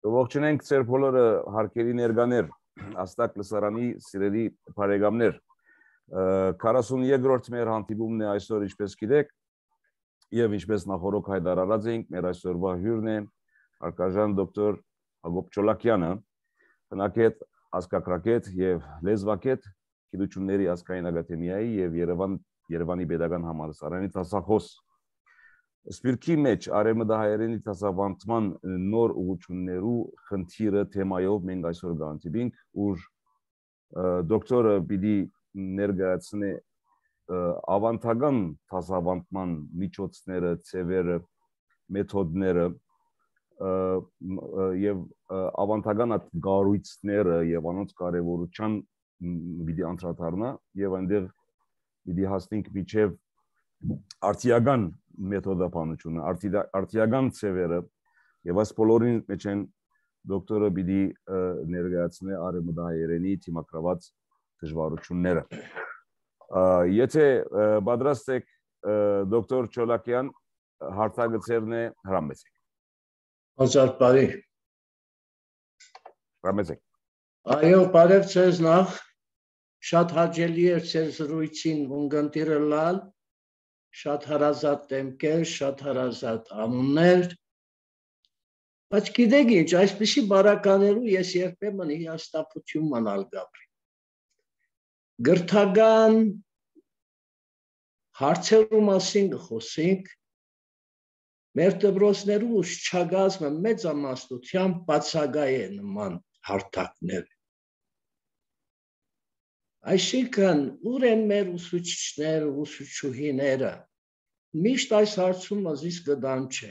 Ողջունենք ձեր բոլորը հարկերի ներկաներ, Աստակ լսարանի սիրելի բարեկամներ։ 42-րդ մեր հանդիպումն է այսօր, ինչպես գիտեք, եւ ինչպես նախորդ հայտարարած էինք, մեր այսօրվա հյուրն է հարկաժան դոկտոր Հակոբ Չոլակյանը, բնակետ, ազգագրագետ եւ լեզվագետ, գիտությունների ազգային ակադեմիայի եւ Երևանի Պետական Համալսարանի դասախոս։ Սպիրկի մեջ արևմտահայերենի դասավանդման նոր ուղղություններու խնդիրը թեմայով մենք այսօր կհանդիպենք, ուր դոկտորը պիտի ներկայացնի ավանդական դասավանդման միջոցները, ձևերը, մեթոդները եւ ավանդական գառույցները եւ անոնց կարեւորության պիտի անդրադառնա եւ այնտեղ պիտի հասնենք միջև արտիական մեթոդապանությունը, արտիական ձևերը եւ այս բոլորին մեջ են դոկտորը պիտի ներկայացնի արևմտահայերենի թիմակրաված դժվարությունները։ Եթե պատրաստ եք դոկտոր Չոլակյան, հարցագծերն է հրամեցեք։ Հաջորդ բարի։ Հրամեցեք։ Այո, բարև ձեզ նախ, շատ հաճելի է ձեր զրույցին ունկնդիրը լալ, շատ հարազատ դեմքեր, շատ հարազատ անուններ, բայց գիտեք ինչ, այսպիսի բարականերու ես երբեմն հիասթափություն մանալ գաբրի։ Գրթական հարցերու մասին խոսենք, մեր դպրոցներու ուշչագազմը մեծամասնությամբ բացակայ է նման հարթակներ։ Այսինքն, ուր են մեր ուսուցիչները, ուսուցչուհիները, միշտ այս հարցում ազիս կդամ չէ։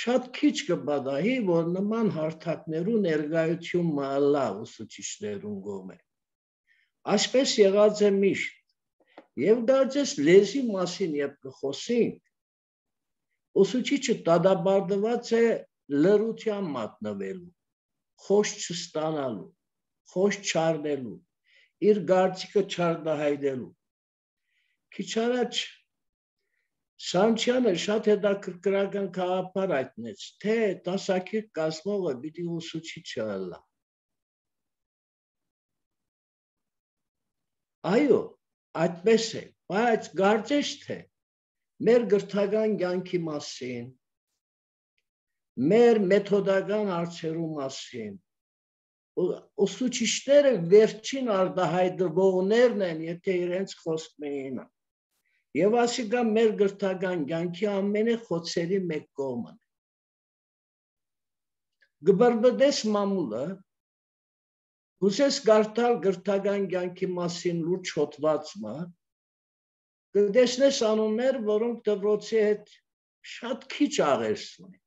Շատ քիչ կբադահի, որ նման հարթակներու ներկայություն մալա ուսուցիչներուն գոմե։ Այսպես եղած է միշտ, եւ դարձես լեզվի մասին երբ կխոսենք, ուսուցիչը դադարեցված է լրության մատնվելու, խոսք չստանալու, խոսք չառնելու, իր գարցիկը չարդահայտելու։ Քիչ առաջ Սանչյանը շատ հետաքրքրական գաղափար հայտնեց, թե դասակիր կազմողը պիտի ուսուցիչը ըլլա։ Այո, այդպես է, բայց կարծես թե մեր գրթական կյանքի մասին, մեր մեթոդական հարցերու մասին, ուսուցիչները վերջին արտահայտվողներն են, եթե իրենց խոսքն էին։ Եվ ասիկա մեր գրթական կյանքի ամենախոցերի մեկ կողմն է։ Գբրբդես մամուլը, հուսես կարդալ գրթական կյանքի մասին լուրջ հոդվածը, կտեսնես անուններ, որոնք դպրոցի հետ շատ քիչ աղերսում են։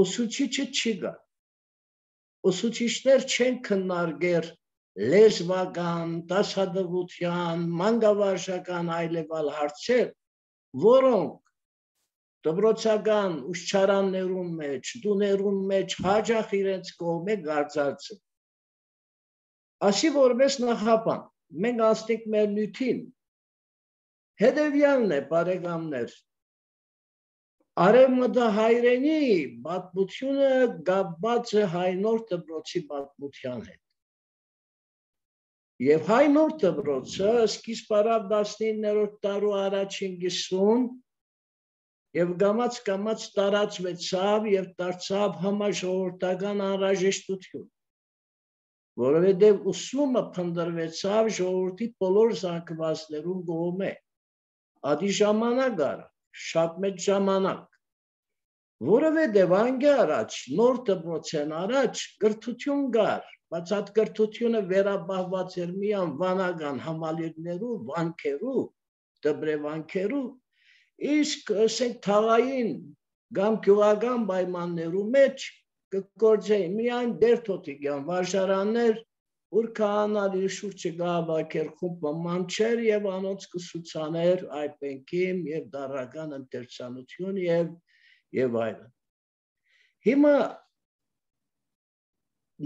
Ուսուցիչը չի գա։ Ուսուցիչներ չեն քննարկել լեզվական, դասադպության, մանկավարժական այլևալ հարցեր, որոնք դպրոցական ուսուցչարաններում մեջ, տուներում մեջ հաճախ իրենց կողմը գարձած։ Ասի որպես նախապան, մենք անցնենք մեր նյութին, հետևյալն է, բարեկամներ, արևմտահայերենի պատմությունը կապված է հայնորդ դպրոցի պատմության հետ։ Եվ հայնորդ դպրոցը սկիզբարավ 19-րդ դարու առաջին կեսուն եւ գամած տարածվեցավ եւ դարձավ համաժողովրդական անհրաժեշտություն, որովհետեւ ուսումը փնտրվեցավ ժողովրդի բոլոր զանգվածներուն կողմէ։ Ադի ժամանակ առ, շատ մեծ ժամանակ, որովհետեւ անգե առաջ, նոր դպրոցեն առաջ կրթություն կար, բայց այդ կրթությունը վերապահված էր միայն վանական համալիրներու, վանքերու, դպրեվանքերու, իսկ ասենք թաղային կամ գյուղական պայմաններու մեջ կգործեին միայն դերթոթիկյան վարժարաններ, ուր քահանալի շուրջը կհավաքեր խումբ մանչեր եւ անոնց կսուցաներ այպենքիմ եւ դարական ընթերցանություն եւ այլն։ Հիմա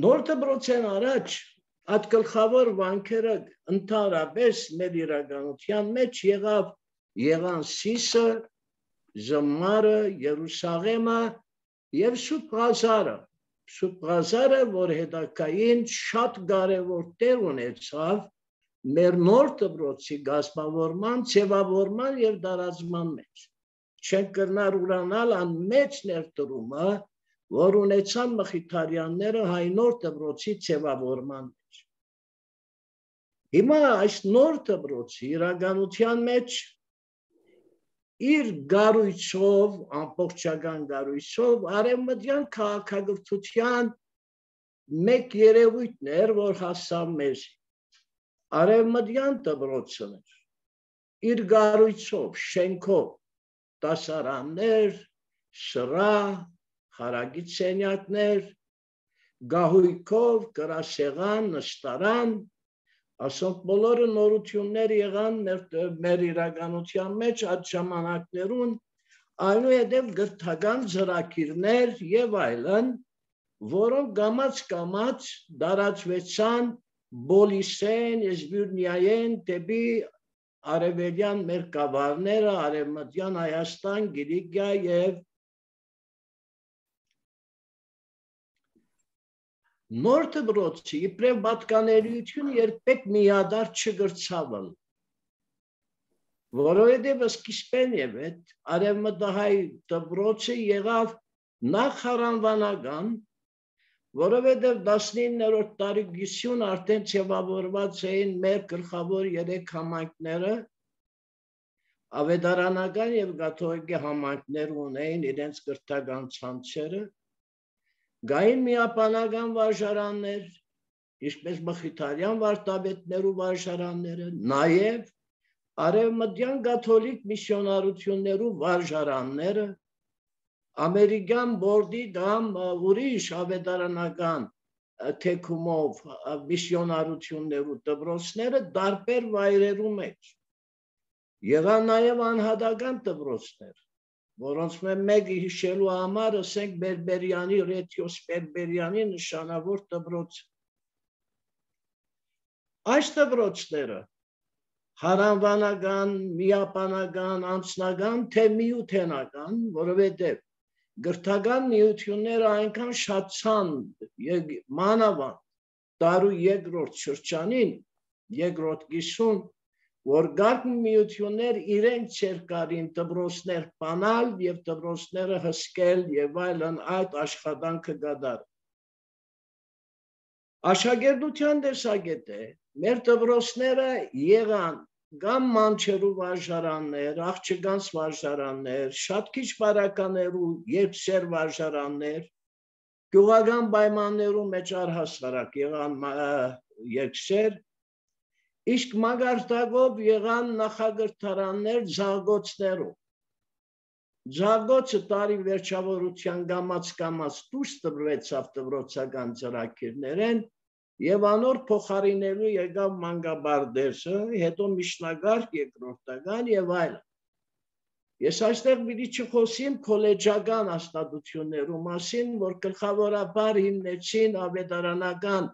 նոր դպրոցեն առաջ այդ գլխավոր վանքերը ընդհանրապես մեր իրականության մեջ եղան Սիսը, Զմարը, Երուսաղեմը եւ Սուրբ Ղազարը, որ հետագային շատ կարևոր տեղ ունեցավ մեր նոր դպրոցի գազմավորման, ձևավորման եւ դարածման մեջ։ Չենք կրնար ուրանալ ան մեծ ներդրումը, որ ունեցան Մխիթարյանները հայ նոր դպրոցի ձևավորման մեջ։ Հիմա այս նոր դպրոցի իրականության մեջ իր գառույցով, ամբողջական գառույցով արևմտյան քաղաքագործության մեկ երևույթն էր, որ հասավ մեզ։ Արևմտյան դպրոցն էր իր գառույցով, շենքով, դասարաններ, սրահ, խարագիծ սենյակներ, գահույքով, գրասեղան, նստարան, ասոնք բոլորը նորություններ եղան մեր իրականության մեջ այդ ժամանակներուն, այնուհետև գրթական ծրագիրներ եւ այլն, որոնք գամած դարածվեցան Բոլիսեն, Էզբյուրնիայեն, դեպի արևելյան մեր կավառները, արևմտյան Հայաստան, Կիլիկիա եւ նոր դպրոցի իբրև պատկանելիություն երբեք միադար չգրցավալ, որովհետև սկիզբեն եւ այդ արևմտահայ դպրոցը եղավ նախ հարանվանական, որովհետև 19-րդ դարագիսյուն արդեն ձևավորված էին մեր գլխավոր 3 համայնքները, ավետարանական եւ կաթողիկե համայնքներ ունեին իրենց կրթական ցանցերը, գային միապանական վարժարաններ, ինչպես Մխիթարյան վարդապետներու վարժարանները, նաեւ արևմտյան կաթոլիկ միսիոնարություններու վարժարանները, ամերիկյան բորդի կամ ուրիշ ավետարանական թեքումով միսիոնարություններու դպրոցները տարբեր վայրերու մեջ։ Եղան նաեւ անհատական դպրոցներ, որոնց մեկը հիշելու համար ասենք Բերբերյանի, Ռեթիոս Բերբերյանի նշանավոր դպրոց։ Այս դպրոցները հարանվանական, միապանական, անձնական, թե միութենական, որովհետև գրթական միությունները այնքան շատցան մանավանդ դարու երկրորդ շրջանին, երկրորդ կիսում, որ գարկ միություններ իրենք չեր կարին դպրոցներ բանալ եւ դպրոցները հսկել եւ այլն այդ աշխատանքը կդար։ Աշակերտության տեսակետը մեր դպրոցները եղան կամ մանչերու վարժարաններ, աղջկանց վարժարաններ, շատ քիչ բարականերու երկսեր վարժարաններ, գյուղական պայմաններու մեջ առհասարակ եղան երկսեր, իսկ մագարտակով եղան նախագրթարաններ ձաղգոցներով։ Ձաղգոցը տարի վերջավորության գամած դուրս տվեցավ դպրոցական ծրագիրներեն եւ անոր փոխարինելու եկավ մանկաբարձը, հետո միջնակարգ, երկրորդական եւ այլն։ Ես այստեղ պիտի չխոսեմ քոլեջական հաստատություններու մասին, որ գլխավորաբար հիմնեցին ավետարանական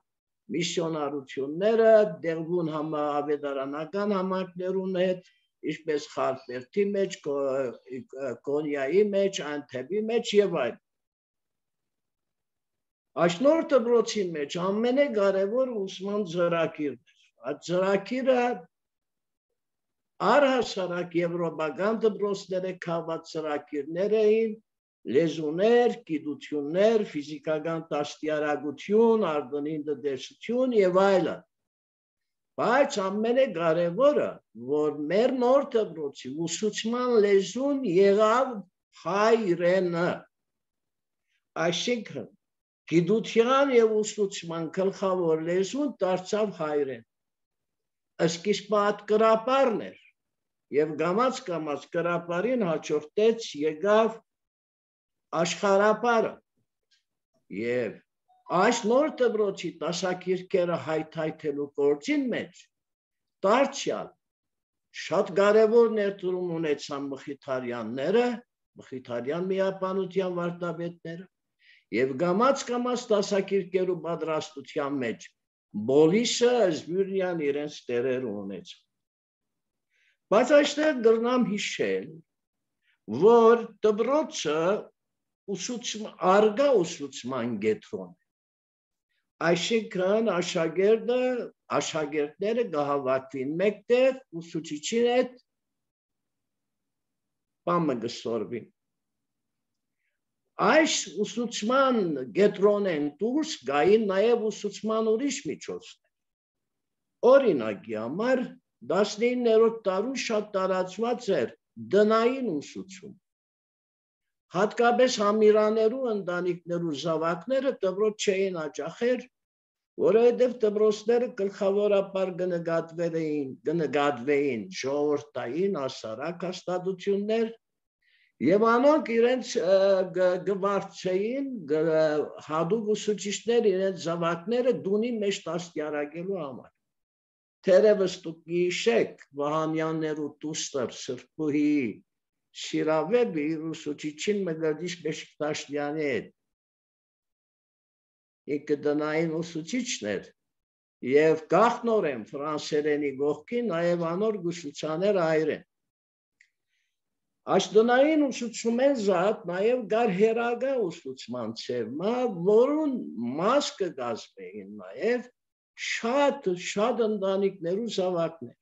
միսիոնարությունները, դեղուն ավետարանական համայնքներուն հետ, ինչպես Խարպերտի մեջ, Կոնյայի մեջ, Անթեպի մեջ եւ այլն։ Այս նոր դպրոցի մեջ ամենակարևոր ուսման ծրագիրն էր։ Այդ ծրագիրը առհասարակ եվրոպական դպրոցները քաղված ծրագիրներ էին, լեզուներ, գիտություններ, ֆիզիկական դաստիարակություն, արտոնին տնտեսություն եւ այլն։ Բայց ամենակարևորը, որ մեր նոր դպրոցի ուսուցման լեզուն եղավ հայրենը, այսինքն գիտության եւ ուսուցման գլխավոր լեզուն դարձավ հայրեն։ Սկիզբը այդ կրապարն էր եւ գամած կրապարին հաջորդեց եկավ աշխարհապարը եւ այս նոր դպրոցի դասակիրքերը հայթայթելու գործին մեջ դարձյալ շատ կարևոր ներդրում ունեցան Մխիթարյանները, Մխիթարյան միապանության վարդապետները եւ գամած դասակիրքերու պատրաստության մեջ Բոլիսը, Էզբյուրնիան իրենց տերեր ունեցան։ Բայց այստեղ գրնամ հիշել, որ դպրոցը արգա ուսուցման կենտրոն է։ Այսինքն աշակերտները կհավաքվին մեկտեղ, ուսուցիչին հետ բանը կսորվին։ Այս ուսուցման կենտրոնեն դուրս գային նաև ուսուցման ուրիշ միջոցներ։ Օրինակի համար 19-րդ դարում շատ տարածված էր դնային ուսուցում։ Հատկապես համիրաներու ընտանիքներու զավակները դպրոց չէին աջախեր, որովհետև դպրոցները գլխավորապես կնկատվեին ժողովրդային հասարակ հաստատություններ եւ անոնք իրենց գվարձեին հատուկ ուսուցիչներ իրենց զավակները դունի մեջ դաստիարակելու համար։ Թերևս դուք գիշեք Վահանյաններու դուստր Սրբուհի Շիրավեպը իր ուսուցիչին Մգրդիչ Բեշիկտաշյանի հետ ինքը դնային ուսուցիչն էր եւ գախնորեն ֆրանսերենի գողքին նաեւ անոր գուսուցաներ հայրեն։ Այս դնային ուսուցումեն զատ նաեւ գար հերագա ուսուցման ցերմա, որուն մաս կգազմեին նաեւ շատ ընտանիքներու զավակներ։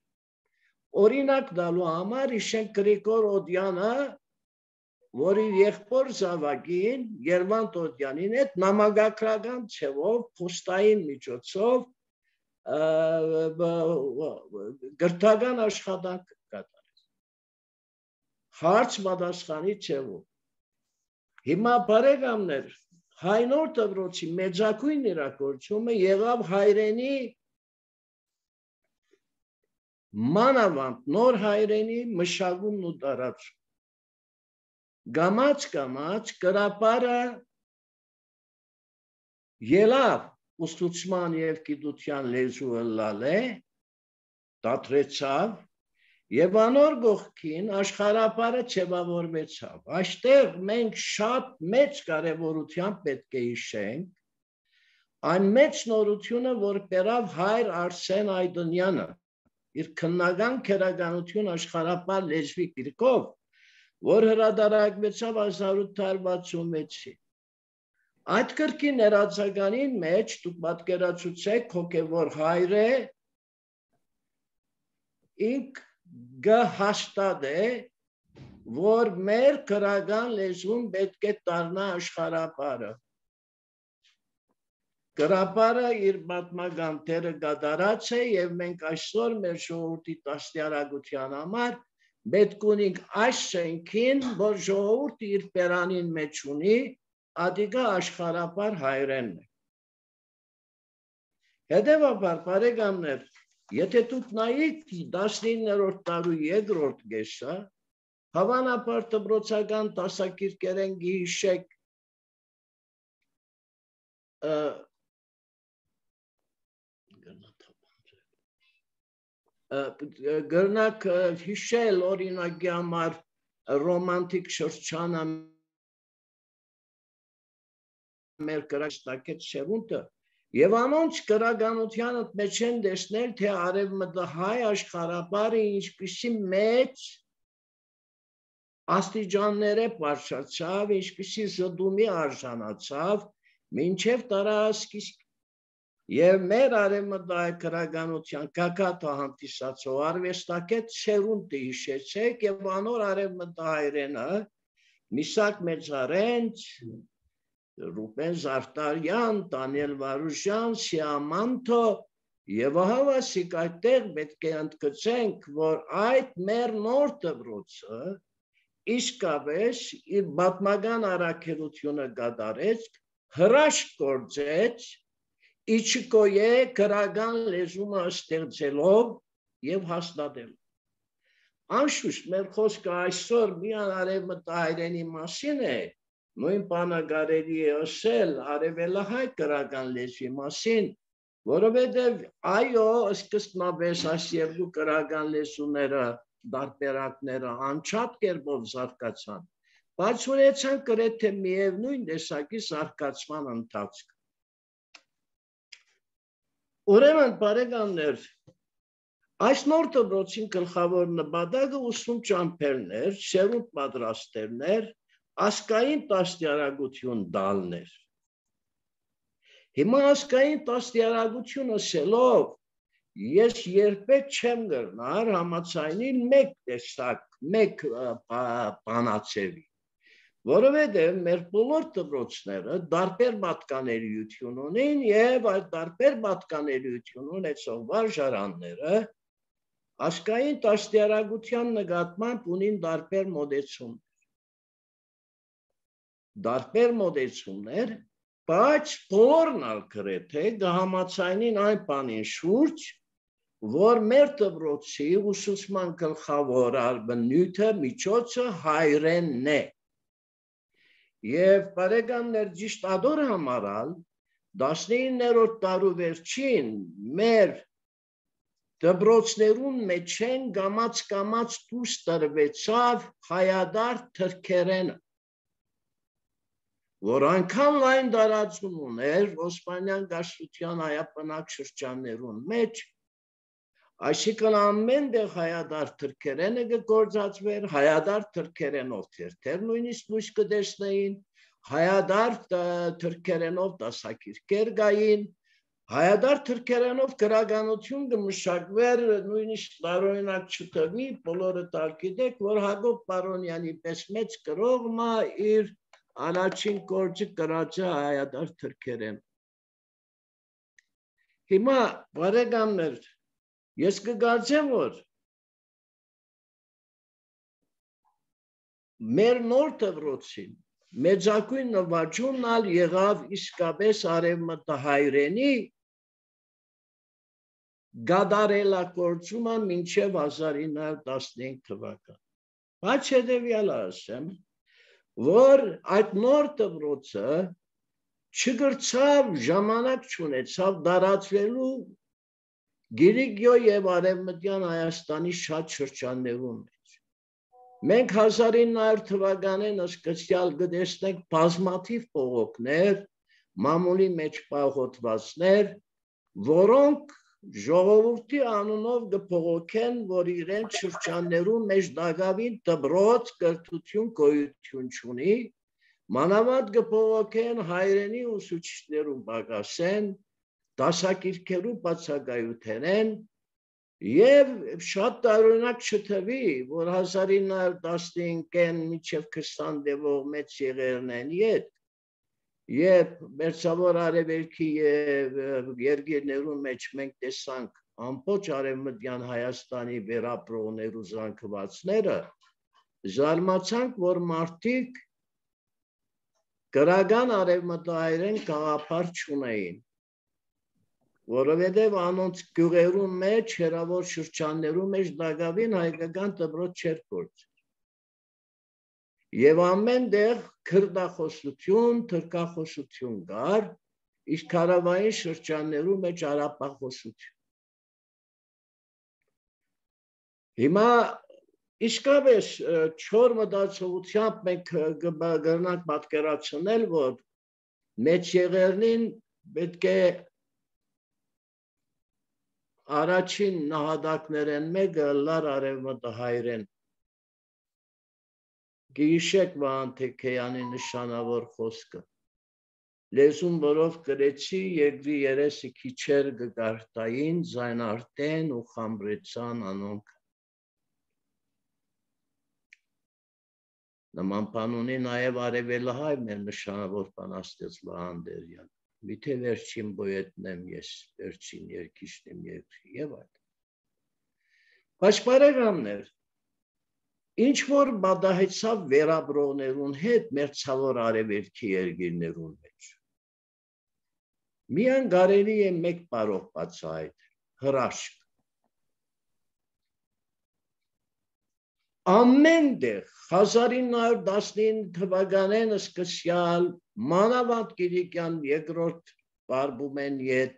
Օրինակ դալու համար իշեն Գրիգոր Օդյանը, որի եղբոր զավակին Գերվանտ Օդյանին հետ նամակագրական ցևով փոստային միջոցով գրթական աշխատանք կատարեց։ Հարց պատասխանի ցևով։ Հիմա բարեկամներ, հայնոր դպրոցի մեծակույն իրագործումը եղավ հայրենի մանավանդ նոր հայրենի մշակումն ու տարածում։ Գամած կրապարը ելավ ուսուցման և գիտության լեզուը լալե, դադրեցավ և անոր գողքին աշխարհապարը չևավորվեցավ։ Այստեղ մենք շատ մեծ կարևորությամբ պետք է հիշենք այն մեծ նորությունը, որ բերավ հայր Արսեն Այդոնյանը իր քննական քերականություն աշխարհապար լեզվի գրքով, որ հրատարակվեցավ 1866-ին։ Այդ գրքի ներածականին մեջ դուք պատկերացուցեք հոգևոր հայրը ինք գհաստատե, որ մեր քրական լեզուն պետք է դառնա աշխարհապարը։ Գրապարը իր պատմական դերը կատարած է եւ մենք այսօր մեր ժողովրդի դաստիարակության համար պետք ունենք այս շենքին, որ ժողովուրդը իր բերանին մեջ ունի, ադիգա աշխարհապար հայրենն է։ Հետևաբար, բարեկամներ, եթե դուք նայեք 19-րդ դարու երկրորդ կեսը, հավանաբար դպրոցական դասակիրքերեն գիշեք գրնակ հիշել օրինակի համար ռոմանտիկ շրջանը մեր կրակստակետ սերունդը եւ անոնց գրականության մեջ են տեսնել, թե արևմտահայ աշխարհապարը ինչպիսի մեծ աստիճաններ է բարձրացավ, ինչպիսի զդումի արժանացավ, մինչև տարածքիսկ եւ մեր արևմտահայ գրականության կակատը հանդիսացող արվեստակետ սերունդը հիշեցեք եւ անոր արևմտահայրենը Միսակ Մեծարենց, Ռուբեն Զարտարյան, Դանիել Վարուժյան, Սիամանթո եւ հավասիկ այդտեղ պետք է ընդգծենք, որ այդ մեր նոր դպրոցը իսկապես իր պատմական առաքելությունը կատարեց, հրաշք գործեց, իչկոյե գրական լեզումը ստեղծելով եւ հաստատելով։ Անշուշտ մեր խոսքը այսօր միայն արևմտահայերենի մասին է, նույն բանը կարելի է ասել արևելահայ գրական լեզվի մասին, որովհետև այո, սկզբնապես այս երկու գրական լեզուները դարբերակները անչափ կերպով զարգացան, բայց ունեցան գրեթե միևնույն տեսակի զարգացման ընթացք։ Ուրեմն, բարեկամներ, այս նոր դպրոցին գլխավոր նպատակը ուսում ճամփերն էր, սերունդ պատրաստելն էր, ասկային տասնյարակություն դալներ։ Հիմա ասկային տասնյարակություն ասելով, ես երբեք չեմ գրնար համացայնին մեկ տեսակ, մեկ բանացևի, որովհետև մեր բոլոր դպրոցները դարբեր պատկանելիություն ունեն և այդ դարբեր պատկանելիություն ունեցող վարժարանները ասկային տասնյարակության նկատմամբ ունին դարբեր մոտեցումներ, բայց բոլորն ալ գրեթե կհամաձայնին այն բանին շուրջ, որ մեր դպրոցի ուսուցման գլխավոր բնույթը միջոցը հայրենն է։ Եվ բարեկամներ ճիշտ ադոր համարալ 19-րդ դարու վերջին մեր դպրոցներուն մեջ են կամաց դուրս տրվեցավ հայադար թրքերենը, որ այնքան լայն տարածում ուներ Օսմանյան դաշտության հայաբնակ շրջաններուն մեջ, այսինքն ամենտեղ հայադար թրքերենը կգործածվեր, հայադար թրքերենով թերթեր նույնիսկ լույս կտեսնեին, հայադար թրքերենով դասակիրքեր կային, հայադար թրքերենով գրականություն կմշակվեր, նույնիսկ տարօրինակ չթվի, բոլորը գիտեք, որ Հակոբ Պարոնյանի պես մեծ գրողը իր առաջին գործը գրած է հայադար թրքերեն։ Հիմա բարեկամներ, ես կգործեմ, որ մեր նոր դպրոցին մեծագույն նվաճումն ալ եղավ իսկապես արևմտահայրենի գադարելագործումը մինչև 1915 թվական։ Բայց հետևյալը ասեմ, որ այդ նոր դպրոցը չգրցավ, ժամանակ չունեցավ դարածվելու Գիրիգյո և Արևմտյան Հայաստանի շատ շրջաններում մեջ։ Մենք 1900 թվականին սկսյալ կտեսնենք բազմաթիվ բողոքներ, մամուլի մեջ պահոտվածներ, որոնք ժողովրդի անունով կբողոքեն, որ իրենց շրջաններում մեջ դակավին դպրոց կրթություն գոյություն չունի, մանավանդ կբողոքեն հայրենի ուսուցիչներուն պակասեն, դասակիրքերու բացակայութենեն և շատ տարօրինակ չթվի, որ 1915-ին մինչև 20 դեպող մեծ եղերն են ետ, երբ մերձավոր արևելքի և երկիրներուն մեջ մենք տեսանք ամբողջ արևմտյան Հայաստանի վերապրողներու զանգվածները, զարմացանք, որ մարդիկ գրական արևմտահայերեն գաղափար չունեին, որովհետև անոնց գյուղերուն մեջ, հեռավոր շրջաններում մեջ դակավին հայկական դպրոց չէր գործել։ Եվ ամենտեղ քրդախոսություն, թրքախոսություն կար, իսկ հարավային շրջաններում մեջ արաբախոսություն։ Հիմա իսկապես չոր մտածողությամբ մենք կգրնանք պատկերացնել, որ մեծ եղերնին պետք է առաջին նահատակներեն մեկը լար արևմտահայերեն։ Գիշեք Վահան Թեքեյանի նշանավոր խոսքը։ Լեզուն, որով գրեցի, երկրի երեսը քիչեր կգարտային, զայնարտեն ու խամրեցան անոնք։ Նման բան ունի նաև արևելահայ մեր նշանավոր բանաստեղծ Վահան Դերյանը։ Միթե վերջին պոետն եմ ես, վերջին երգիչն եմ երկրի և այդ։ Բայց բարեկամներ, ինչ որ պատահեցավ վերապրողներուն հետ մերձավոր արևելքի երկիրներուն մեջ։ Միան կարելի է մեկ բառով բացահայտել՝ հրաշք։ Ամենտեղ 1919 թվականին սկսյալ մանավանդ Կիլիկյան երկրորդ բարբումեն ետ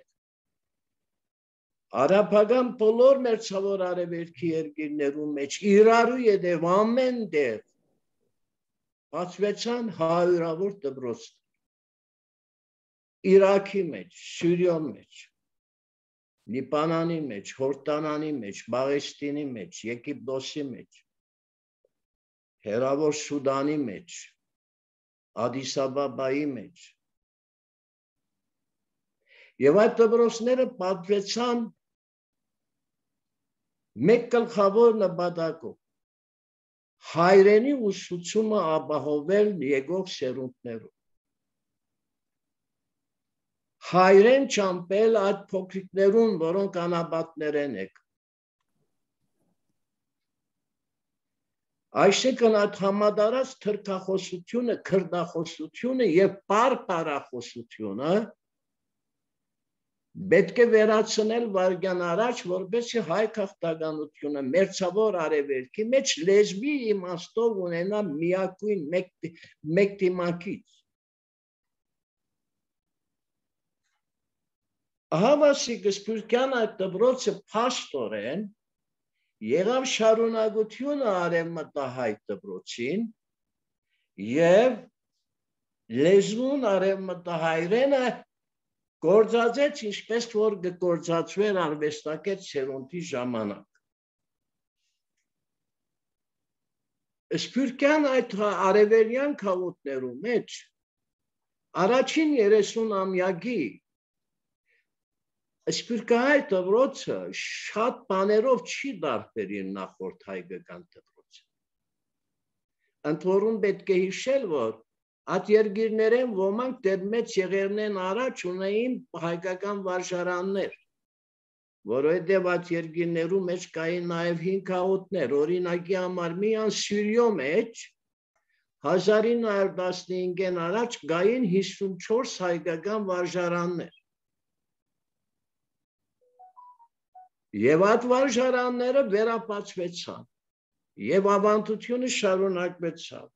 արաբական բոլոր մերձավոր արևելքի երկիրներում մեջ իրարու ետև ամենտեղ բացվեցան հարյուրավոր դպրոցներ։ Իրաքի մեջ, Սյուրիոն մեջ, Լիբանանի մեջ, Հորդանանի մեջ, Պաղեստինի մեջ, Եգիպտոսի մեջ, Հեռավոր Սուդանի մեջ, Ադիս Աբաբայի մեջ։ Եվ այդ դպրոցները պատվեցան մեկ գլխավոր նպատակով հայրենի ուսուցումը ապահովել եկող սերունդներում։ Հայրեն ճամպել այդ փոքրիկներուն, որոնք անապատներ են եկել։ Այսինքն այդ համադարած թրքախոսությունը, քրդախոսությունը եւ պարպարախոսությունը պետք է վերացնել վարգյան առաջ, որպեսզի հայ քաղաքականությունը մերձավոր արևելքի մեջ լեզվի իմաստով ունենա միակույն մեկ դիմակից։ Հավասիկ Սփյուռքյան այդ դպրոցը փաստորեն եղավ շարունակությունը արևմտահայ դպրոցին եւ լեզուն արևմտահայերենը գործածեց ինչպես որ գործածվեր արվեստագետ սերունդի ժամանակ։ Սփյուռքյան այդ արևելյան քաղաքներու մեջ առաջին 30-ամյակի Սփյուռքահայ դպրոցը շատ բաներով չի տարբերին նախորդ հայկական դպրոցը։ Ընդ որում պետք է հիշել, որ այդ երկիրներեն ոմանք դեռ մեծ եղերնեն առաջ ունեին հայկական վարժարաններ, որովհետև այդ երկիրներու մեջ կային նաև 5 քաղաքներ, օրինակի համար միան Սյուրիո մեջ 1915-ին առաջ կային 54 հայկական վարժարաններ։ Եվ այդ վարժարանները վերապացվեցան, եւ ավանդությունը շարունակվեցավ։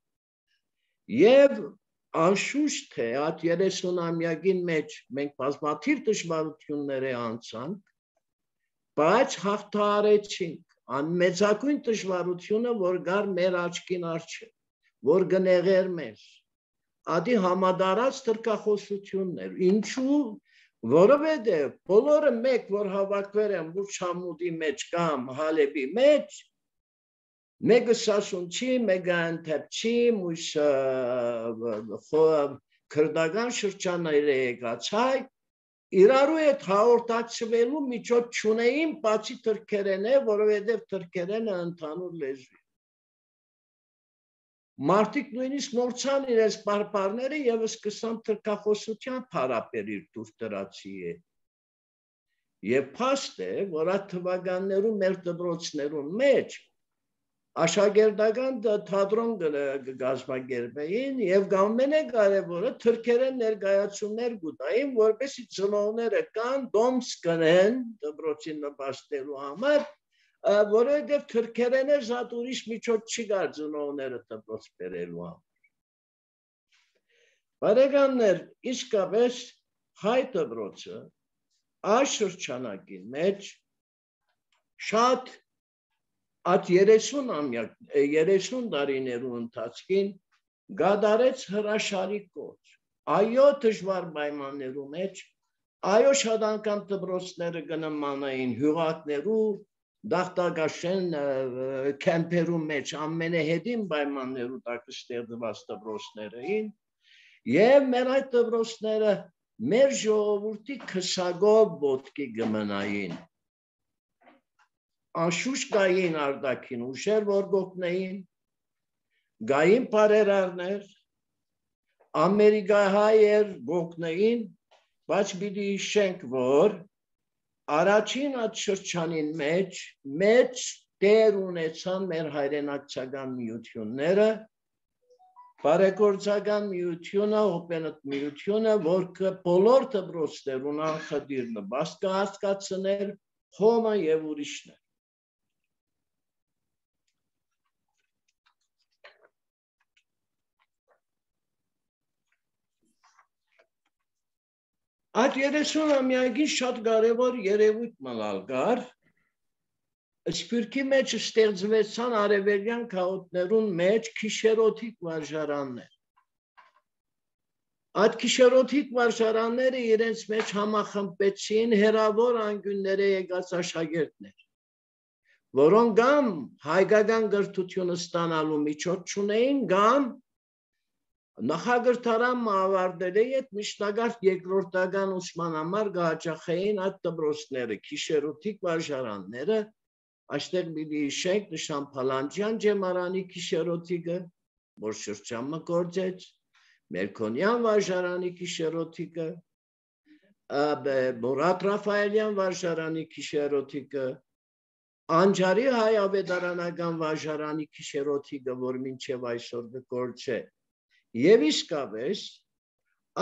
Եվ անշուշտ թե այդ 30-ամյակին մեջ մենք բազմաթիվ դժվարություններ անցանք, բայց հաղթահարեցինք անմեծակույն դժվարությունը, որ գար մեր աչքին առջև, որ գնեղեր մեզ, ադի համադարած թրքախոսություններ, ինչու, որովհետև բոլորը մեկ, որ հավաքվել են Բուրջամուդի մեջ կամ Հալեբի մեջ, մեկը Սասունցի, մեկը Անտեպցի, մույսը քրդական շրջանները եկացայ, իրարու հետ հաղորդակցվելու միջոց չունեին, բացի թրքերենը, որովհետև թրքերենը ընդհանուր լեզու է։ Մարդիկ նույնիսկ մոռցան իրենց պարպարները եւ սկսան թրքախոսության փարապերիր դուրս դրացի է։ Եվ փաստ է, որ այդ թվականներում մեր դպրոցներում մեջ աշակերտական թատրոն կգազմագերբեին եւ ամենակարևորը թրքերեն ներկայացումներ կուտային, որպեսզի ծնողները կան դոմս կնեն դպրոցին նպաստելու համար, որովհետև թրքերենը զատ ուրիշ միջոց չի կար ծնողները դպրոց բերելու համար։ Բարեկամներ, իսկապես հայ դպրոցը այս շրջանակի մեջ շատ այդ 30 տարիներու ընթացքին գադարեց հրաշալի կոչ։ Այո, դժվար պայմաններու մեջ, այո, շատ անգամ դպրոցները կնմանային հյուղակներու, դախտակաշեն քեմպերու մեջ ամենահետին պայմաններու տակ ստեղծված դպրոցներն, եւ մեր այդ դպրոցները մեր ժողովրդի քսագով ոտքի կմնային։ Անշուշտ կային արտաքին ուժեր, որ գոկնեին, գային բարերարներ, ամերիկահայեր գոկնեին, բայց պիտի հիշենք, որ առաջին այդ շրջանին մեջ մեծ դեր ունեցան մեր հայրենակցական միությունները, բարեգործական միությունը, հոպենտ միությունը, որ բոլոր դպրոցներուն անխտիր նպաստ կհասկացներ հոմը եւ ուրիշներ։ Այդ 30-ամյակին շատ կարևոր երևույթ մնալ կար, Սփյուռքի մեջ ստեղծվեցան արևելյան քաղաքներուն մեջ քիշերոթիկ վարժարաններ։ Այդ քիշերոթիկ վարժարանները իրենց մեջ համախմբեցին հերավոր անկյունները եկած աշակերտներ, որոնք կամ հայկական կրթությունը ստանալու միջոց չունեին, կամ Նախագրթարան ավարտել է այդ միջնագարտ երկրորդական ուսման համար գահաճախեին այդ դպրոցները, քիշերոթիկ վարժարանները, այստեղ պիտի հիշենք Նշան Փալանջյան ջեմարանի քիշերոթիկը, որ շրջանը գործեց, Մերքոնյան վարժարանի քիշերոթիկը, Մուրադ Ռաֆայելյան վարժարանի քիշերոթիկը, Անջարի հայ ավետարանական վարժարանի քիշերոթիկը, որ մինչև այսօր գործե, եւ իսկապես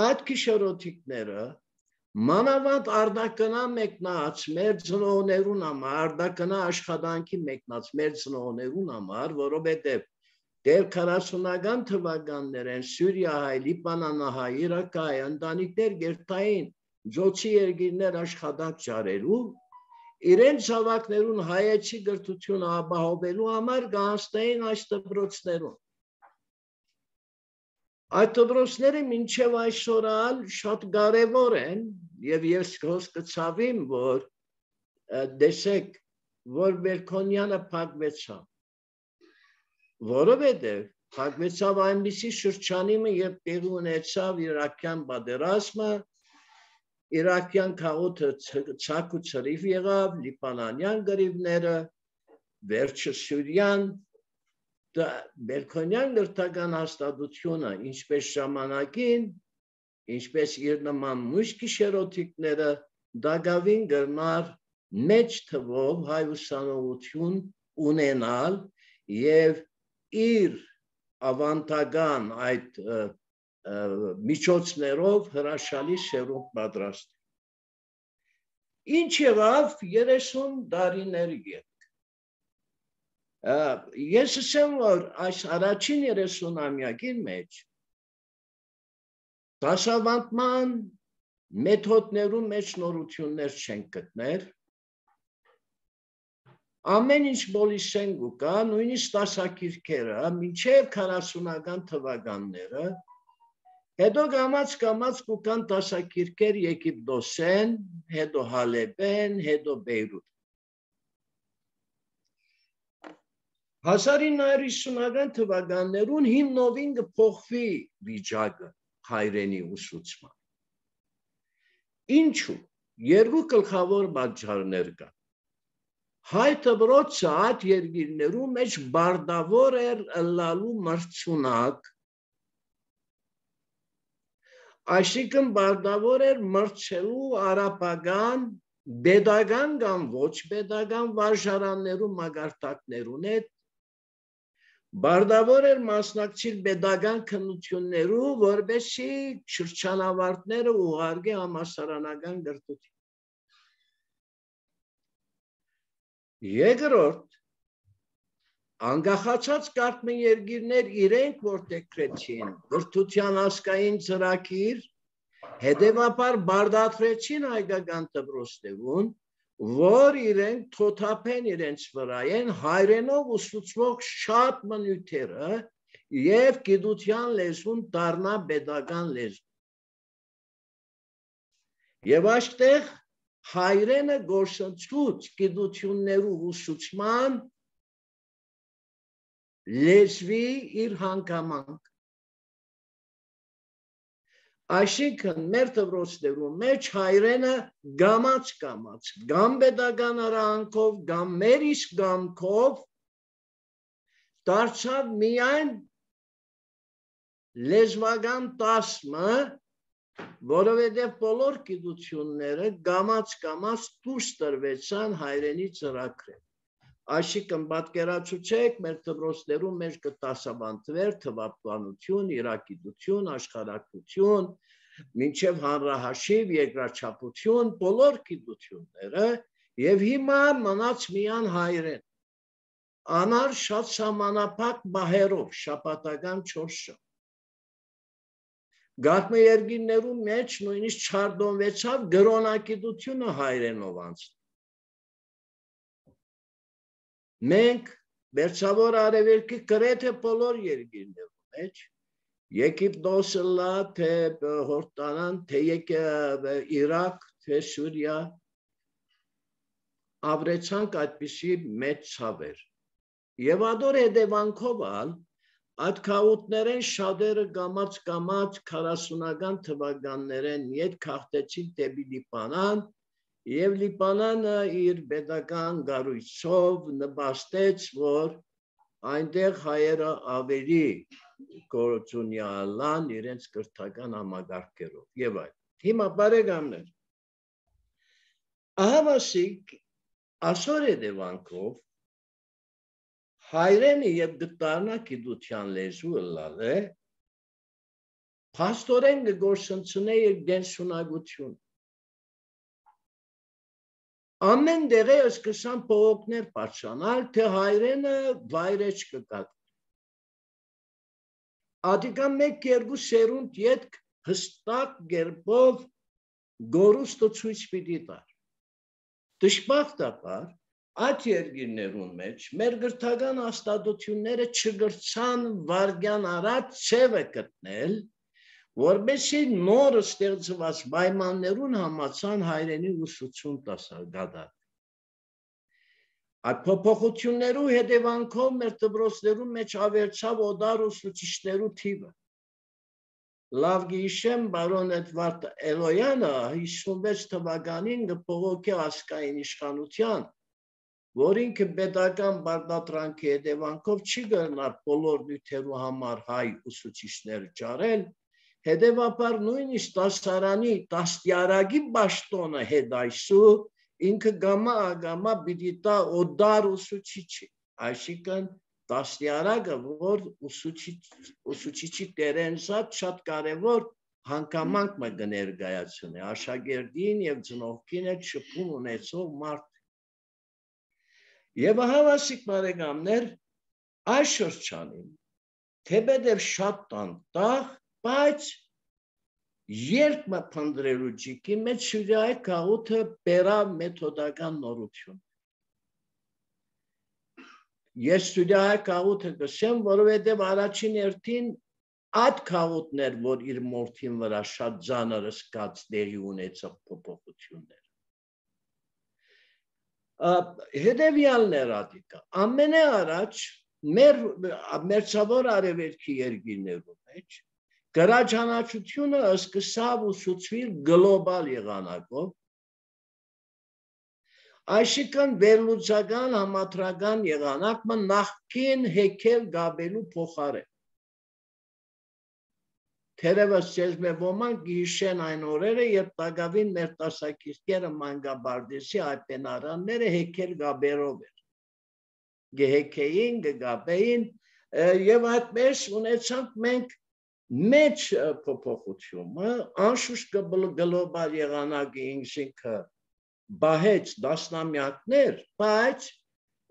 այդ քիշերոթիկները մանավանդ արդակնա մեկնած մեր ծնողներուն համար, արդակնա աշխատանքի մեկնած մեր ծնողներուն համար, որովհետեւ դեռ 40-ական թվականներեն Սուրիահայ, Լիբանանահայ, Իրաքահայ ընտանիքներ գերտային Ջոցի երկիրներ աշխատանք ճարելու, իրենց զավակներուն հայեցի գրթությունը ապահովելու համար գանձնային այս դպրոցներուն։ Այդ դպրոցները մինչև այսօր շատ կարևոր են եւ ես կցավեմ, որ դեսեք, որ Մերքոնյանը փակվեցավ, որովհետեւ փակվեցավ այնպիսի շրջանիմը, երբ տեղի ունեցավ իրաքյան պատերազմը, իրաքյան քաղաքը ցակ ու ցրիվ եղավ, լիբանանյան գրիվները, վերջը Սուրիան, Մերքոնյան գրթական հաստատությունը, ինչպես ժամանակին, ինչպես իր նման մյուս քիշերոթիկները, դակավին գրնար մեծ թվով հայ ուսանողություն ունենալ եւ իր ավանդական այդ միջոցներով հրաշալի սերունդ պատրաստ։ Ինչ եղավ 30 տարիներ եք։ Ես ասեմ, որ այս առաջին 30-ամյակին մեջ դասավանդման մեթոդներում մեջ նորություններ չեն գտնել, ամեն ինչ բոլիսեն գուկա, նույնիսկ դասակիրքերը, մինչև 40-ական թվականները, հետո կամաց գուկան դասակիրքեր Եգիպտոսեն, հետո Հալեբեն, հետո Բեյրութ։ 1950-ական թվականներուն հիմնովին կփոխվի վիճակը հայրենի ուսուցման։ Ինչու՞։ Երկու գլխավոր պատճառներ կան։ Հայ դպրոցը այդ երկիրներում մեջ բարդավոր էր ըլլալու մրցունակ, այսինքն բարդավոր էր մրցելու արաբական, պետական կամ ոչ պետական վարժարաններում մագարտակներուն հետ, բարդավոր էր մասնակցել պետական քննություններու, որպեսզի շրջանավարտները ուղարկի համալսարանական գրթություն։ Երկրորդ, անկախացած կարծում երկիրներ իրենք որտեղրեցին գրթության ազգային ծրագիր, հետևաբար բարդացրեցին հայկական դպրոցներուն, որ իրենք թոթափեն իրենց վրա են հայրենով ուսուցվող շատ մնյութերը եւ գիտության լեզուն դառնա պետական լեզու։ Եվ այստեղ հայրենը գործընծուց գիտություններու ուսուցման լեզվի իր հանգամանք։ Այսինքն մեր դպրոցներում մեջ հայրենը գամած, կամ պետական արանքով, կամ մեր իսկ գամքով դարձավ միայն լեզվական տասմը, որովհետև բոլոր գիտությունները գամած դուրս տրվեցան հայրենի ծրագրեր։ Այսինքն պատկերացուցեք մեր դպրոցներում մեջ կդասավանդվեր թվաբանություն, իրագիտություն, աշխարհագրություն, մինչև հանրահաշիվ, երկրաչափություն, բոլոր գիտությունները եւ հիմա մնաց միան հայրեն։ Անար շատ սահմանափակ բահերով, շաբաթական 4 ժամ։ Գաղտնի երկիրներում մեջ նույնիսկ չարդոնվեցավ գրոնակիտությունը հայրենով անց։ Մենք Մերձավոր Արևելքի գրեթե բոլոր երկիրներում մեջ, Եգիպտոսը լա, թե Հորդանան, թե Իրաք, թե Սուրիա, ապրեցանք այդպիսի մեծ ցավեր։ Եվ ադոր հետևանքով Այդ քաուտներեն շատերը գամած 40-ական թվականներեն ետ քաղտեցին դեպի Լիբանան եւ Լիբանանը իր pedagogan գառույցով նպաստեց, որ այնտեղ հայերը ավելի գործունեալան իրենց կրթական համագարկերով եւ այլ։ Հիմա բարեկամներ, ահավասիկ այսօր հետևանքով հայրենի եւ գտարնա գիտության լեզու լալ է, փաստորեն գործընծնե իր դենսունակություն։ Ամեն դեղը սկսան փողոքներ բարձրանալ, թե հայրենը վայրեջ կկատ։ Ադիկա մեկ-երկու սերունդ ետք հստակ գերբով գորուստը ցույց պիտի տար։ Դժբախտաբար այդ երկիրներուն մեջ մեր գրթական հաստատությունները չգրցան վարգյան առաջ ցևը գտնել, որբեսի նոր ստեղծված պայմաններուն համացան հայրենի ուսուցում դասագադար։ Այդ փոփոխություններու հետևանքով մեր դպրոցներու մեջ ավերցավ օդար ուսուցիչներու թիվը։ Լավ գիշեմ, բարոն Էդվարդ Էլոյանը 56 թվականին գփողոքի ասկային իշխանության, որ ինքը pedagogan բարտատրանքի հետևանքով չի գնար բոլոր նյութերու համար հայ ուսուցիչներ ճարել, հետևաբար նույնիսկ դասարանի դաստիարակի պաշտոնը հետայսու ինքը գամա պիտի տա օդար ուսուցիչի, այսինքն դաստիարակը, որ ուսուցիչի դերենզատ շատ կարևոր հանգամանք մը կներկայացնի, աշակերտին եւ ծնողքին հետ շփում ունեցող մարդ։ Եվ ահավասիկ բարեկամներ, այս շրջանին, թեպետև շատ տանտաղ, բայց երբ մը փնդրելու ջիկի մեջ շուրյայ կաղութը բերավ մեթոդական նորություն։ Ես շուրյայ կաղութը կսեմ, որովհետև առաջին երթին այդ կաղութներ, որ իր մորթին վրա շատ ձանր սկաց դերի ունեցող փոփոխություններ։ Հետևյալներ ադիկա, ամենե առաջ մեր մերձավոր արևելքի երկիրներում մեջ գրաչանաչությունը սկսավ ուսուցվել գլոբալ եղանակով, այսինքն վերլուծական համադրական եղանակը նախքին հեքել գաբելու փոխարեն։ Թերևս ձեզ մեզ ոմանք գիշեն այն օրերը, երբ տակավին մեր տասակիրքերը մանգաբարդեսի այպենարանները հեքել գաբերով էր։ Գհեքեին, գգաբեին և այդպես ունեցանք մենք մեջ փոփոխությունը, անշուշտ գլոբալ եղանակի ինքնինքը բահեց դասնամյակներ, բայց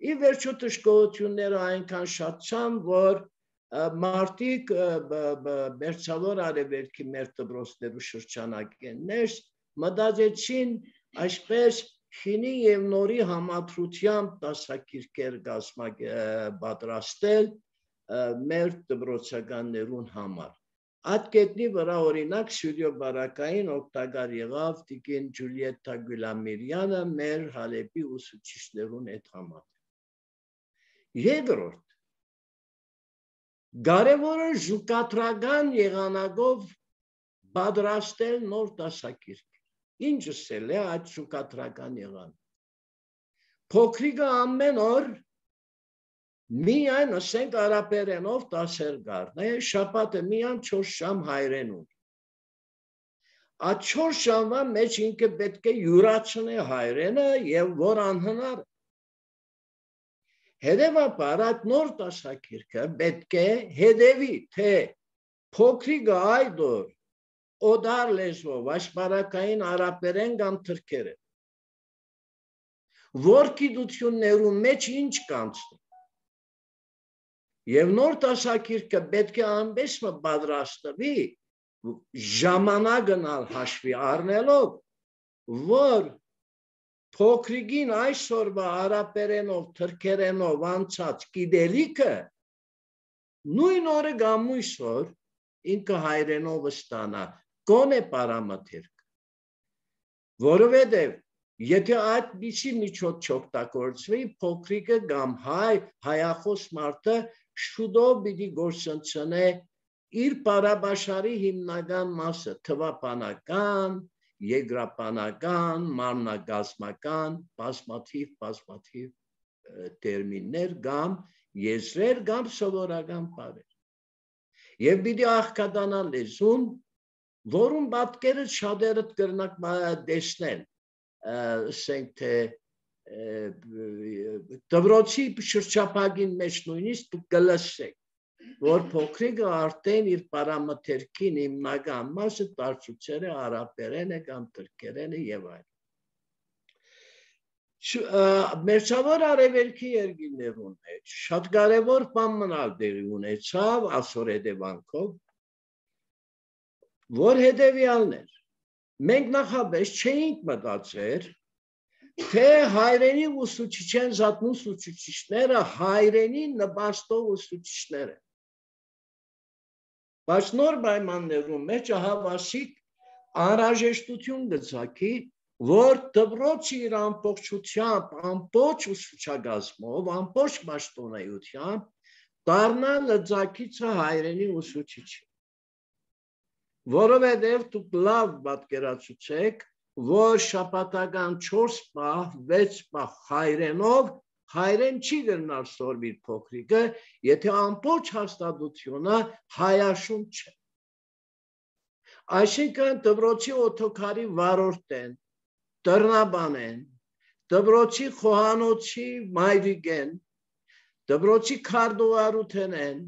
ի վերջո թշկողությունները այնքան շատցան, որ մարդիկ մերձավոր արևելքի մեր դպրոցներու շրջանակներս մտածեցին այսպես խինի եւ նորի համադրությամբ դասակիրքեր պատրաստել մեր դպրոցականներուն համար։ Այդ կետնի վրա օրինակ Սյուրյո բարակային օգտակար եղավ տիկին Ջուլիետտա Գուլամիրյանը մեր Հալեպի ուսուցիչներուն հետ համատեղ։ Երկրորդ Կարևորը զուգակատրական եղանակով պատրաստել նոր դասակիրք։ Ինչս էլ է այդ զուգակատրական եղանակ։ Փոքրիկը ամեն օր միայն ասենք արաբերենով դասեր կառնե, շաբաթը միայն 4 ժամ հայերենով։ Այդ 4 ժամվա մեջ ինքը պետք է յուրացնի հայերենը եւ որ անհնար։ Հետևաբար այդ նոր դասակիրքը պետք է հետևի, թե փոքրիկը այդ օր օդար լեզվով աշխարհակային արաբերեն կամ թրքերեն, որ գիտություններու մեջ ինչ կանցնի։ Եվ նոր դասակիրքը պետք է անպես պատրաստվի ժամանակն հաշվի առնելով, որ փոքրիկին այսօրվա արաբերենով, թրքերենով անցած գիտելիքը նույն օրը գամույս որ ինքը հայրենով ստանա, գոնե պարամաթերք, որովհետև եթե այդպիսի միջոց չօգտագործվի, փոքրիկը կամ հայախոս մարդը շուտով պիտի գործընծնե իր բարաբաշխարի հիմնական մասը թվապանական, եգրապանական, մարմնագազմական, բազմաթիվ տերմիններ կամ եզրեր կամ սովորական բառեր։ Եվ պիտի աղքատանա լեզուն, որում պատկերը շատերը կրնակ տեսնել, ասենք թե դպրոցի շրջափակին մեջ նույնիսկ կլսեք, որ փոքրիկը արդեն իր պարամթերքին հիմնական մասը տարածուցել է արաբերեն է կամ թուրքերեն է եւ այլն։ Մերձավոր արևելքի երկրներում մեջ շատ կարևոր բան մնալ տեղի ունեցավ այսօր հետևանքով, որ հետևյալն էր, մենք նախապես չէինք մտածել, թե հայրենի ուսուցիչեն զատնու ուսուցիչները հայրենի նպաստող ուսուցիչներ են։ Բայց նոր պայմաններում մեջ հավասիկ անհրաժեշտություն գծակի, որ դպրոցը իր ամբողջությամբ, ամբողջ ուսուցչագազմով, ամբողջ պաշտոնայությամբ դառնա լծակիցը հայրենի ուսուցիչը։ Որովհետև դուք լավ պատկերացուցեք, որ շաբաթական 4 պահ, 6 պահ հայրենով հայրեն չի գնալ սորվիր փոքրիկը, եթե ամբողջ հաստատությունը հայաշուն չէ։ Այսինքն դպրոցի օթոքարի վարորդ են, տրնաբան են, դպրոցի խոհանոցի մայրիկ են, դպրոցի քարտուղարութեն են,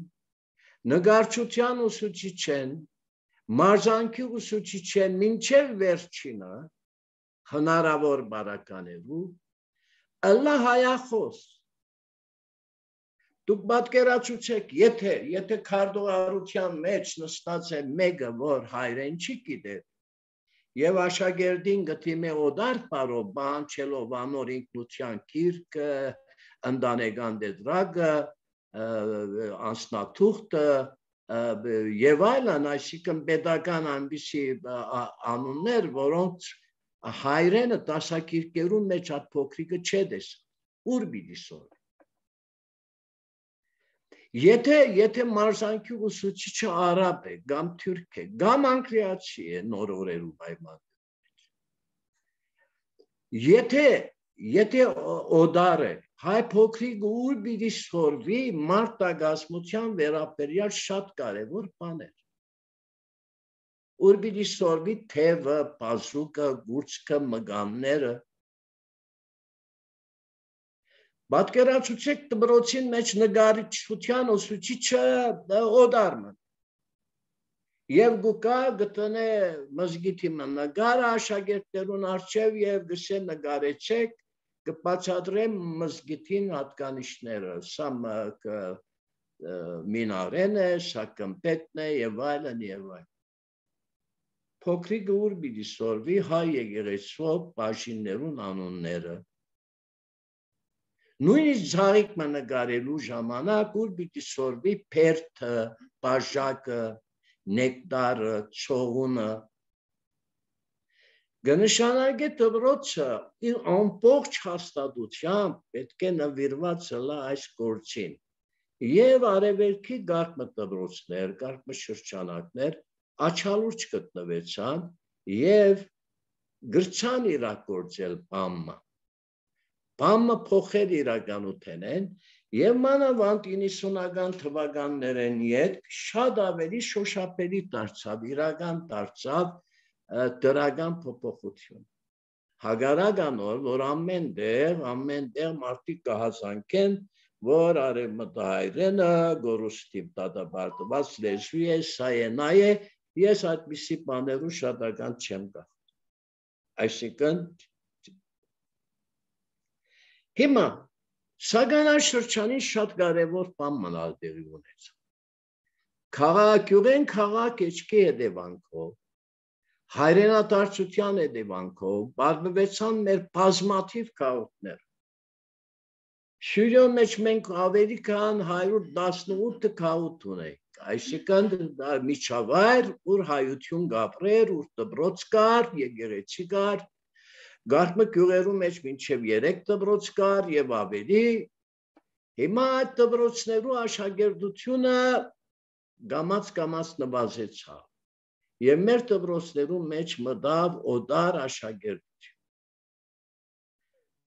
նկարչության ուսուցիչ են, մարզանքի ուսուցիչ են, մինչև վերջինը հնարավոր բարականերու, ըլլա հայախոս։ Դուք պատկերացուցեք, եթե քարտուղարության մեջ նստած է մեկը, որ հայրեն չի գիտեր, եւ աշակերտին գտիմե օդար պարով, բանչելով անոր ինքնության գիրքը, ընտանեկան դեդրագը, անձնաթուղթը եւ այլն, այսինքն պետական այնպիսի անուններ, որոնց հայրենը դասակիրքերում մեջ այդ փոքրիկը չէ տեսա, ուր պիտի սորվի։ Եթե մարզանքի ուսուցիչը արաբ է, կամ թուրք է, կամ անգլիացի է նոր օրերու պայմաններում, եթե օդար է, հայ փոքրիկը ուր պիտի սորվի մարտագազմության վերաբերյալ շատ կարևոր բաներ։ Ուր պիտի սորվի թևը, բազուկը, գուրծքը, մգանները։ Պատկերացուցեք դպրոցին մեջ նկարչության ուսուցիչը օդարմն։ Եվ գուկա գտնե մզգիթի նկարը աշակերտներուն առջև եւ գսե նկարեցեք կբացատրեմ մզգիթին հատկանիշները, սա մինարեն է, սա կմպետն է եւ այլն եւ այլն։ Փոքրիկը ուր պիտի սորվի հայ եկեղեցու բաժիններուն անունները։ Նույնիսկ ցաղիկը նկարելու ժամանակ ուր պիտի սորվի փերթը, բաժակը, նեկտարը, ցողունը։ Գնշանակե դպրոցը իր ամբողջ հաստատությամբ պետք է նվիրված լա այս գործին։ Եվ արևելքի գաղտնի դպրոցներ, գաղտնի շրջանակներ աչալուրջ գտնվեցան եւ գրչան իրագործել բամը։ Բամը փոխել իրականութեն են եւ մանավանդ 90-ական թվականներեն յետ շատ ավելի շոշափելի դարձավ, իրական դարձավ դրական փոփոխություն։ Հագարական որ ամեն տեղ մարդիկ կհասանքեն, որ արևմտահայրենը գորուստիվ դատապարտված լեզու է, սա է, նա է, ես այդպիսի բաներու շատական չեմ գաղթ։ Այսինքն հիմա սագանաշրջանին շատ կարևոր բան մնալ տեղի ունեցավ։ Քաղաքյուղեն քաղաք էջքի հետևանքով, հայրենադարձության հետևանքով բազմվեցան մեր բազմաթիվ քաղաքներ։ Շիրյո մեջ մենք ավելի քան 118 քաղաք ունենք, այսինքն միջավայր, ուր հայություն գապրեր, ուր դպրոց կար, եկեղեցի կար, գաղտնի գյուղերու մեջ մինչև 3 դպրոց կար եւ ավելի, Հիմա այդ դպրոցներու աշակերտությունը գամած նվազեցավ եւ մեր դպրոցներու մեջ մտավ օդար աշակերտություն։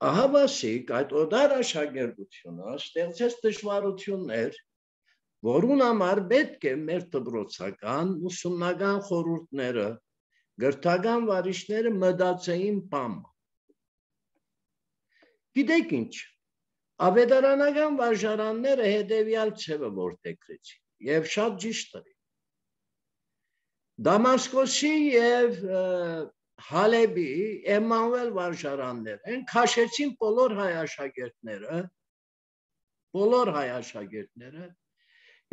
Ահավասիկ այդ օդար աշակերտությունը ստեղծեց դժվարություններ, որուն համար պետք է մեր դպրոցական ուսումնական խորհուրդները, գրթական վարիշները մտածեին բան։ Գիտեք ինչ, ավետարանական վարժարանները հետևյալ ձևը որդեգրեցին եւ շատ ճիշտ էր։ Դամասկոսի եւ Հալեբի Էմանուել վարժարանները քաշեցին բոլոր հայ աշակերտները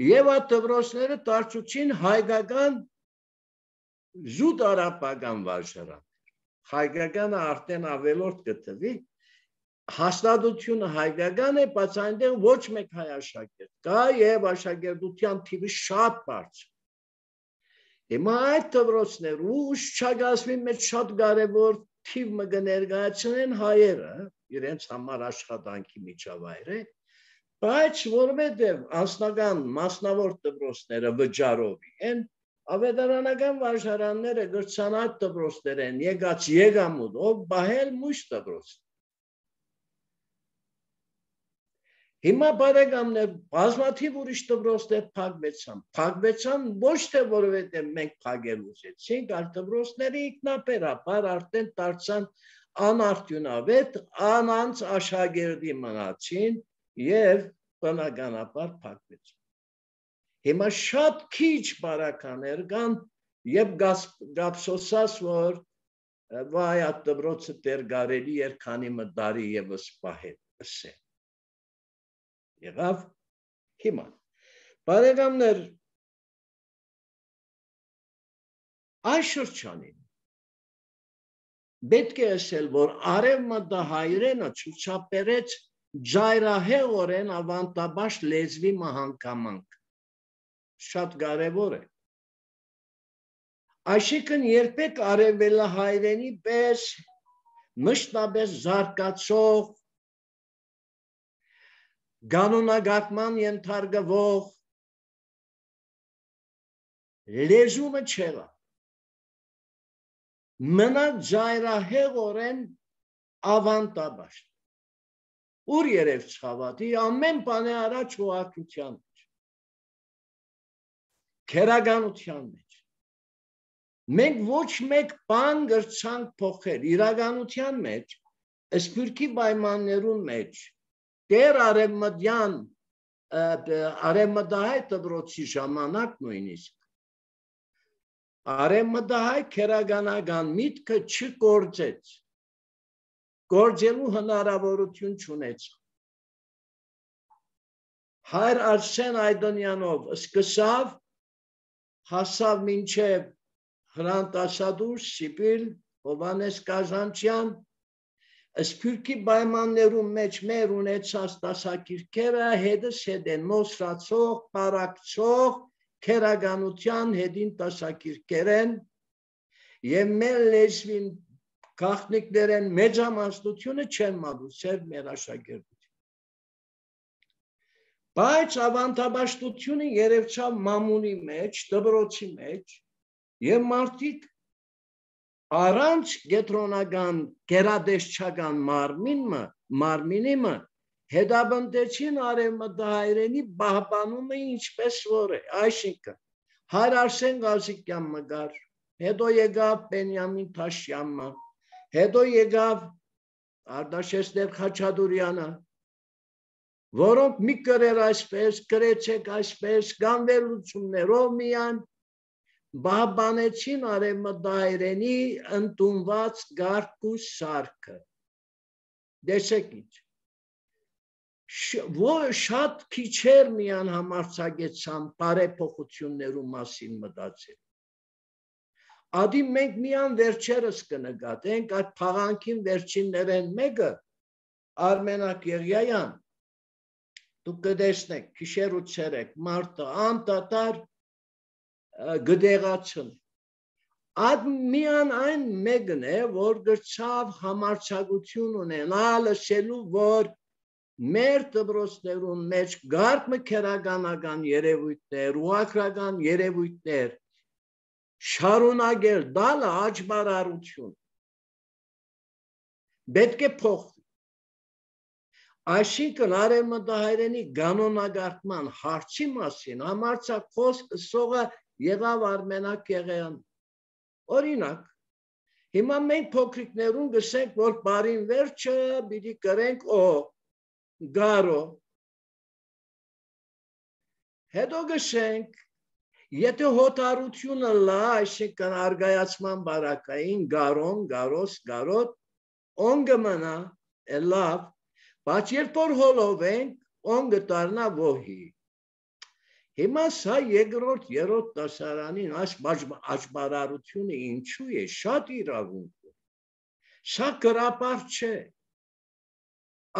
եւ այդ դպրոցները դարձուցին հայկական զուտ արաբական վարժարաններ։ Հայկականը արդեն ավելորդ գտնվի, հաստատությունը հայկական է, բայց այնտեղ ոչ մեկ հայ աշակերտ կա եւ աշակերտության թիվը շատ բարձր։ Հիմա այդ դպրոցներու ուշչագասվի մեջ շատ կարևոր թիվ մը կներկայացնեն հայերը, իրենց համար աշխատանքի միջավայր է, բայց որովհետեւ անձնական մասնավոր դպրոցները վճարովի են, ավետարանական վարժարանները գրցան այդ դպրոցներեն եկած եկամուտով բահել մույս դպրոց։ Հիմա բարեկամներ բազմաթիվ ուրիշ դպրոցներ փակվեցան ոչ թե որովհետև մենք փակել ուզեցինք, այլ դպրոցները ինքնաբերաբար արդեն դարձան անարդյունավետ, անանց աշակերտի մնացին եւ բնականաբար փակվեցին։ Հիմա շատ քիչ բարականեր կան եւ գապսոսած որ վայ այդ դպրոցը դեր գարելի էր քանի մտարի եւս պահել ասե։ Եղավ հիմա բարեկամներ այս շրջանին պետք է ասել որ արևմտահայերենը ցուցաբերեց ջայրահեղորեն ավանդաբաշ լեզվի մահանգամանք շատ կարևոր է այսինքն երբեք արևելահայերենի պես մշտապես զարգացող Գանոնագարկման ենթարկվող լեզումը չեղա։ Մնաց ջայրահեղորեն ավանդաբաշտ։ Ուր երև չխավատի ամեն բան է առաջ հողակության մեջ։ Քերականության մեջ։ Մենք ոչ մեկ բան գրցանք փոխել իրականության մեջ, սփյուռքի պայմաններուն մեջ Դեր արևմտյան արևմտահայ դպրոցի ժամանակ նույնիսկ արևմտահայ քերականական միտքը չգործեց գործելու հնարավորություն չունեց Հայր Արսեն Այդոնյանով սկսավ հասավ մինչև Հրանտ Ասադուր Սիբիլ Հովանես Կազանցյան Սփյուռքի պայմաններում մեջ մեր ունեցած դասակիրքերը հետս հետ են նոսրացող, պարակցող, քերականության հետին դասակիրքեր են եւ մեր լեզվին գաղտնիքներեն մեծամասնությունը չեն մատուցել մեր աշակերտություն։ Բայց ավանդաբաշտությունը երևցավ մամունի մեջ, դպրոցի մեջ եւ մարդիկ Առանց գետրոնական գերադեսչական մարմինիմը հետաբնդեցին արևմտահայերենի պահպանումը ինչպես որ է, այսինքն Հայր Արսեն Ղազիկյան մգար, հետո եկավ Բենյամին Թաշյանը, հետո եկավ Արտաշեսներ Խաչատուրյանը, որոնք մի կրեր այսպես, կրեցեք այսպես, գանվելություններով միան Բահբանեցին արևմտահայերենի ընդունված գարկ ու սարքը։ Դեսեք ինչ։ Շատ քիչեր միան համարձակեցան բարեփոխություններու մասին մտածել։ Ադի մենք միան վերջերս կնկատենք այդ փաղանքին վերջիններեն մեկը Արմենակ Եղիայան դուք կտեսնեք քիշեր ու ցերեկ մարտը անդադար գդեղացն Այդ միան այն մեկն է որ գրցավ համարձակություն ունենալ ասելու որ մեր դպրոցներուն մեջ գարկ քերականական երևույթներ, ուղղակրական երևույթներ շարունակել դալը աճբարարություն պետք է փոխվի Այսինքն արևմտահայերենի կանոնագործման հարցի մասին համարձակ խոսքը սողը եղավ Արմենակ Եղեյան օրինակ հիմա մենք փոքրիկներուն գսենք որ բարին վերջը պիտի կրենք գարո հետո գսենք եթե հոտարությունը լա այսինքն արգայացման բարակային գարոն գարոս գարոտ օնգը մնա լավ Բայց երբ որ հոլովենք օնգը դառնա ոհի Հիմա սա երկրորդ երրորդ դասարանին այս աճբարարությունը ինչու է շատ իրավունք Սա գրապար չէ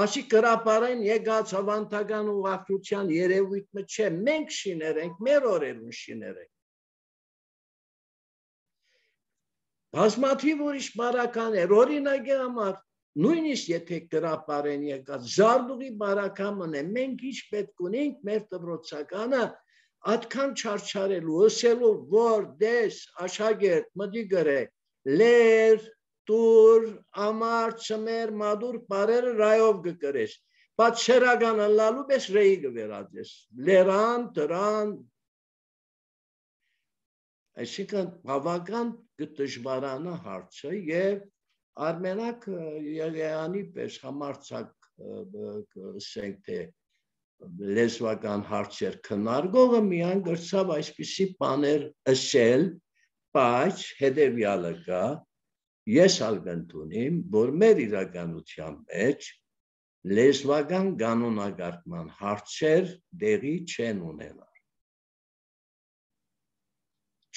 Ասի գրապարեն եկած ավանդական ուղղակցության երևույթը չէ մենք շիներենք մեր օրերուն շիներենք Բազմաթիվ ուրիշ բարականեր օրինակի համար Նույնիսկ եթե գրապարեն եկած զարդուղի բարակամն է մենք ինչ պետք ունենք մեր դպրոցականը Այդքան չարչարելու ըսելու որ դես աշակերտ մտի գրե լեր տուր ամար ծմեր մադուր բարերը ռայով գկրես բայց շերագանը լալու պես ռեի գվերածես լերան տրան այսինքն բավական դժվարանա հարցը եւ Արմենակ Եղեյանի պես համարձակ ասենք թե լեզվական հարցեր քննարկողը միայն գրծավ այսպիսի բաներ ասել, բայց հետևյալը կա, ես ալգընտունիմ, որ մեր իրականության մեջ լեզվական կանոնագործման հարցեր դեղի չեն ունենալ։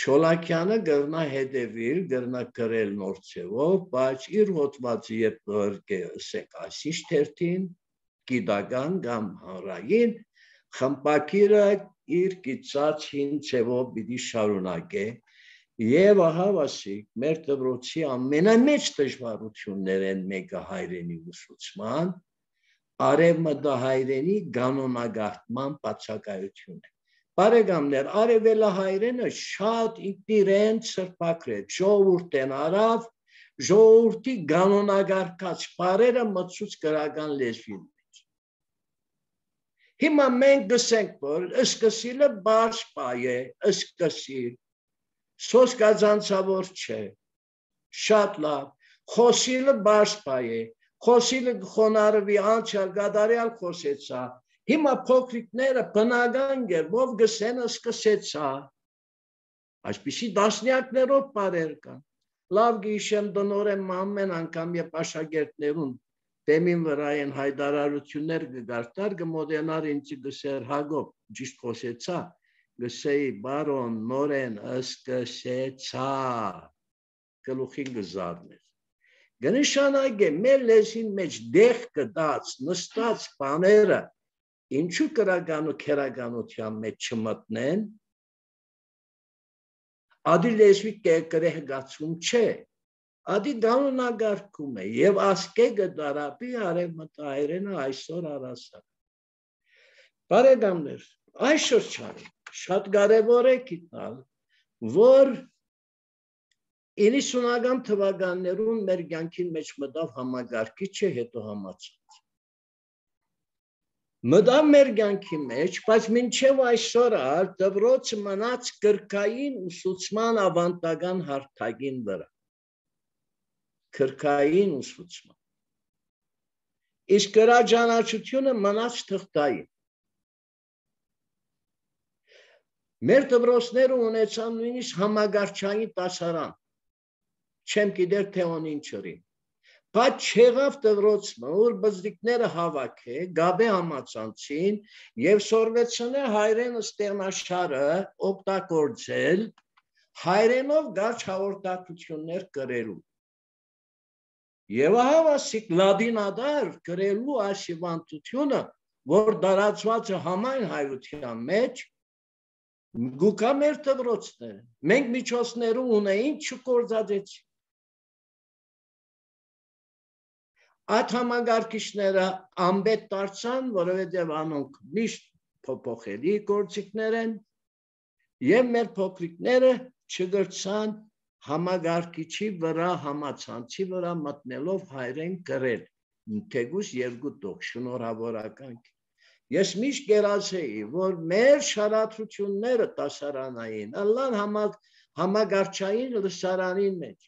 Չոլակյանը գրնա հետևիլ, գրնա գրել նոր ձևով, բայց իր հոդվածը երբ ասենք այսիշ թերթին, գիտական կամ հանրային, խմբակիրը իր գիծած հին ձևով պիտի շարունակե եւ ահավասիկ մեր դպրոցի ամենամեծ դժվարություններ են մեկը հայրենի ուսուցման, արևմտահայերենի կանոնագործման բացակայությունն է։ Բարեկամներ, արևելահայերենը շատ իրեն սրբակրեց, ժողովուրդն արավ, ժողովրդի կանոնագործած բառերը մտցուց գրական լեզվի մեջ։ Հիմա մենք գսենք, որ ըսկսիլը բարձ բայ է, ըսկսիլ, սոսկազանցավոր չէ, շատ լավ, խոսիլը բարձ բայ է, խոսիլը խոնարհվի անցյալ գադարյալ խոսեցա, Հիմա փոքրիկները բնական գերբով գսեն սկսեցա Այսպիսի դասնյակներով բարեր կան Լավ գիշեմ դնորեն ամեն անգամ երբ աշակերտներուն դեմին վրա են հայտարարություններ կգարտար կմոտենար ինձ գսեր Հակոբ ճիշտ խոսեցա գսեի բարոն նորեն սկսեցա գլուխին գզարներ Գնշանագե մեր լեզին մեջ դեղ կդած նստած բաները Ինչու կրական ու քերականության մեջ չմտնեն, ադի լեզվի կերգացում չէ, ադի կանոնագործում է եւ ասկե գդարապի արևմտահայերենը այսօր առասար։ Բարեկամներ, այս շրջանը շատ կարևոր է գտնել, որ 90-ական թվականներուն մեր կյանքին մեջ մտավ համագարկիչը հետո համացած։ Մտավ մեր կյանքի մեջ, բայց մինչև այսօր դպրոցը մնաց կրկային ուսուցման ավանդական հարթակին վրա։ Կրկային ուսուցման։ Իսկ գրաճանաչությունը մնաց թղթային։ Մեր դպրոցները ունեցան նույնիսկ համագարչային դասարան։ Չեմ գիտեր թե ոնին չրի։ Բայց չեղավ դպրոցը, որ բզրիկները հավաքը, գաբե համացանցին եւ սորվեցնե հայրեն ստեղնաշարը օգտագործել հայրենով գարչ հաղորդակցություններ կրելու։ Եվ հավասիկ լադինադար կրելու այս հիվանդությունը, որ դարածված է համայն հայության մեջ, գուկա մեր դպրոցները։ Մենք միջոցներում ունեինք չկործածեցինք։ Այդ համագարկիչները անբետ դարձան, որովհետև անոնք միշտ փոփոխելի գործիքներ են, եւ մեր փոքրիկները չգրցան համագարկիչի վրա, համացանցի վրա մտնելով հայրեն գրել, թեգուս երկու տող, շնորհավորական։ Ես միշտ գերացեի, որ մեր շարադրությունները դասարանային, ըլլան համագարչային լսարանին մեջ,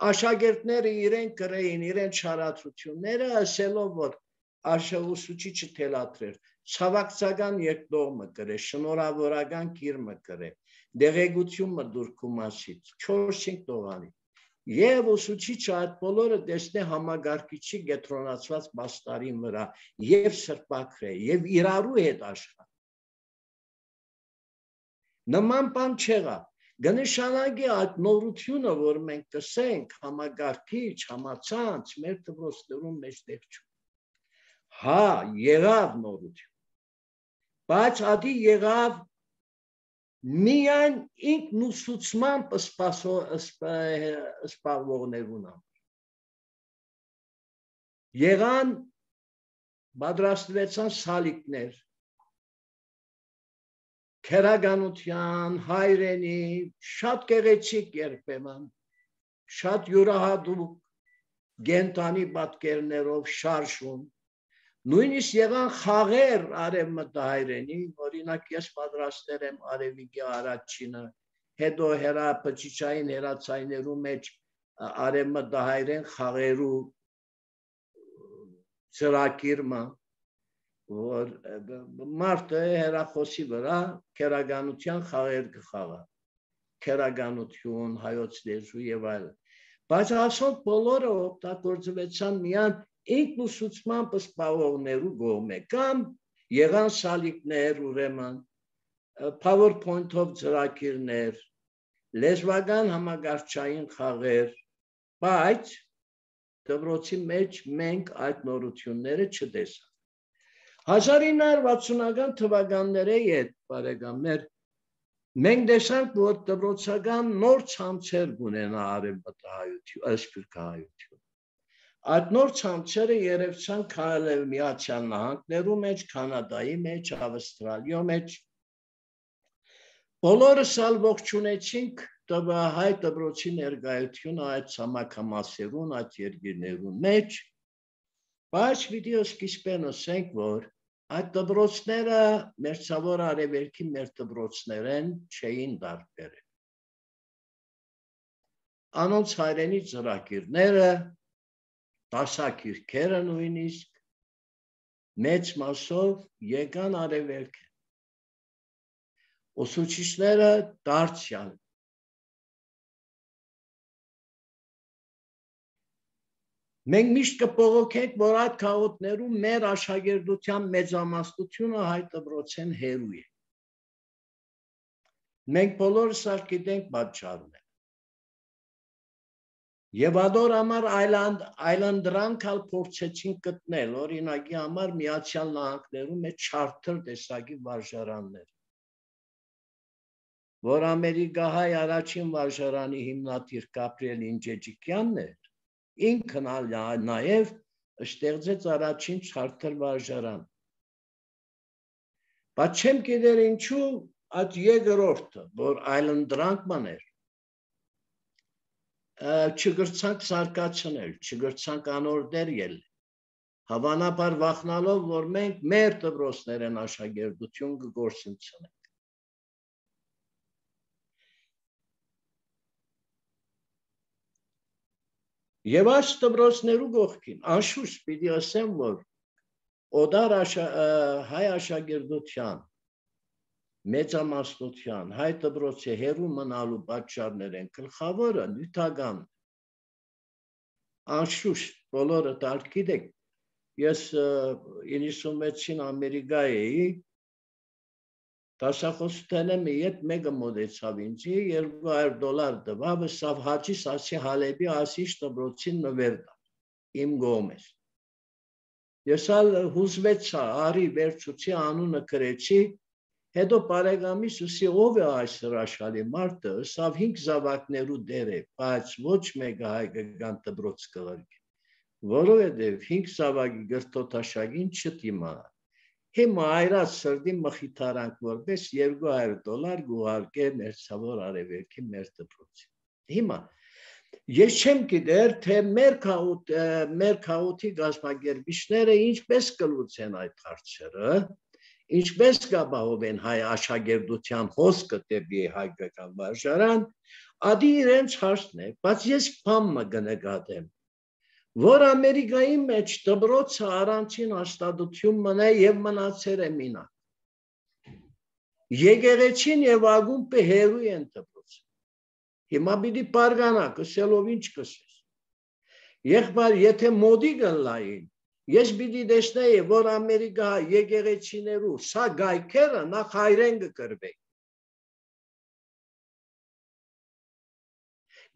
աշակերտները իրեն գրեին, իրեն շարադրությունները, ասելով, որ ուսուցիչը թելադրեր, ցավակցական երկդողմը գրե, շնորհավորական կիրմը գրե, դեղեցումը դուրքու մասից, 4-5 տողանի։ Եվ ուսուցիչը այդ բոլորը տեսնե համագարկիչի գետրոնացված բաստարին վրա եւ սրբակրե եւ իրարու հետ աշխատ։ Նման բան չեղավ։ Գնշանակի այդ նորությունը, որ մենք տեսենք համագարկիչ, համացանց, մեր դպրոցներում մեջտեղ չու։ Հա, եղավ նորություն, բայց ադի եղավ միայն ինքնուսուցմամբ սպասվողներուն եղան պատրաստվեցան սալիկներ, քերականության, հայրենի, շատ գեղեցիկ երբեմն, շատ յուրահատուկ գենտանի պատկերներով շարժում, նույնիսկ եղան խաղեր արևմտահայրենի, օրինակ ես պատրաստել եմ արևիկի առաջինը, հետո բջիջային հերացայներու մեջ արևմտահայրեն խաղերու ծրագիրը, որ մարդը հերախոսի վրա քերականության խաղեր կխաղա, քերականություն, հայոց լեզու եւ այլն, բայց ասոնք բոլորը օգտագործվեցան միայն ինքնուսուցմամբ սպասվողներու կողմէ, կամ եղան սալիկներ, ուրեմն PowerPoint-ով ծրագիրներ, լեզվական համագարչային խաղեր, բայց դպրոցի մեջ մենք այդ նորությունները չտեսանք։ 1960-ական թվականների հետ, բարեկամներ, մենք տեսանք, որ դպրոցական նոր ցանցեր կունենա արևմտահայություն, սփյուռքահայություն։ Այդ նոր ցանցերը երևցան Միացյալ Նահանգներու մեջ, Կանադայի մեջ, Ավստրալիա մեջ։ Բոլորս ալ ողջունեցինք հայ դպրոցի ներկայությունը այդ ցամաքամասերուն, այդ երկիրներուն մեջ, բայց պիտի սկիզբեն ասենք, որ այդ դպրոցները մերձավոր արևելքի մեր դպրոցներեն չէին տարբերել։ Անոնց հայրենի ծրագիրները, դասագիրքերը նույնիսկ մեծ մասով եկան արևելք։ Ուսուցիչները դարձյալ մենք միշտ կբողոքենք, որ այդ քաղաքներում մեր աշակերտության մեծամասնությունը հայ դպրոցեն հերու է։ Մենք բոլորս գիտենք պատճառները։ Եվ ադոր համար այլանդրանքալ փորձեցին գտնել, օրինակի համար Միացյալ Նահանգներում է չարթր տեսակի վարժարաններ, որ ամերիկահայ առաջին վարժարանի հիմնադիր Գաբրիել Ինջեջիկյանն էր, ինքն նաև ստեղծեց առաջին չարթր վարժարան։ Բայց չեմ գիտեր ինչու այդ երկրորդը, որ այլանդրանքման էր, չգրցանք սարկացնել, չգրցանք անորդեր ելնել, հավանաբար վախնալով, որ մենք մեր դպրոցներեն աշակերտություն կգործընծնենք։ Եվ այս դպրոցներու կողքին, անշուշտ պիտի ասեմ, որ օդար հայ աշակերտության, մեծամասնության, հայ դպրոցի հերու մնալու պատճառներ են գլխավորը նյութական։ Անշուշտ բոլորը դարք գիտեք, ես 96-ին Ամերիկա էի, դասախոսութենեմ իդ մեկը մոտեցավ ինձի, $200 տվավ, սավ Հաջի Սասի Հալեբի ասիշ դպրոցին նվեր տար, իմ կողմից։ Ես ալ հուզվեցա, արի վերցուցի անունը գրեցի, հետո բարեկամիս ուսի ով է այս հրաշալի մարդը, սավ 5 զավակներու դեր է, բայց ոչ մեկը հայկական դպրոց կղրկի, որովհետև 5 սավագի գրտոթաշագին չտիմա։ Հիմա այրած սրդի մխիթարանք որպես $200 գուհարկե մերձավոր արևելքի մեր դպրոցին։ Հիմա ես չեմ գիտեր, թե մեր քաղաքի գազագերբիչները ինչպես կլուծեն այդ հարցերը, ինչպես կապահովեն հայ աշակերտության հոսքը դեպի հայկական վարժարան, ադի իրենց հարցն է, բայց ես բամը կնկատեմ, որ Ամերիկայի մեջ դպրոցը առանցին հաստատություն մնա եւ մնացել է մինակ։ Եկեղեցին եւ ակումբը հերու են դպրոցը։ Հիմա պիտի բարգանա, կսելով ինչ կսես։ Եղբայր, եթե մոդի գնլային, ես պիտի տեսնեի, որ Ամերիկա եկեղեցիներու սա գայքերը նախ հայրեն կկրվեի։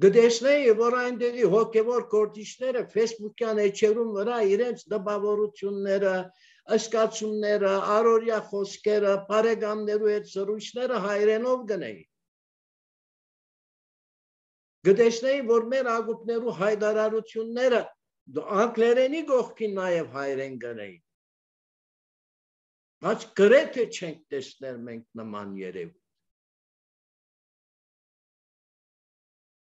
Գտեսնեի, որ այնտեղի հոգևոր գործիչները Facebook-յան էջերում վրա իրենց դպավորությունները, ըսկացումները, առօրյա խոսքերը, բարեկամներու հետ զրույցները հայրենով գնեի։ Գտեսնեի, որ մեր ակումբներու հայտարարությունները անգլերենի կողքին նաև հայրեն գնեի։ Բայց գրեթե չենք տեսնել մենք նման երևույթ։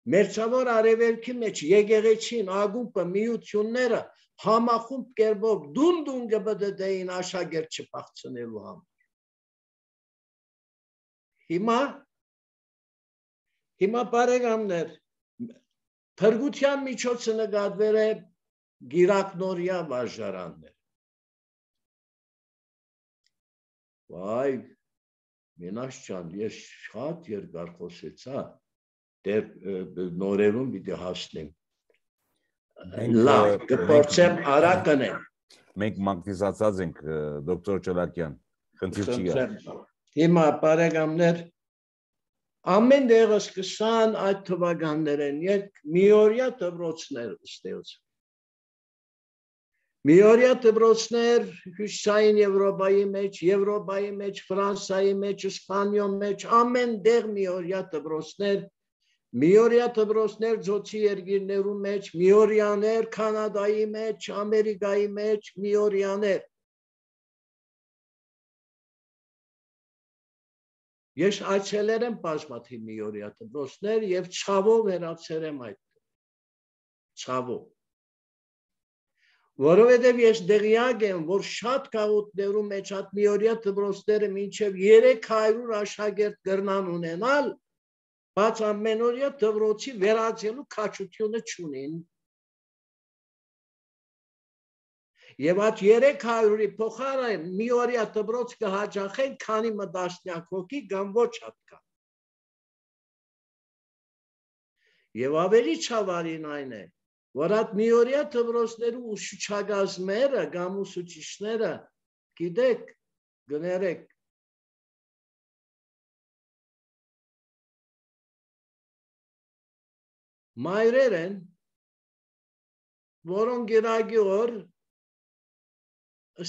Մերձավոր արևելքի մեջ եկեղեցին, ակումբը, միությունները համախումբ կերպով դուն կբդդեին աշակերտ չփախցնելու համար։ Հիմա բարեկամներ, փրկության միջոցը նկատվել է գիրակնորյա վարժարաններ։ Վայ, մենաշ ջան, ես շատ երկար խոսեցա, դեր նորերում պիտի հասնեմ։ Լավ, կփորձեմ արագ անեմ։ Մենք մակտիզացած ենք դոկտոր Ճոլակյան, խնդիր չի գա։ Հիմա բարեկամներ, ամեն դեղս կսան այդ թվականներեն միօրյա դպրոցներ ստեղծվեն։ Միօրյա դպրոցներ Հյուսիսային Եվրոպայի մեջ, Ֆրանսիայի մեջ, Իսպանիայի մեջ, ամեն դեղ միօրյա դպրոցներ, ձոցի երկիրներու մեջ, միօրյաներ, Կանադայի մեջ, Ամերիկայի մեջ, միօրյաներ։ Ես այցելել եմ բազմաթիվ միօրյա դպրոցներ եւ ցավով վերացել եմ այդ։ Ցավով։ Որովհետև ես դեղյակ եմ, որ շատ քաղաքներու մեջ այդ միօրյա դպրոցները մինչև 300 աշակերտ կրնան ունենալ, բայց ամենօրյա դպրոցի վերածելու քաջությունը չունին։ Եվ այդ 300-ի փոխարեն միօրյա դպրոց կհաջախեն, քանի մտածնյակ հոգի կամ ոչ հատկա։ Եվ ավելի ցավալին այն է, որ այդ միօրյա դպրոցներու ուսուցչագազմերը կամ ուսուցիչները, գիտեք, գներեք, մայրեր են, որոնք գիրագի օր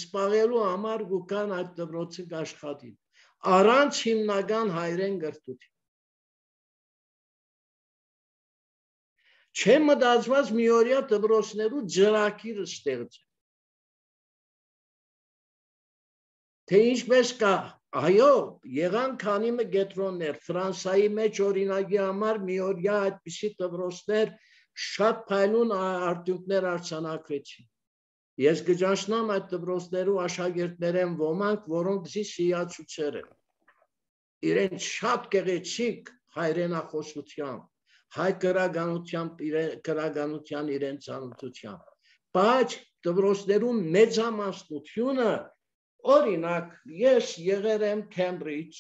սպաղելու համար գուկան այդ դպրոցը կաշխատին, առանց հիմնական հայրեն գրտություն։ Չեմ մտածված միօրյա դպրոցներու ջրակիրը ստեղծել։ Թե ինչպես կա, այո, եղան քանի կենտրոններ, Ֆրանսիայի մեջ օրինակի համար միօրյա այդպիսի դպրոցներ շատ փայլուն արդյունքներ արձանագրեցին։ Ես կճանչնամ այդ դպրոցներու աշակերտներեն ոմանք, որոնք սիացուցեր են։ Իրենց շատ գեղեցիկ հայրենախոսությամբ, հայ գրականության իրենց ծանոթությամբ, բայց դպրոցներու մեծամասնությունը, օրինակ, ես եղել եմ Քեմբրիջ,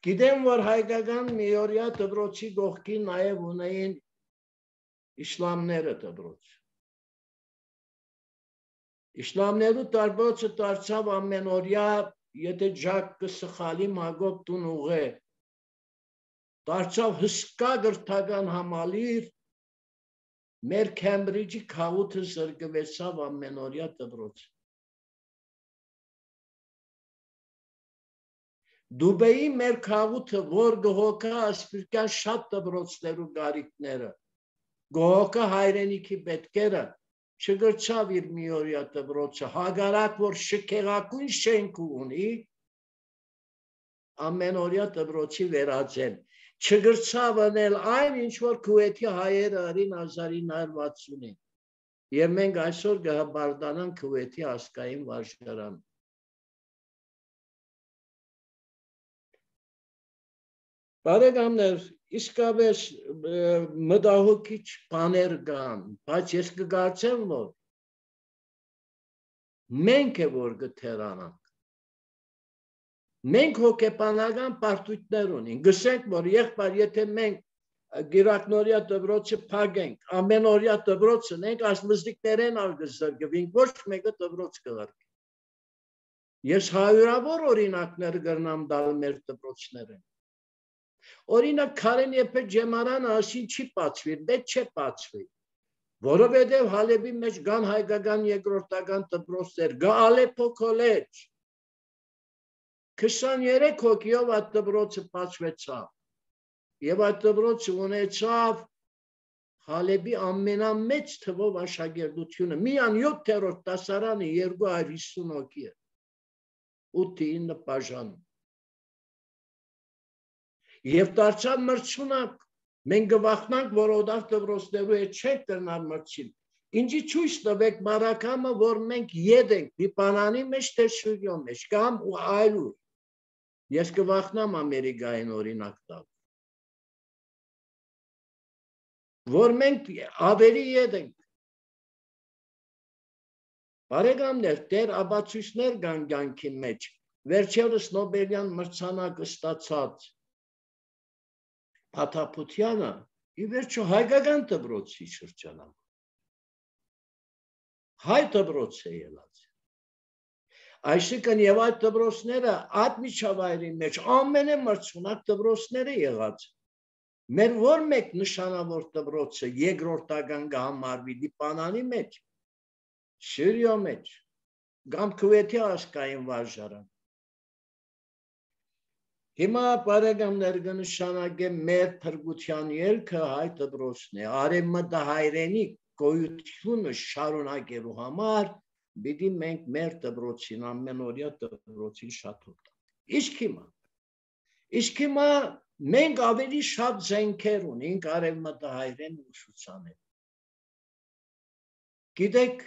գիտեմ, որ հայկական միօրյա դպրոցի կողքին նաև ունեին իսլամները դպրոց։ Իսլամներու դպրոցը դարձավ ամենօրյա, եթե ջակ կսխալի մագոտ տուն ուղե, դարձավ հսկա գրթական համալիր, մեր Քեմբրիջի քաղաքը զրկվեցավ ամենօրյա դպրոց։ Դուբեի մեր քաղաքը, որ գողոքա ասպիրկյան շատ դպրոցներու գարիկները, գողոքը հայրենիքի պետքերը չգրչավ իր միօրյա դպրոցը, հագարակ որ շքեղակույն շենք ունի, ամենօրյա դպրոցի վերածել, չգրչավ անել այն, ինչ որ Քուվեթի հայերը արին 1960-ին, և մենք այսօր գհբարդանանք Քուվեթի ասկային վարժարան։ Բարեկամներ, իսկապես մտահոգիչ բաներ կան, բայց ես կկարծեմ, որ մենք է որ կթերանանք։ Մենք հոգեբանական պարտույտներ ունենք, գսենք, որ եղբայր, եթե մենք գիրակնորյա դպրոցը փակենք, ամենօրյա դպրոցը ենք, այս մզդիկներեն արգզրգվենք, ոչ մեկը դպրոց կղարկի։ Ես հարյուրավոր օրինակներ կրնամ տալ մեր դպրոցները։ Օրինակ Քարեն Եփե ջեմարանը ասին չի բացվի, պետք չէ բացվի, որովհետև Հալեբի մեջ կան հայկական երկրորդական դպրոցներ, կա Ալեփո քոլեջ, 23 հոգիով այդ դպրոցը բացվեցավ, և այդ դպրոցը ունեցավ Հալեբի ամենամեծ թվով աշակերտությունը, միան 7-րդ դասարանը 250 հոգի է, 8-9 բաժանում։ Եվ դարձավ մրցունակ, մենք կվախնանք, որ օդար դպրոցներու հետ չենք կրնալ մրցին, ինչի ցույց տվեք բարակամը, որ մենք յետ ենք մի բանանի մեջ, թե շուրյո մեջ, կամ ու այլուր, ես կվախնամ Ամերիկային օրինակ տալ, որ մենք ավելի յետ ենք։ Բարեկամներ, դեր աբացույցներ կան կյանքի մեջ, վերջերս Նոբելյան մրցանակը ստացած Փաթափությանը ի վերջո հայկական դպրոցի շրջանակ, հայ դպրոց է ելած, այսինքն և այդ դպրոցները այդ միջավայրի մեջ ամենամրցունակ դպրոցները եղած, մեր որ մեկ նշանավոր դպրոցը երկրորդական կհամարվի դիպանանի մեջ, Սյուրիո մեջ, կամ Քուվեթի ասկային վարժարան։ Հիմա բարեկամներ կնշանակեմ մեր փրկության ելքը հայ դպրոցն է, արևմտահայրենի գոյությունը շարունակելու համար պիտի մենք մեր դպրոցին, ամենօրյա դպրոցին շատ օգտվենք։ Իսկ հիմա մենք ավելի շատ զենքեր ունենք արևմտահայերեն ուսուցանել։ Գիտեք,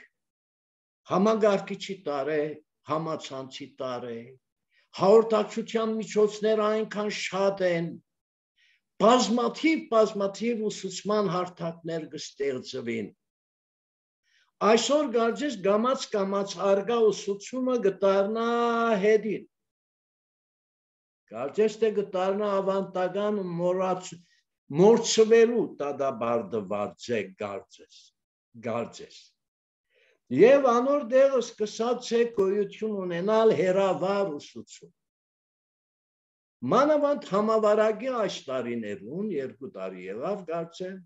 համագարկիչի տարե, համացանցի տարե, հաղորդակցության միջոցները այնքան շատ են, բազմաթիվ ուսուցման հարթակներ կստեղծվին։ Այսօր կարծես կամաց արգա ուսուցումը կդառնա հետին։ Կարծես թե կդառնա ավանդական մորցվելու դադարեցված է կարծես։ Եվ անոր դեղը սկսած է գոյություն ունենալ հեռավար ուսուցում։ Մանավանդ համավարակի այս տարիներուն, 2 տարի եղավ կարծեմ,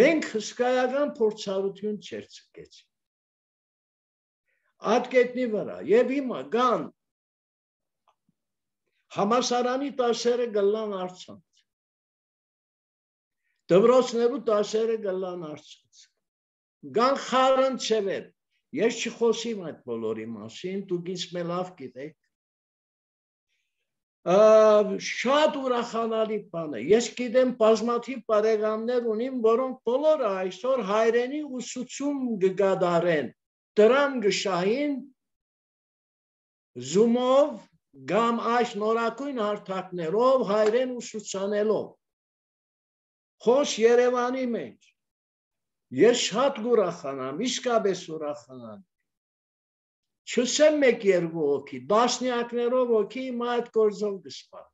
մենք հսկայական փորձառություն չերցկեցինք այդ կետնի վրա, և հիմա կան համալսարանի դասերը կլան առցանց, դպրոցներու դասերը կլան առցանց, կան խառնցևեր, ես չխոսիմ այդ բոլորի մասին, դուք ինձ լավ գիտեք, շատ ուրախանալի բան է, ես գիտեմ բազմաթիվ բարեկամներ ունիմ, որոնք բոլորը այսօր հայրենի ուսուցում կկատարեն, դրամ կշահին Zoom-ով կամ այս նորակույն հարթակներով հայրեն ուսուցանելով, խոս Երևանի մեջ, ես շատ կուրախանամ, իսկապես ուրախանամ, չսեմ 1-2 հոգի, տասնյակներով հոգի հիմա այդ գործով կսպան։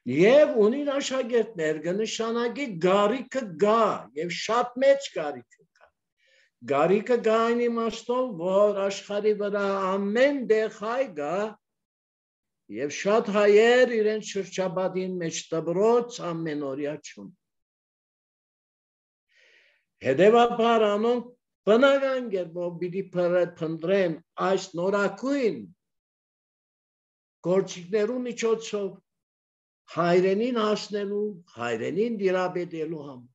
Եվ ունին աշակերտներ կնշանակի գարիքը գա, և շատ մեծ գարիքը կա։ Գարիքը գա այն իմաստով, որ աշխարհի վրա ամեն տեղ հայ կա, և շատ հայեր իրենց շրջապատին մեջ դպրոց ամենօրյա չունեն։ Հետևաբար անոնք բնական կերպով պիտի փնտրեն այս նորակույն գործիքներու միջոցով հայրենին հասնելու, հայրենին դիրապետելու համար։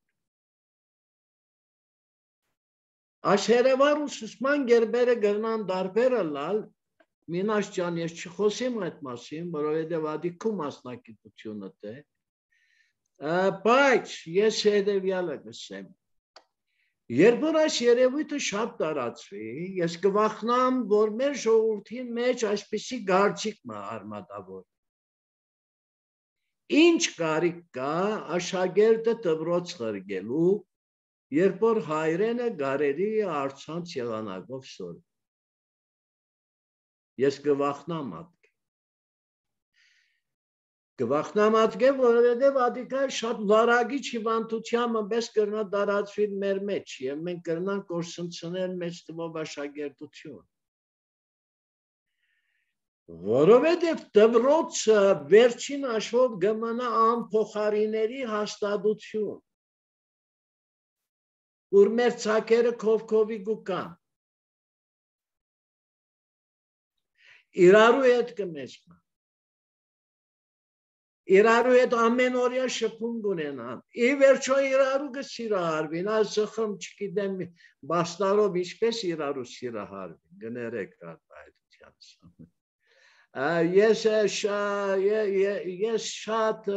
Այս հերևար ուսուցման գերբերը գրնան դարբերը լալ, մինաշ ջան, ես չխոսեմ այդ մասին, որովհետև ադիքու մասնակիտությունը թե, բայց ես հետևյալը կսեմ, երբ որ այս երևույթը շատ տարածվի, ես կվախնամ, որ մեր ժողովրդին մեջ այսպիսի գարցիկ մը արմատավոր։ Ինչ կարիք կա աշակերտը դպրոց խրգելու, երբ որ հայրենը գարերի առցանց եղանակով սոր։ Ես կվախնամ ատկե։ Կվախնամ ատկե, որովհետև ադիկա շատ վարագիչ հիվանդությամբ պես կրնա տարածվի մեր մեջ և մենք կրնանք կորսնցնել մեծ թվով աշակերտություն։ Որովհետև դպրոցը վերջին հաշվով կմնա անփոխարինելի հաստատություն, ուր մեր ցակերը քովքովի գուկան։ Իրարու հետ կմեսմա։ Իրարու հետ ամեն օրյա շփում կունենան։ Ի վերջո իրարու կսիրահարվին, այս խմ չգիտեմ բաստարով ինչպես իրարու սիրահարվին, գներեք Ես շատ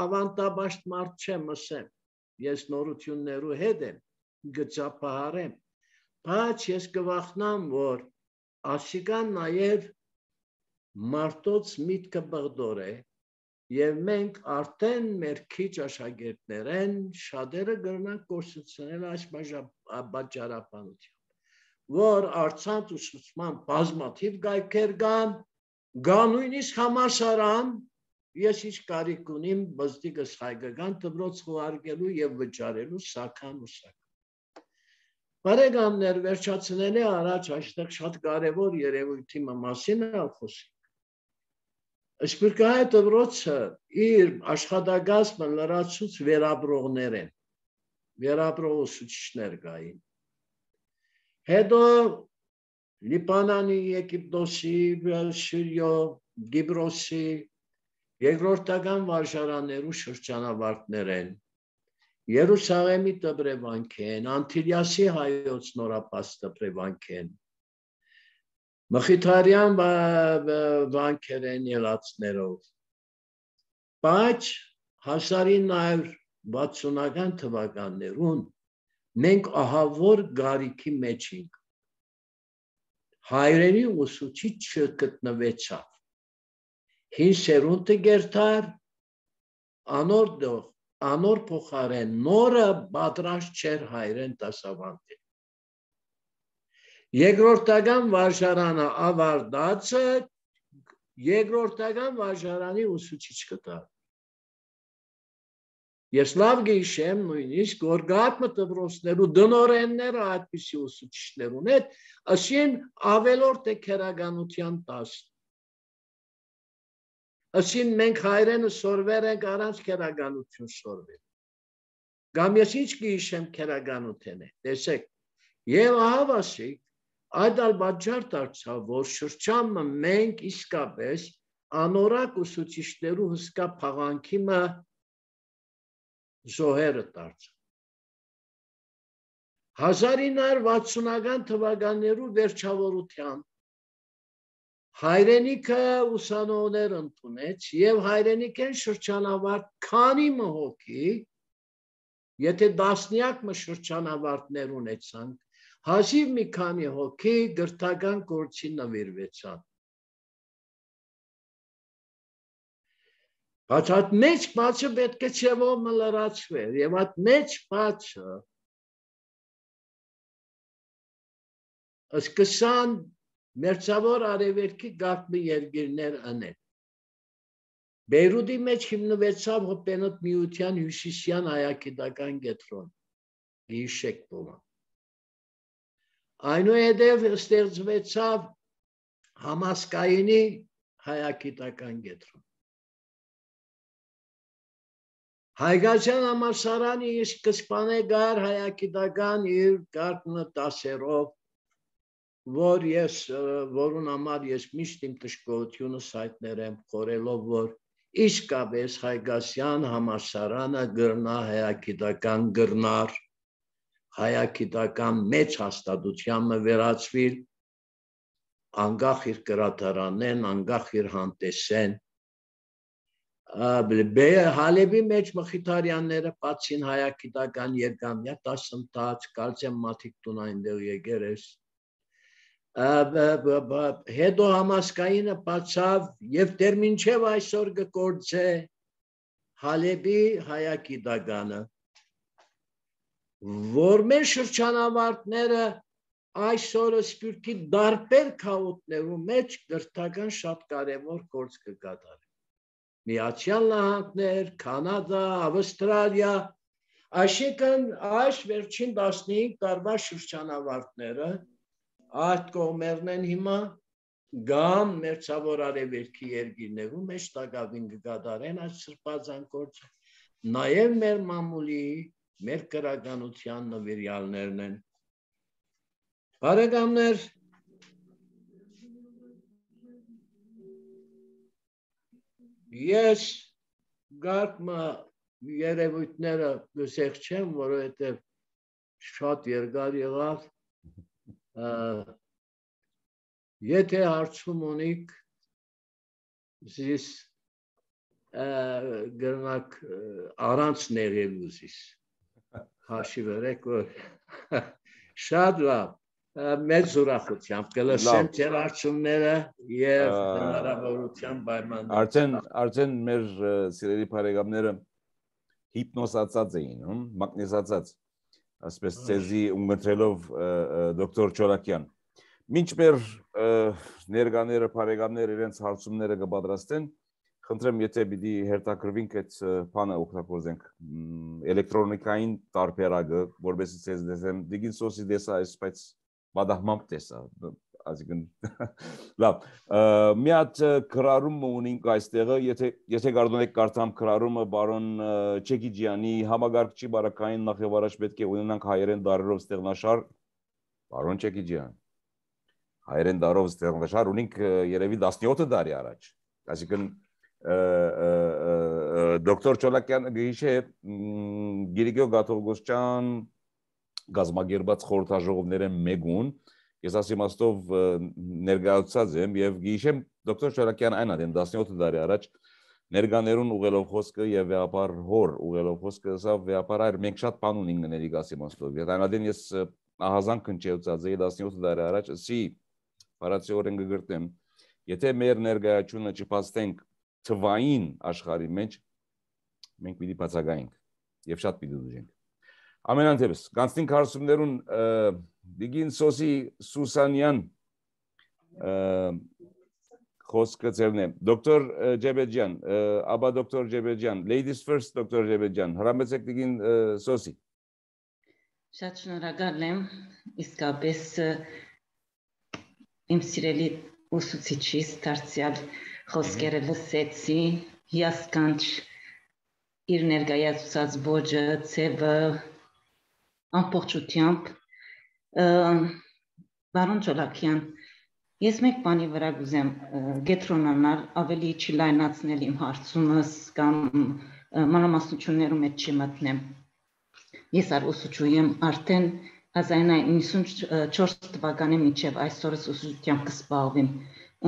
ավանդաբաշտ մարդ չեմ ասեմ, ես նորություններու հետ եմ, գծապահարեմ, բայց ես կվախնամ, որ ասիկան նաև մարդոց միտքը բղդոր է և մենք արդեն մեր քիչ աշակերտներ են շատերը գրնանք կորսուցնել այս բաճարապանությամբ, որ արցանց ուսուցման բազմաթիվ գայքեր կան, նույնիսկ համալսարան, ես ինչ կարիք ունիմ բզդիկս հայկական դպրոց խոհարկելու և վճարելու սաքան ու սաքան։ Բարեկամներ, վերջացնելի առաջ այստեղ շատ կարևոր երևույթի մասին խոսենք։ Սփյուռքահայ դպրոցը իր աշխատակազմը լրացուց վերապրողներ են, վերապրող ուսուցիչներ կային։ Հետո Լիբանանի, Եգիպտոսի, Սիրիո, Գիբրոսի երկրորդական վարժարաններու շրջանավարտներ են, Երուսաղեմի տպրևանք են, Անտիլիասի հայոց նորապաց տպրևանք են, Մխիթարյան վանքեր են ելացներով, բայց 1960-ական թվականներուն մենք ահավոր գարիքի մեջ ենք, հայրենի ուսուցիչ չգտնվեցավ, հին սերունդը գերտար, անոր փոխարեն նորը պատրաստ չէր հայրեն դասավանդել։ Երկրորդական վարժարանը ավարտածը երկրորդական վարժարանի ուսուցիչ կտար։ Ես լավ գիշեմ նույնիսկ, որ գատնը դպրոցներու դնորենները այդպիսի ուսուցիչներուն հետ, ասին ավելորդ է քերականության տաս։ Ասին մենք հայրենը սորվեր ենք առանց քերականություն սորվել։ Կամ ես ինչ գիշեմ քերականություն է, տեսեք, և ահավասիկ, այդ ալ պատճառ դարձավ, որ շրջանը մենք իսկապես անորակ ուսուցիչներու հսկա փաղանքի մը զոհերը դարձավ։ 1960-ական թվականներու վերջավորության հայրենիքը ուսանողներ ընդունեց և հայրենիքեն շրջանավարտ քանի մհոգի, եթե դասնյակ մը շրջանավարտներ ունեցանք, հազիվ մի քանի հոգի գրթական գործի նվիրվեցան։ Բայց այդ մեծ բացը պետք է չևով մը լրացվեր և այդ մեծ բացը սկսան մերձավոր արևելքի գաղտնի երկիրներ ընեն։ Բեյրութի մեջ հիմնվեցավ հոպենոտ միության հյուսիսյան հայագիտական կենտրոն, գիշեք բոմա։ Այնուհետև ստեղծվեցավ Համասկայինի հայագիտական կենտրոն։ Հայկական համալսարանի սկզբանե գար հայագիտական իր գաղտնի դասերով, որուն համար ես միշտ իմ տշկողությունը հայտնել եմ, խորելով, որ Իսկապես Հայգասյան համալսարանը գրնա հայագիտական գրնար, հայագիտական մեծ հաստատությանը վերածվիլ, անկախ իր գրադարանեն, անկախ իր հանդեսեն, Հալեբի մեջ Մխիթարյանները պատցին հայագիտական երկամյա դասընթաց, կարծեմ մարդիկ տուն այնտեղ եկել ես, հետո համասկայինը բացավ եւ դեռ մինչև այսօր գործե Հալեբի հայագիտականը, որ մեր շրջանավարտները այսօր սպյուրքի դարբեր քաոթներու մեջ գրթական շատ կարևոր գործ կկատարեն։ Միացյալ Նահանգներ, Կանադա, Ավստրալիա, այսինքն այս վերջին 15 տարվա շրջանավարտները այդ կողմերն են հիմա գամ մերձավոր արևելքի երկիրներում մեջ տակավին կկատարեն այս սրբազան գործը, նաև մեր մամուլի, մեր գրականության նվիրյալներն են։ Բարեկամներ, ես գարկմա երևույթները գսեղ չեմ, որովհետև շատ երկար եղավ, եթե հարցում ունիք, զիս գրնակ առանց նեղելու զիս, հաշի վերեք, որ շատ լավ, մեծ ուրախությամբ կլսեմ ձեր հարցումները և հնարավորության պայմաններ։ Արդեն մեր սիրելի բարեկամները հիպնոսացած էին, մագնիսացած, ասպես ցեզի ունգընտրելով դոկտոր Չոլակյան։ Մինչ մեր ներկաները, բարեկամները իրենց հարցումները կպատրաստեն, խնդրեմ, եթե պիտի հերթակրվենք այդ բանը օգտագործենք էլեկտրոնիկային տարբերակը, որովհետեւ ցեզ դեսեմ, դիգին սոսի դեսա, բայց բադահմամբ տեսա, այսինքն լավ, մի հատ գրառում ունենք այստեղը, եթե կարողանք կարդամ գրառումը բարոն Չեկիջյանի համագարկչի բարակային նախևառաջ պետք է ունենանք հայերեն դարերով ստեղնաշար, բարոն Չեկիջյան, հայերեն դարով ստեղնաշար ունենք երևի 17 տարի առաջ, այսինքն դոկտոր Չոլակյանը գիշե Գիրգիո Գաթողոսյան գազմագերբած խորհրդաժողովները մեկուն, ես ասիմաստով ներկայացած եմ եւ գիշեմ դոկտոր Չոլակյան այն ադեն 17 տարի առաջ ներկաներուն ուղելով խոսքը եւ վեապար հոր ուղելով խոսքը սա վեապար այր մենք շատ բան ունենք ներիկ ասիմաստով եւ այն ադեն ես ահազան քնչեցած էի 17 տարի առաջ սի բարացիորեն գգրտեմ եթե մեր ներկայացումը չփաստենք թվային աշխարհի մեջ մենք պիտի բացակայենք եւ շատ պիտի դժենք ամենանդեպս կանցնենք հարցումներուն Դիգին Սոսի Սուսանյան խոսքը ձերն է դոկտոր Ջեբեջյան աբա դոկտոր Ջեբեջյան ladies first դոկտոր Ջեբեջյան հրամեցեք Դիգին Սոսի Շատ շնորհակալ եմ իսկապես իմ սիրելի ուսուցիչից դարձյալ խոսքերը լսեցի հիասքանչ իր ներկայացուցած ոճը ցևը ամբողջությամբ Բարոն Չոլակյան ես մեկ բանի վրա կուզեմ գետրոնանալ ավելի չլայնացնել իմ հարցումս կամ մանրամասնություններում մեջ չմտնեմ ես ուսուցչու եմ արդեն 1994 թվականի մինչև այսօրս ուսուցչությամբ կզբաղվեմ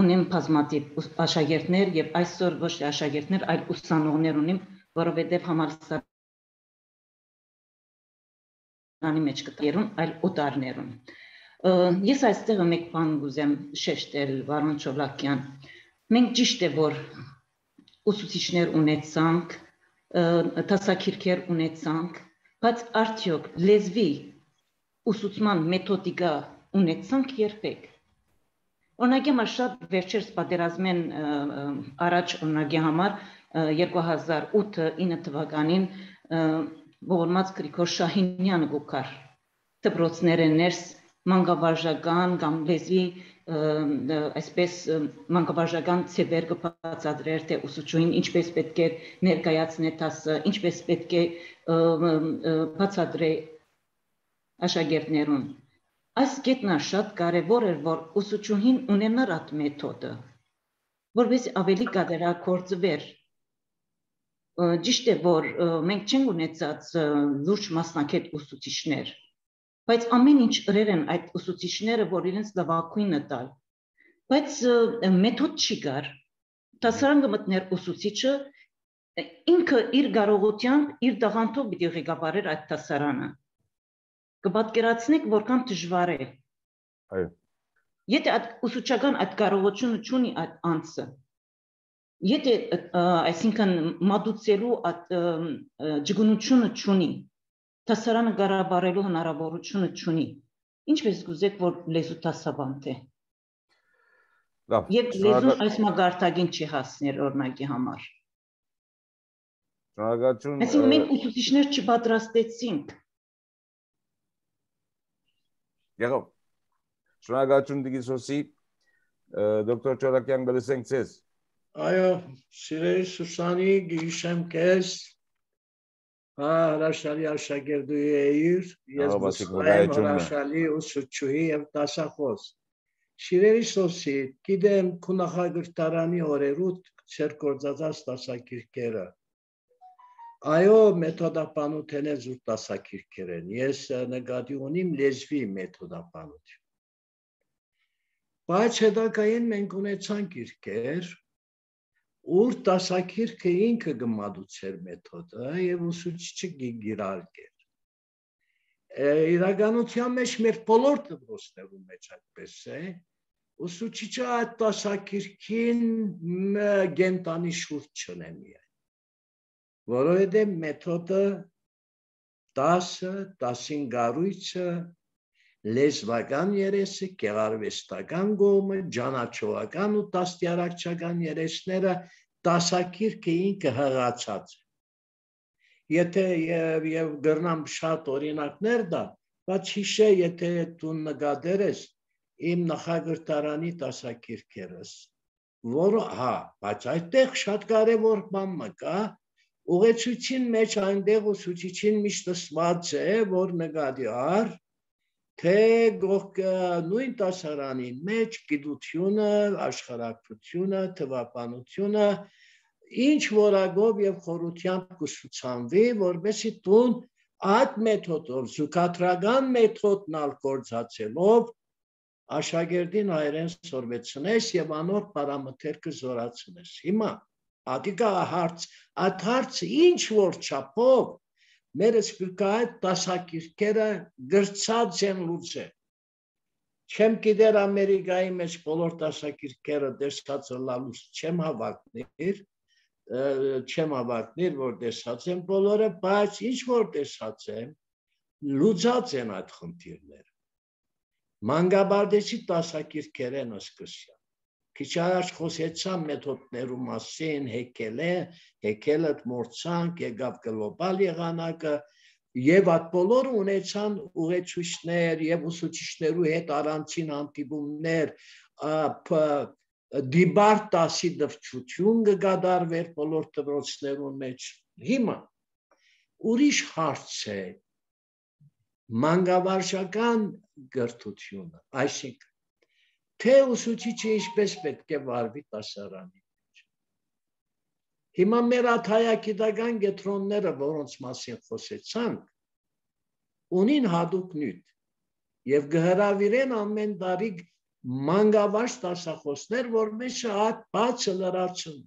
ունեմ բազմաթիվ աշակերտներ եւ այսօր ոչ թե աշակերտներ այլ ուսանողներ ունեմ որովհետեւ համալսարանի մեջ կտերուն այլ օտարներուն ես այստեղ մեկ բան կուզեմ շեշտել Վարոն Չոլակյան մենք ճիշտ է որ ուսուցիչներ ունեցանք դասակիրքեր ունեցանք բայց արդյոք լեզվի ուսուցման մեթոդիկա ունեցանք երբեք օրինակի համար շատ վերջերս պատերազմեն առաջ օրինակի համար 2008-9 թվականին ողորմած Գրիգոր Շահինյանը գուքար դպրոցները ներս մանկավարժական կամ լեզվի այսպես մանկավարժական ցևեր կբացատրեր թե ուսուցչուհին ինչպես պետք է ներկայացնի դասը ինչպես պետք է բացատրի աշակերտներուն այս կետն շատ կարևոր էր որ ուսուցչուհին ունենար այդ մեթոդը որպես ավելի կատարագործվեր Ճիշտ է, որ մենք չենք ունեցած լուրջ մասնակետ ուսուցիչներ, բայց ամեն ինչ ըրեր են այդ ուսուցիչները, որ իրենց լավագույնը տալ, բայց մեթոդ չի կար, դասարան կմտներ ուսուցիչը, ինքը իր կարողությամբ, իր տաղանդով պիտի ղեկավարեր այդ դասարանը, կպատկերացնեք որքան դժվար է, եթե ուսուցչական այդ կարողությունը չունի այդ անձը, եթե այսինքն մատուցելու ջգունությունը չունի, դասարանը կառավարելու հնարավորությունը չունի, ինչպես կուզեք, որ լեզու դասավանդ է։ Եվ լեզուն այս մագարտագին չի հասներ օրինակի համար։ Այսինքն մենք ուսուցիչներ չպատրաստեցինք։ Եղավ։ Շնորհակալություն Դիգիսոսի, դոկտոր Չոլակյան գլսենք ձեզ։ Այո, սիրելի Սուսանի, գիշեմ քեզ։ Հրաշալի աշակերտուհի էիր, ես հրաշալի ուսուցչուհի եւ դասախոս։ Սիրելի Սոսի, գիտեմ քո նախագծարանի օրերուտ ծեր գործածած դասակիրքերը։ Այո, մեթոդապանության զուտ դասակիրքեր են։ Ես նկատի ունիմ լեզվի մեթոդապանություն։ Բայց հետագային մենք ունեցանք իրքեր, ուր դասակիրքը ինքը գմադուցեր մեթոդը եւ ուսուցիչը գիրարկեր։ Իրականության մեջ մեր բոլոր դպրոցներում մեջ այդպես է, ուսուցիչը այդ դասակիրքին գենտանի շուրջ չնե միայն, որովհետեւ մեթոդը դասը, դասին գարույցը, լեզվական երեսը, գեղարվեստական կողմը, ջանաչողական ու դաստիարակչական երեսները դասակիրքը ինքը հղացած է։ Եթե եւ գրնամ շատ օրինակներ դա, բայց հիշե, եթե դու նկատեր ես իմ նախագծարանի դասակիրքերս, որը բայց այդտեղ շատ կարևոր բան կա, ուղեցույցին մեջ այնտեղ ուսուցիչին միշտ ասված է, որ նկատի առ թե նույն դասարանի մեջ գիտությունը, աշխարհակրթությունը, թվաբանությունը ինչ որակով եւ խորությամբ կուսուցանվի, որովհետեւ դու այդ մեթոդով, զուգակցական մեթոդն ալ գործածելով աշակերտին հայերեն սորվեցնես եւ անոր պարամետրը զորացնես։ Հիմա ադիկա այդ հարցը ինչ որ չափով մեր սպիրկայտ դասակիրքերը գրծած են լուծել։ Չեմ գիտեր Ամերիկայի մեջ բոլոր դասակիրքերը դեսած լալուց չեմ հավակնիր, որ դեսած են բոլորը, բայց ինչ որ դեսած են, լուծած են այդ խնդիրները։ Մանկաբարձի դասակիրքերեն սկսյալ։ Քիչ առաջ խոսեցամ մեթոդներու մասին, հեկելը մորցանք, եկավ գլոբալ եղանակը, եւ այդ բոլորը ունեցան ուղեցույցներ եւ ուսուցիչներու հետ առանցին հանդիպումներ, դիբարտ դասի դրդություն կգադարվեր բոլոր դպրոցներուն մեջ։ Հիմա ուրիշ հարց է մանկավարժական գրթությունը, այսինքն թե ուսուցիչը ինչպես պետք է վարվի դասարանի մեջ։ Հիմա մեր հայագիտական կենտրոնները, որոնց մասին խոսեցանք, ունին հատուկ նյութ եւ կհրավիրեն ամեն տարի մանկավարժ դասախոսներ, որպես այդ բացը լրացում։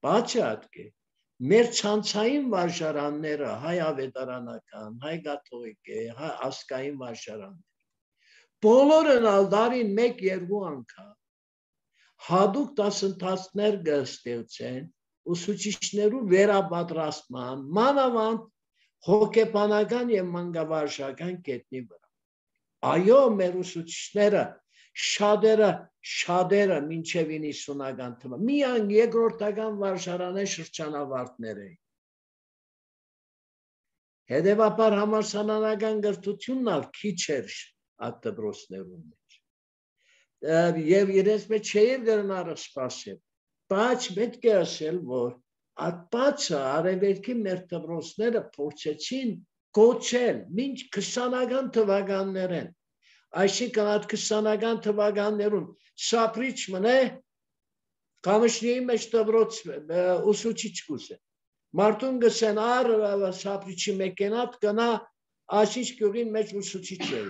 Բացը ատկե մեր ցանցային վարժարանները, հայ ավետարանական, հայ կաթողիկե, հայ ասկային վարժարաններ, բոլորն ալ դարին 1-2 անգամ հատուկ դասընթացներ կստեղծեն ուսուցիչներու վերապատրաստման, մանավանդ հոգեբանական եւ մանկավարժական կետնի վրա։ Այո, մեր ուսուցիչները շատերը մինչև 90-ական թվը միայն երկրորդական վարժարանի շրջանավարտներ էին։ Հետևաբար համալսարանական գրթությունն ալ քիչ էր այդ դպրոցներում մեջ։ Եվ իրենց մեջ չէր դեռնարը սպասել, բայց պետք է ասել, որ այդ բացը արևելքի մեր դպրոցները փորձեցին կոչել մինչ 20-ական թվականներեն, այսինքն այդ 20-ական թվականներուն սապրիչ մնե Կամշնիի մեջ դպրոց ուսուցիչ կուզե, Մարդուն գսեն առ սապրիչի մեքենատ կնա ասիչ գյուղին մեջ ուսուցիչ է։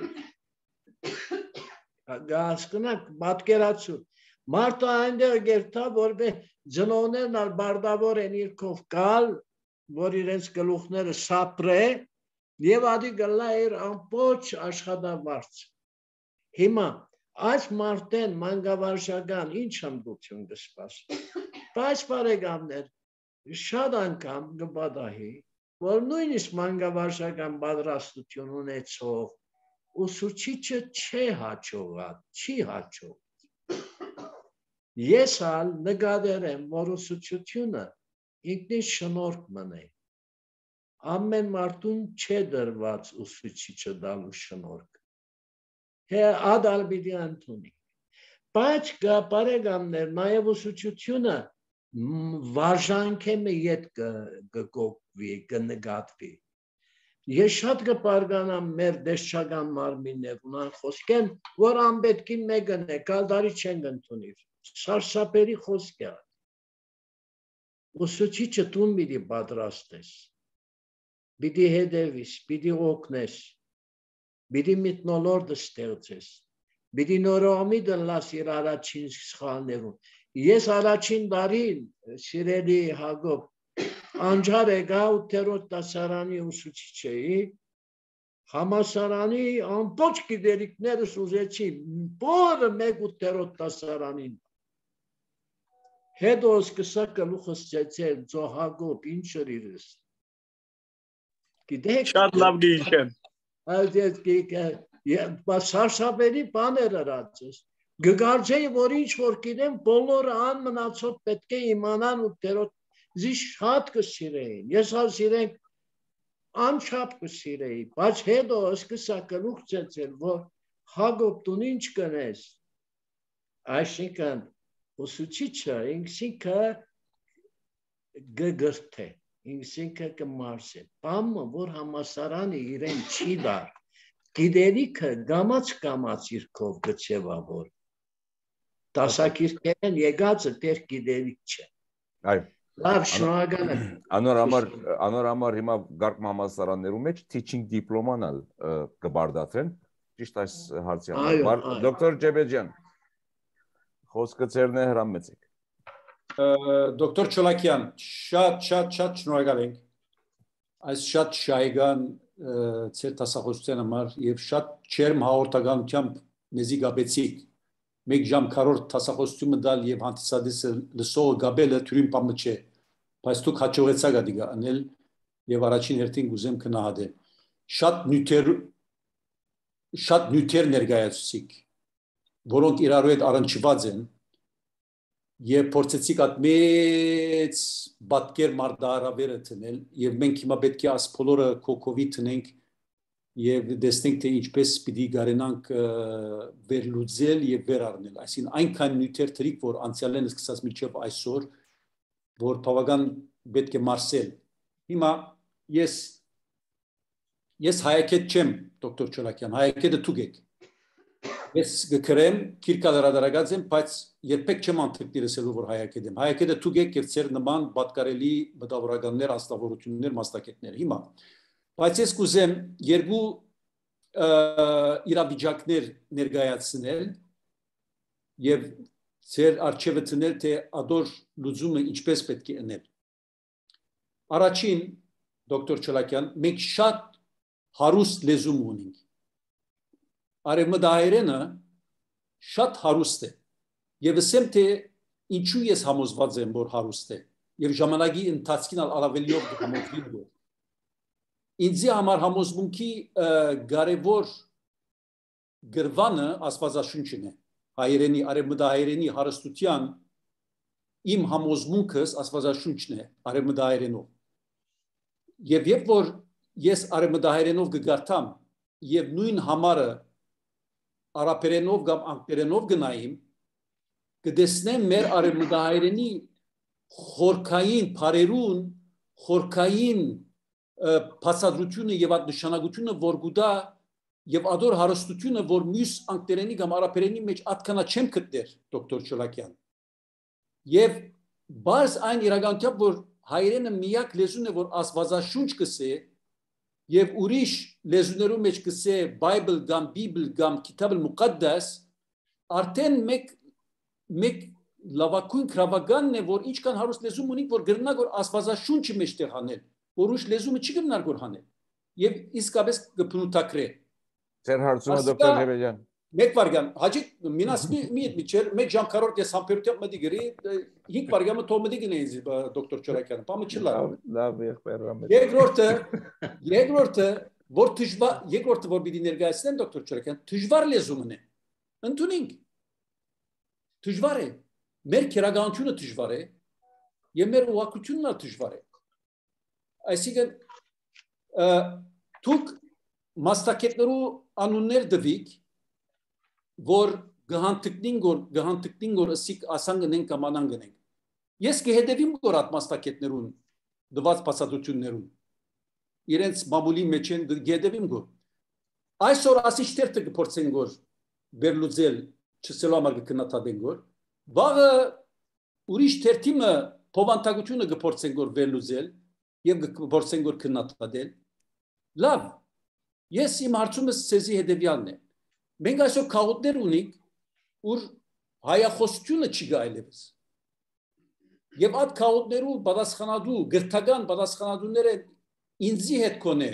Հասկանաք, պատկերացու։ Մարդը այնտեղ գերտա, որբե ծնողներն ալ բարդավոր են իրքով կալ, որ իրենց գլուխները սապրե, եւ ադի գլա իր ամբողջ աշխատավարձ։ Հիմա այս մարդեն մանկավարժական ինչ հմտություն կսպասի։ Բայց բարեկամներ, շատ անգամ կպատահի, որ նույնիսկ մանկավարժական պատրաստություն ունեցող ուսուցիչը չի հաջող։ Ես ալ նկատել եմ, որ ուսուցությունը ինքնին շնորհք մնե։ Ամեն մարդուն չէ դրված ուսուցիչը դալու շնորհք։ Թե ադալ պիտի ընդունի։ Բայց բարեկամներ, նաև ուսուցությունը վարժանքեմը ետ կգոկվի, կնկատվի։ Ես շատ կպարգանամ մեր դեշչական մարմիններ ունան խոսքեն, որ անպետքին մեկն է, կալդարի չեն ընդունիր։ Սարսափելի խոսք է։ Ուսուցիչը տուն պիտի պատրաստես, պիտի հետևիս, պիտի օգնես, պիտի մթնոլորտ ստեղծես, պիտի նորոմի դլաս իր առաջին սխալներուն։ Ես առաջին տարին, սիրելի Հակոբ, անջար եկա 8-րդ դասարանի ուսուցիչ էի, համալսարանի ամբողջ գիտելիքներս ուզեցի, բոլորը մեկ 8-րդ դասարանին։ Հետո սկսա գլուխս ծեծել, ծո Հակոբ, ինչ իրես։ Գիտեք, շատ լավ գիտեմ։ Բայց սարսափելի բաներ արածես։ Գկարծեի, որ ինչ որ գիտեմ, բոլորը անմնացած պետք է իմանան 8-րդ զի շատ կսիրեին։ Ես ալ սիրենք անչափ կսիրեի, բայց հետո սկսա գլուխ ծեծել, որ Հակոբ դու ինչ կնես։ Այսինքն ուսուցիչը ինքսինքը գգրթե, ինքսինքը կմարսե։ Բամը, որ համասարանի իրեն չի դար, գիտելիքը գամած իրքով գծևավոր։ Դասակիրքերեն եկածը դեր գիտելիք չէ։ Այո։ Լավ, շնորհակալ եմ։ Անոր համար հիմա գարկմ համալսարաններում մեջ teaching diploma-ն կբարդացեն, ճիշտ այս հարցի համար։ Դոկտոր Ջեբեջյան, խոսքը ձերն է, հրամեցեք։ Դոկտոր Չոլակյան, շատ շնորհակալ ենք այս շատ շահեկան ձեր դասախոսության համար եւ շատ չերմ հաղորդականությամբ մեզի գաբեցիք։ Մեկ ժամ քառորդ դասախոսությունը դալ եւ հանդիսադեսը լսողը գաբելը թյուրին բամը չէ, բայց դուք հաջողեցաք ադիգա անել եւ առաջին հերթին գուզեմ քնահատեմ։ Շատ նյութեր ներկայացուցիք, որոնք իրարու հետ առնչված են եւ փորձեցիք այդ մեծ բատկեր մարդահրավերը տնել եւ մենք հիմա պետք է աս բոլորը կոկովի տնենք եւ դեսնենք թե ինչպես պիտի գարենանք վերլուծել եւ վերառնել, այսինքն այնքան նյութեր թրիկ, որ անցյալեն սկսած միջև այսօր, որ բավական պետք է մարսել։ Հիմա ես հայակետ չեմ, դոկտոր Չոլակյան, հայակետը դուք եք։ Ես գկրեմ, քիրկալ հրադարագած եմ, բայց երբեք չեմ անթիկնի լսելու, որ հայակետ եմ։ Հայակետը դուք եք եւ ձեր նման պատկարելի մտավորականներ, աստավորություններ, մասնակետներ։ Հիմա բայց ես կուզեմ երկու իրավիճակներ ներկայացնել եւ ձեր արժեվը տնել, թե ադոր լուծումը ինչպես պետք է անել։ Առաջին, դոկտոր Չոլակյան, մենք շատ հարուստ լեզու ունենք։ Արևմտահայերենը շատ հարուստ է եւ ասեմ թե ինչու ես համոզված եմ, որ հարուստ է եւ ժամանակի ընթացքին առավելիով համոզվի։ Ինձի համար համոզմունքի կարևոր գրվանը աստվածաշունչն է, հայերենի, արևմտահայերենի հարստության իմ համոզմունքս աստվածաշունչն է, արևմտահայերենով։ Եվ երբ որ ես արևմտահայերենով կգարտամ եւ նույն համարը արաբերենով կամ անգլերենով գնայիմ, կտեսնեմ մեր արևմտահայերենի խորքային բարերուն, խորքային բացատրությունը եւ այդ նշանակությունը, որ գուտա եւ ադոր հարստությունը, որ մյուս անգլերենի կամ արաբերենի մեջ այդքանա չեմ գտներ, դոկտոր Չոլակյան։ Եվ բարձ այն իրականությամբ, որ հայերենը միակ լեզուն է, որ աստվածաշունչ կսե եւ ուրիշ լեզուներու մեջ կսե Bible կամ Bible կամ Kitab al-Muqaddas, արդեն մեկ լավակույն քրավականն է, որ ինչքան հարուստ լեզու ունի, որ գրնա որ աստվածաշունչի մեջտեղ հանել, որ ուրիշ լեզումը չի գնար որ հանել եւ իսկապես կփնութակրե։ Ձեր հարցումը դոկտոր Ջեբեջյան։ Մեկ վարգան, հաջի մինասմի միչեր, մեկ ժամ կարորդ ես համբերությամբ մտի գրի, 5 վարգամը թող մտի գնե ինձ դոկտոր Չորակյանը, պամը չլա։ Լավ եղբայրամ։ Երկրորդը որ պիտի ներկայացնեմ դոկտոր Չորակյան, դժվար լեզումն է։ Ընդունենք։ Դժվար է։ Մեր քերականությունը դժվար է, եւ մեր ուղղությունն էլ դժվար է։ Այսինքն դուք մասնակիցներու անուններ դվիկ, որ գահանտիկնին որ ասիկ ասան գնենք կամ անան գնենք։ Ես կհետևիմ որ այդ մասնակիցներուն դված բացատրություններուն իրենց մամուլի մեջ են կհետևիմ որ այսօր ասիստերտը կփորձեն որ բերլուձել չսելու համար կքննադատեն որ վաղը ուրիշ թերթիմը փոխանցությունը կփորձեն որ բերլուձել եւ կփորձեն որ քննադատել լավ ես իմ հարցումս ցեզի հետեւյալն է մենք այսօր քաղաքներ ունենք ուր հայախոսությունը չի գայլևս եւ այդ քաղաքներու պատասխանատու գրթական պատասխանատուները ինձի հետ կոնե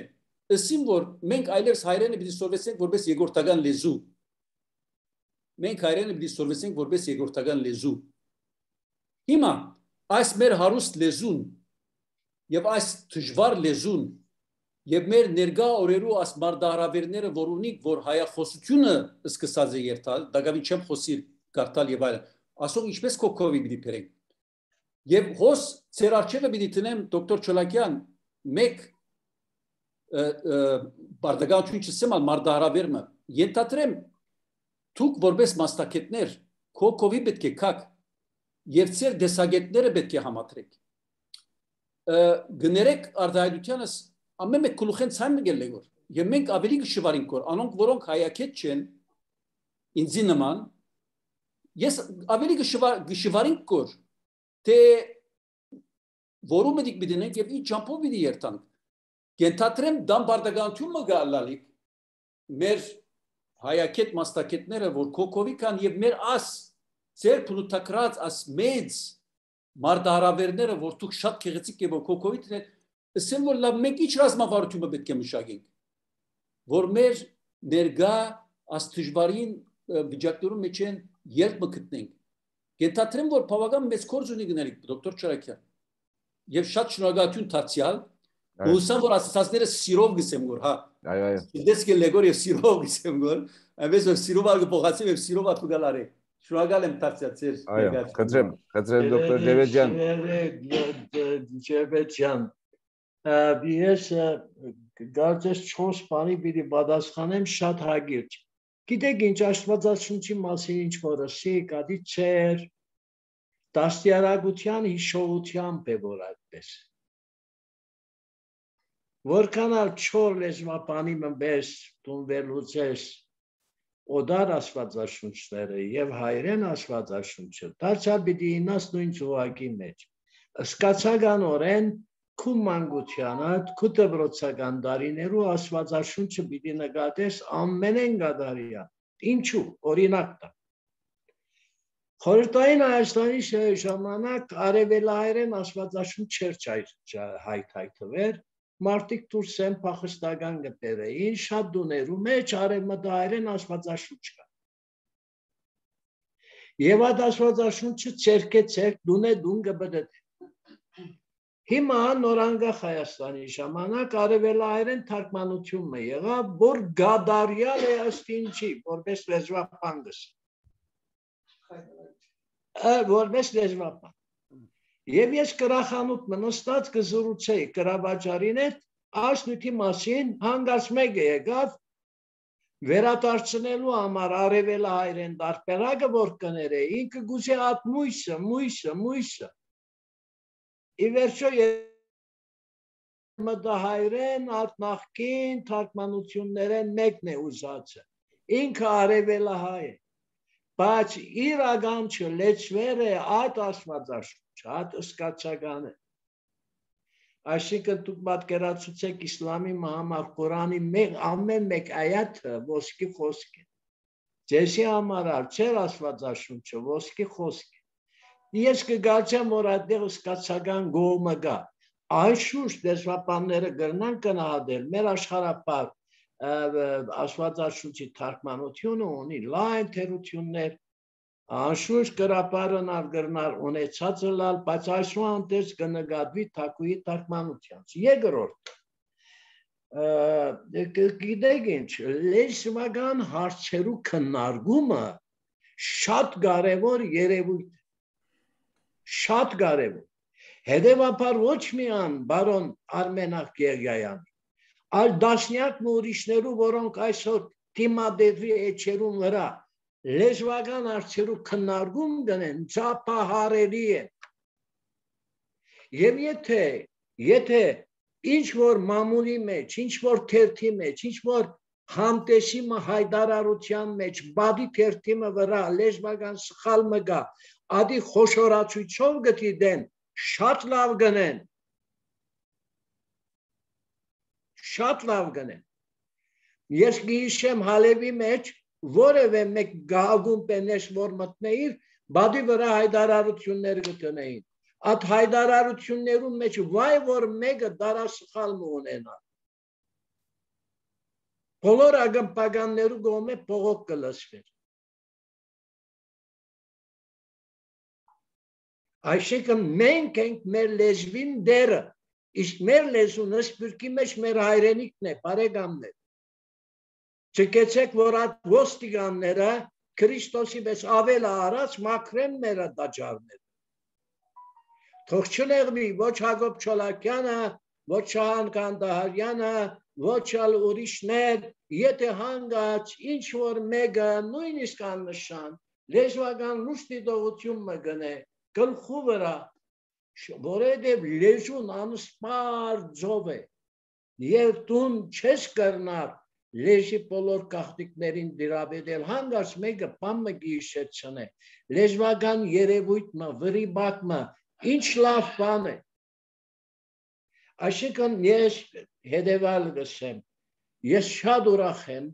ասին որ մենք այլևս հայերենը պիտի սովորեցնենք որպես երկրորդական լեզու մենք հայերենը պիտի սովորեցնենք որպես երկրորդական լեզու հիմա այս մեր հարուստ լեզուն եւ այս դժվար լեզուն եւ մեր ներգա օրերու աս մարդահրավերները որ ունիկ որ հայախոսությունը սկսած է երթալ դակավի չեմ խոսիր կարդալ եւ այլն ասող ինչպես կոկովի պիտի բերենք եւ հոս ծեր արչեվը պիտի տնեմ դոկտոր Չոլակյան մեկ բարդագաչուն չսեմ մարդահրավերը ենթադրեմ դուք որպես մասնակիցներ կոկովի պետք է կակ եւ ծեր դեսագետները պետք է համատրեք գներեք արտահայտությանս ամեն մեկ գլուխեն ցայմ գելե որ եւ մենք ավելի գշվարինք որ անոնք որոնք հայակետ չեն ինձի նման ես ավելի գշվարինք որ թե որում դիք բիդենենք եւ ի ջամփով բիդի երթանք կենթատրեմ դամ բարդագանություն գալալիկ մեր հայակետ մասնակիցները որ կոկովի կան եւ մեր աս ծեր փլուտակրած աս մեծ մարդահրավերները որ դուք շատ քեղեցիկ եւ կոկովի դեն ասեմ որ լավ մենք ինչ ռազմավարությունը պետք է մշակենք որ մեր ներգա աստիճբարին վիճակներում մեջ են երբ մգտնենք գետատրեմ որ բավական մեծ կորձ ունի գնալիք դոկտոր Չորակյան եւ շատ շնորհակալություն դարձյալ ուսան որ ասացածները սիրով գսեմ որ հա այո դες կը լեգոր եւ սիրով գսեմ որ այնպես որ սիրով ալգ փոխացեմ եւ սիրով ատուգալարի շնորհակալ եմ դարձյալ այո խնդրեմ դոկտոր Ջեբեջյան Ես կարծես 4 բանի պիտի պատասխանեմ շատ հագիրճ։ Գիտեք ինչ Աստվածաշունչի մասին ինչ որ ասի, կադի չեր դաստիարակության հիշողությամբ է որ այդպես։ Որքան ալ չոր լեզվապանի մբես տուն վերլուծես օդար Աստվածաշունչները եւ հայերեն Աստվածաշունչը, դարձյալ պիտի ինաս նույն ծուղակի մեջ։ Սկացականորեն քու մանկությանդ, քու դպրոցական դարիներու Աստվածաշունչը պիտի նկատես ամենեն գադարիա։ Ինչու՞, օրինակ տա։ Խորհրդային Հայաստանի ժամանակ արևելահայերեն Աստվածաշունչ չէր հայթայթվեր, մարդիկ դուրս են փախստական գտերեին, շատ դուներու մեջ արևմտահայերեն Աստվածաշունչ կա։ Եվ այդ Աստվածաշունչը ցերկեցեք դունե դուն գբդդ Հիմա նորանգախ Հայաստանի ժամանակ արևելահայերեն թարգմանությունը եղավ, որ գադարյալ է ըստ ինչի, որպես լեզվապան որպես լեզվապան։ Եվ ես կրախանութ մնստած կզրուցեի կրավաճարին հետ, ասնույթի մասին հանգած մեկը եկավ, վերադարձնելու համար արևելահայերեն դարբերակը որ կները, ինքը գուցե այդ մույսը Ի վերջո մտահայերեն նախկին թարգմանություններեն մեկն է ուզածը, ինքը արևելահայ է, բայց իր ագանչը լեցվեր է այդ աստվածաշունչ, այդ սկացական է, Այսինքն դուք պատկերացուցեք իսլամի համար Ղուրանի ամեն մեկ այաթը ոսկի խոսք է։ Ձեզի համար չէր Աստվածաշունչը ոսկի խոսք է։ Ես կգացեմ, որ այդտեղ սկացական գոհումը գա։ Այսուր դեսպանները գրնան կնահատել մեր աշխարհապար Աստվածաշունչի թարգմանությունը ունի լայն թերություններ, անշուշտ գրապարն արգրնար ունեցածը լալ, բայց այսուհանդերձ կնկատվի թակուի թարգմանությանց։ Երկրորդ, գիտեք ինչ, լեզվական հարցերու քննարկումը շատ կարևոր երևույթ է, շատ կարևոր։ Հետևաբար ոչ միայն բարոն Արմենակ Գեղյանի, այլ դասնյակ ուրիշներու, որոնք այսօր թիմադեդի էջերուն վրա լեզվական հարցերու քննարկում գնեն, ճապահարելի է։ Եվ եթե ինչ որ մամուլի մեջ, ինչ որ թերթի մեջ, ինչ որ համտեսի հայտարարության մեջ, բադի թերթի վրա լեզվական սխալ մգա, ադի խոշորացույցով գտիդեն, շատ լավ գնեն, շատ լավ գնեն։ Ես գիշեմ հալևի մեջ, որևէ մեկ գաղում պենես, որ մտնեիր, բադի վրա հայտարարություններ գտնեին։ Այդ հայտարարություններում մեջ վայ որ մեկը դարասխալ ունենա։ Բոլոր ագմպականներու գոմե փողոք կլսվեր։ Այսինքն մենք ենք մեր լեզվին դերը, իսկ մեր լեզունը սպիրկի մեջ մեր հայրենիքն է, բարեկամներ։ Չկեցեք, որ այդ ոստիկանները Քրիստոսի պես ավել արած մաքրեն մեր տաճարները։ Թող չնեղվի ոչ Հակոբ Չոլակյանը, ոչ Շահան Կանդահարյանը, ոչ ալ ուրիշներ, եթե հանգած ինչ որ մեկը նույնիսկ աննշան լեզվական լուրջ դիտողություն մգնե գլխու վրա, որովհետև լեզուն անսպար ձով է, եւ դուն չես կրնար լեզի բոլոր գաղտնիքներին դիրաբետել, հանգած մեկը բան մը գիշեցնե, լեզվական երևույթը, վրիբակը, ինչ լավ բան է։ Այսինքն ես հետևալ գսեմ, ես շատ ուրախ եմ,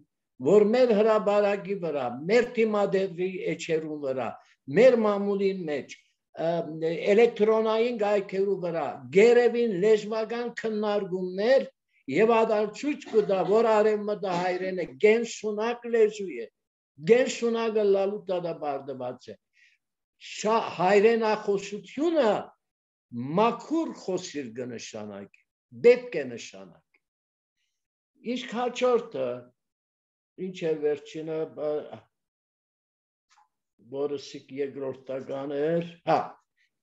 որ մեր հրաբարակի վրա, մեր թիմադեդի էջերուն վրա, մեր մամուլին մեջ, էլեկտրոնային գայքերու վրա, գերևին լեզվական քննարկումներ եւ ադարցույց կտա, որ արևմտա հայրենը գենսունակ լեզու է, գենսունակը լալու դադաբարդված է։ Հայրենախոսությունը մաքուր խոսիր կնշանակի, պետք է նշանակի։ Իսկ հաջորդը, ինչ է վերջինը, որսիկ երկրորդական էր,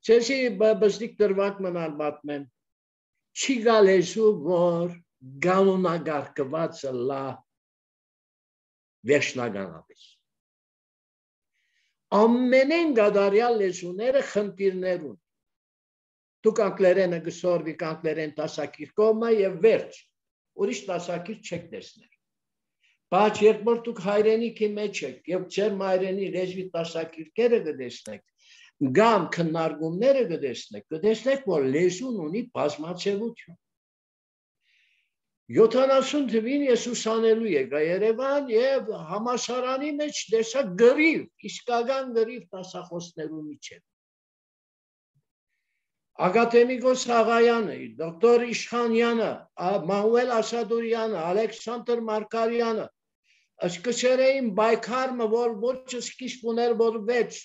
չեսի բստիկ դրվակ մնալ մատմեմ, չի գա լեզու, որ գանունագարկվածը լա վերջնականապես։ Ամենեն գադարյալ լեզուները խնդիրներ ունի։ Դուք անգլերենը գսորվի անգլերեն դասակիր կողմը եւ վերջ, ուրիշ դասակիր չեք տեսնել։ Բայց երբ որ դուք հայրենիքի մեջ եք եւ ձեր հայրենի լեզվի դասակիրները կտեսնեք, կամ քննարկումները կտեսնեք, որ լեզուն ունի բազմացեվություն։ 70 թվին ես ուսանելու եկա Երևան եւ համալսարանի մեջ տեսա գրիվ, իսկական գրիվ դասախոսներու միջեւ։ Ակադեմիկոս Աղայանը, դոկտոր Իշխանյանը, Մանուել Ասադուրյանը, Ալեքսանդր Մարկարյանը, սկսեր էին բայկարը, որ ոչ սկիզբ ուներ, որ վեց,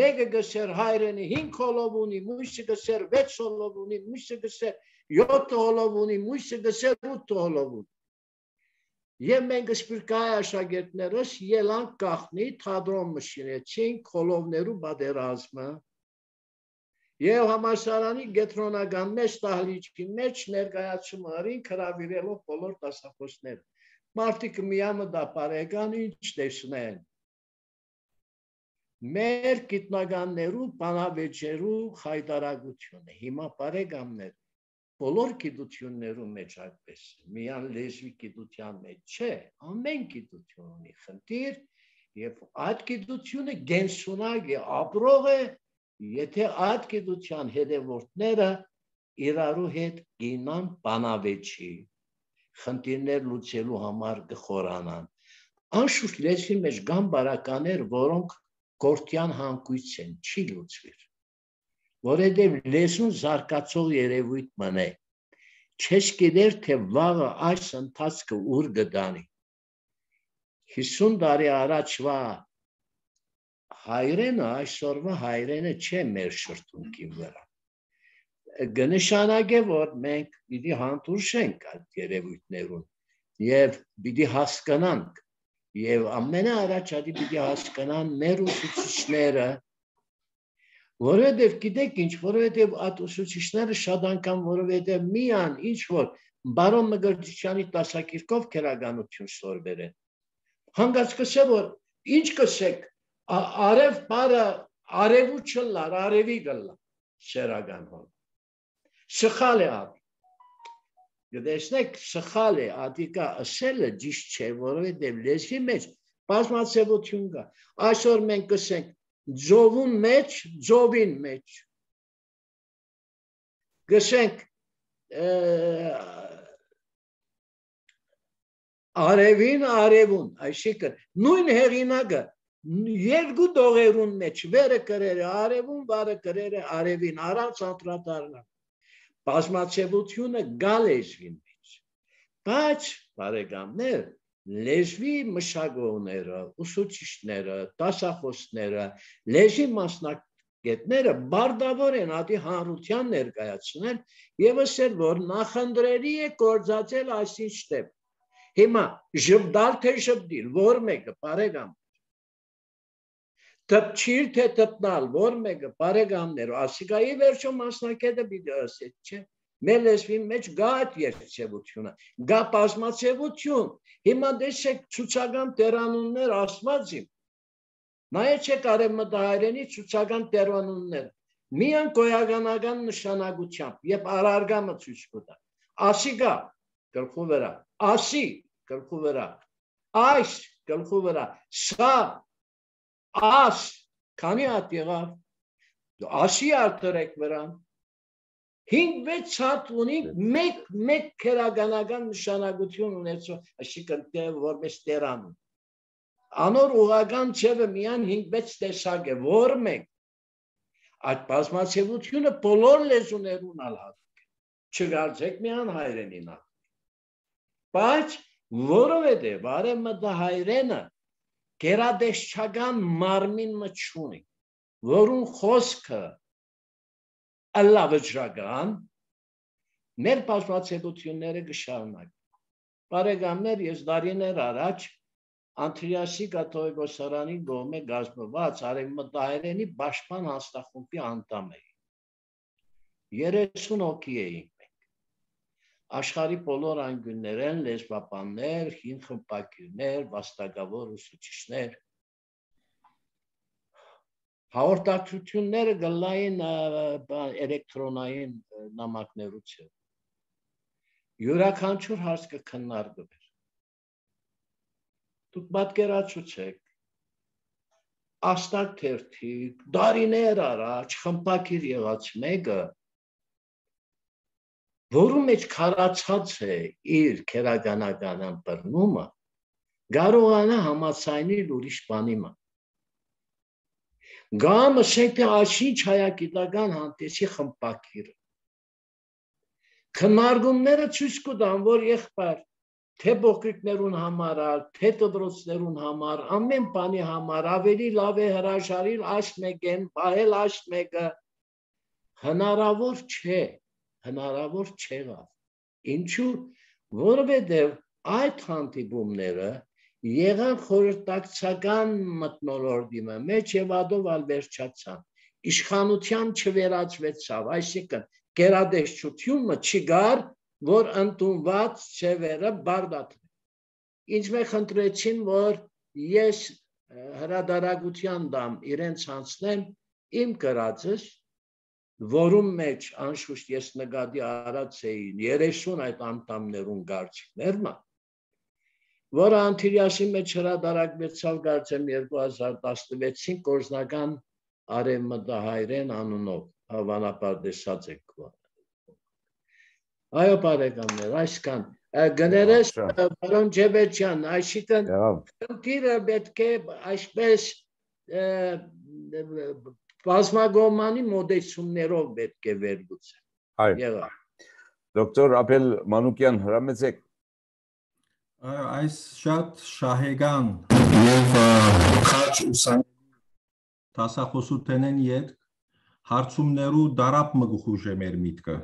մեկը գսեր հայրենի 5 հոլով ունի, մույսը գսեր 6 հոլով ունի, մույսը գսեր 7 հոլով ունի, մույսը գսեր 8 հոլով ունի։ Եվ մենք սպիրկայ աշակերտներս ելանք գախնի, թատրոն մշինեցինք հոլովներու բادرազմը։ Եվ համալսարանի գետրոնական մեծ տահլիճի մեջ ներկայացում արին հրավիրելով բոլոր դասախոսները։ Մարդիկ միամը դա բարեկան ինչ տեսնեն։ Մեր գիտնականներու բանավեճերու հայտարարությունը հիմա բարեկամներ բոլոր գիտություններու մեջ այդպես միան լեզվի գիտության մեջ չէ, ամեն գիտություն ունի խնդիր եւ այդ գիտությունը գենսունակ է, ապրող է, եթե այդ գիտության հետևորդները իրարու հետ գինան բանավեճի, խնդիրներ լուծելու համար գխորանան։ Անշուշտ լեզվի մեջ կան բարականներ, որոնք գործյան հանգույց են, չի լուծվիր, որովհետև լեզուն զարգացող երևույթ մնե, չես գիտեր, թե վաղը այս ընթացքը ուր գտանի։ 50 տարի առաջվա հայրենը այսօրվա հայրենը չէ մեր շրթունքի վրա։ Կնշանակե, որ մենք պիտի հանդուրժենք այդ երևույթներուն եւ պիտի հասկանանք եւ ամենաառաջադի պիտի հասկանան մեր ուսուցիչները, որովհետեւ գիտեք ինչ, որովհետեւ այդ ուսուցիչները շատ անգամ որովհետեւ միան ինչ որ բարոն Մկրտչյանի դասակիրքով քերականություն սորվել են։ Հանգած կսե որ ինչ կսեք արև բարը արևու չլար, արևի գլա շերական հոն։ Սխալ է ատ։ Գտեսնեք սխալ է ատիկա ասելը ճիշտ չէ, որովհետև լեզվի մեջ բազմացեվություն կա։ Այսօր մենք կսենք ձովուն մեջ, ձովին մեջ։ Կսենք արևին, արևուն, այսինքն նույն հեղինակը երկու դողերուն մեջ վերը կրերը արևուն, վարը կրերը արևին, առանց անդրադառնալ։ Բազմացեվությունը գա լեզվի մեջ, բայց բարեկամներ, լեզվի մշակողները, ուսուցիչները, դասախոսները, լեզվի մասնագետները բարդավոր են ադի հանրության ներկայացնել եւ ասել, որ նախընտրելի է գործածել այսինչ տեպ։ Հիմա ժպտալ թե ժպտիլ, որ մեկը բարեկամ, տպչիր թե տպնալ, որ մեկը բարեկամներ, ասիկայի վերջո մասնակետը պիտի ասել, չէ։ Մեր լեզվի մեջ գա այդ երկցեվությունը, գա բազմացեվություն։ Հիմա տեսեք ցուցական տերանուններ ասվածին։ Նայեցեք արևմտահայերենի ցուցական տերանուններ։ Միան գոյականական նշանակությամբ եւ արարգամը ցույց կտա։ Ասիկա գլխու վրա, ասի գլխու վրա, այս գլխու վրա, սա աս, քանի հատ եղավ, ասի արտերեք վրան, 5-6 հատ ունի մեկ քերականական նշանակություն ունեցող, այսինքն որպես տերանում։ Անոր ուղղական չևը միան 5-6 տեսակ է, որ մեկ, այդ բազմացեվությունը բոլոր լեզուներուն ալհատուկ է, չգարձեք միան հայրենին ալ։ Բայց որովհետև արևմտահայերենը գերադեսչական մարմին մչունի, որուն խոսքը ըլլավճրական, մեր բազմացեվությունները կշարունակեն։ Բարեկամներ, ես դարիներ առաջ Անտրիասի կաթողիկոսարանի կողմէ կազմված արևմտահայերենի պաշտպան հանձնախումբի անդամ էի։ 30 հոգի էինք մենք։ Աշխարհի բոլոր անկյուններեն լեզվաբաններ, հին խմբակիրներ, վաստակավոր ուսուցիչներ։ Հաղորդակցությունները գլային էլեկտրոնային նամակներուց է։ Յուրաքանչյուր հարց կքննարկվեր։ Դուք պատկերացուցեք, աստակ թերթիկ, դարիներ առաջ խմբակիր եղած մեկը, որու մեջ քարացած է իր քերականական ըմբռնումը, կարողանա համաձայնել ուրիշ բանի մը։ Գամ ասենք թե այսինչ հայագիտական հանդեսի խմբակիրը։ Քննարկումները ցույց կտան, որ եղբայր թե փոքրիկներուն համար, թե դպրոցներուն համար, ամեն բանի համար ավելի լավ է հրաժարիլ այս մեկեն, պահել այս մեկը, հնարավոր չէ, հնարավոր չեղավ։ Ինչու, որովհետև այդ հանդիպումները եղան խորհրդակցական մթնոլորտի մեջ եւ ադով ալ վերջացան։ Իշխանության չվերածվեցավ, այսինքն գերադեսչությունը չգար, որ ընդունված ծևերը բարդացվեն։ Ինչ մեկ խնդրեցին, որ ես հրադարագության դամ իրենց հանձնեմ իմ կրածս, որում մեջ անշուշտ ես նկատի արած էին 30 այդ անդամներուն գարչիկներն, որը Անտիլիասի մեջ հրադարագվեցավ կարծեմ 2016-ին գործնական արևմտահայերեն անունով, հավանաբար տեսած եք Այո, բարեկամներ, այսքան։ Գներես պարոն Ջեբեջյան, այսինքն խնդիրը պետք է այսպես բազմագոմանի մոդեցումներով պետք է վերլուծել։ Այո։ Դոկտոր Ապել Մանուկյան, հրամեցեք։ Այս շատ շահեգան եւ քաջ ուսանելի տասախոսութենեն յետ հարցումներու դարապ մգուխուժ է մեր միտքը։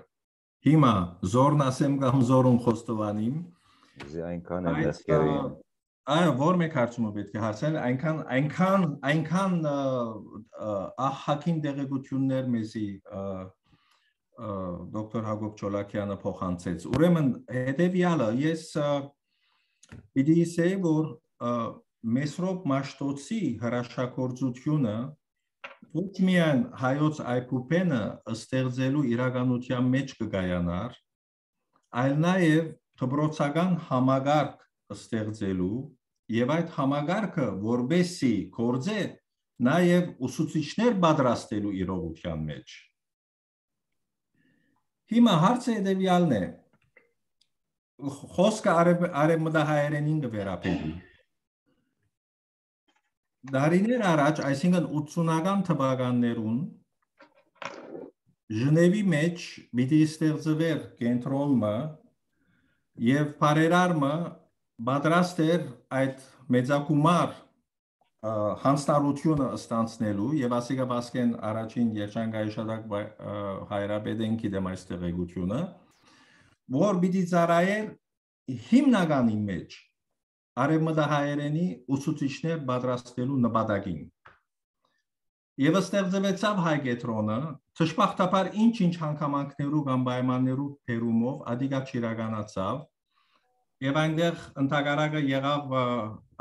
Հիմա զորն ասեմ կամ զորուն խոստովանիմ։ Այնքան է մեղքերի։ Այո, որ մեկ հարցումը պետք է հարցնել, այնքան ահագին դեղեցություններ մեզի դոկտոր Հակոբ Չոլակյանը փոխանցեց։ Ուրեմն հետևյալը, ես պիտի ասեի, որ Մեսրոպ Մաշտոցի հրաշագործությունը ոչ միայն հայոց այբուբենը ստեղծելու իրականության մեջ կգայանար, այլ նաև դպրոցական համագարկ ստեղծելու եւ այդ համագարկը որբեսի կորձե նաև ուսուցիչներ պատրաստելու իրողության մեջ։ Հիմա հարցը հետևյալն է, խոսքը արևմտահայերենին կվերապերի։ Դարիներ առաջ, այսինքն 80-ական թվականներուն Ժնևի մեջ պիտի ստեղծվեր կենտրոնը եւ բարերարմը պատրաստ էր այդ մեծակումար հանձնարարությունը ստանցնելու եւ ասիկա բասկեն առաջին երջանկայիշատակ հայրապետենքի դեմ այս տեղեկությունը, որ պիտի ծառայեր հիմնականի մեջ արևմտահայերենի ուսուցիչներ պատրաստելու նպատակին։ Եվ ստեղծվեցավ հայ կենտրոնը, թշպախտաբար ինչ-ինչ հանգամանքներու կամ պայմաններու բերումով ադիգա չիրականացավ, եւ այնտեղ ընդհանրակը եղավ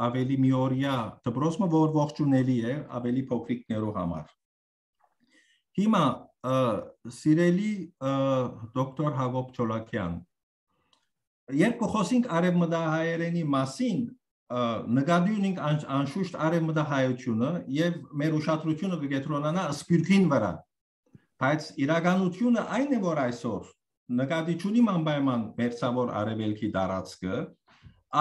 ավելի միօրյա դպրոցը, որ ողջունելի է ավելի փոքրիկներու համար։ Հիմա սիրելի դոկտոր Հակոբ Չոլակյան, երբ կխոսենք արևմտահայերենի մասին, նկատի ունենք անշուշտ արևմտահայությունը եւ մեր ուշադրությունը կկենտրոնանա սփյուռքին վրա, բայց իրականությունը այն է, որ այսօր նկատի ունիմ անպայման մերձավոր արևելքի տարածքը,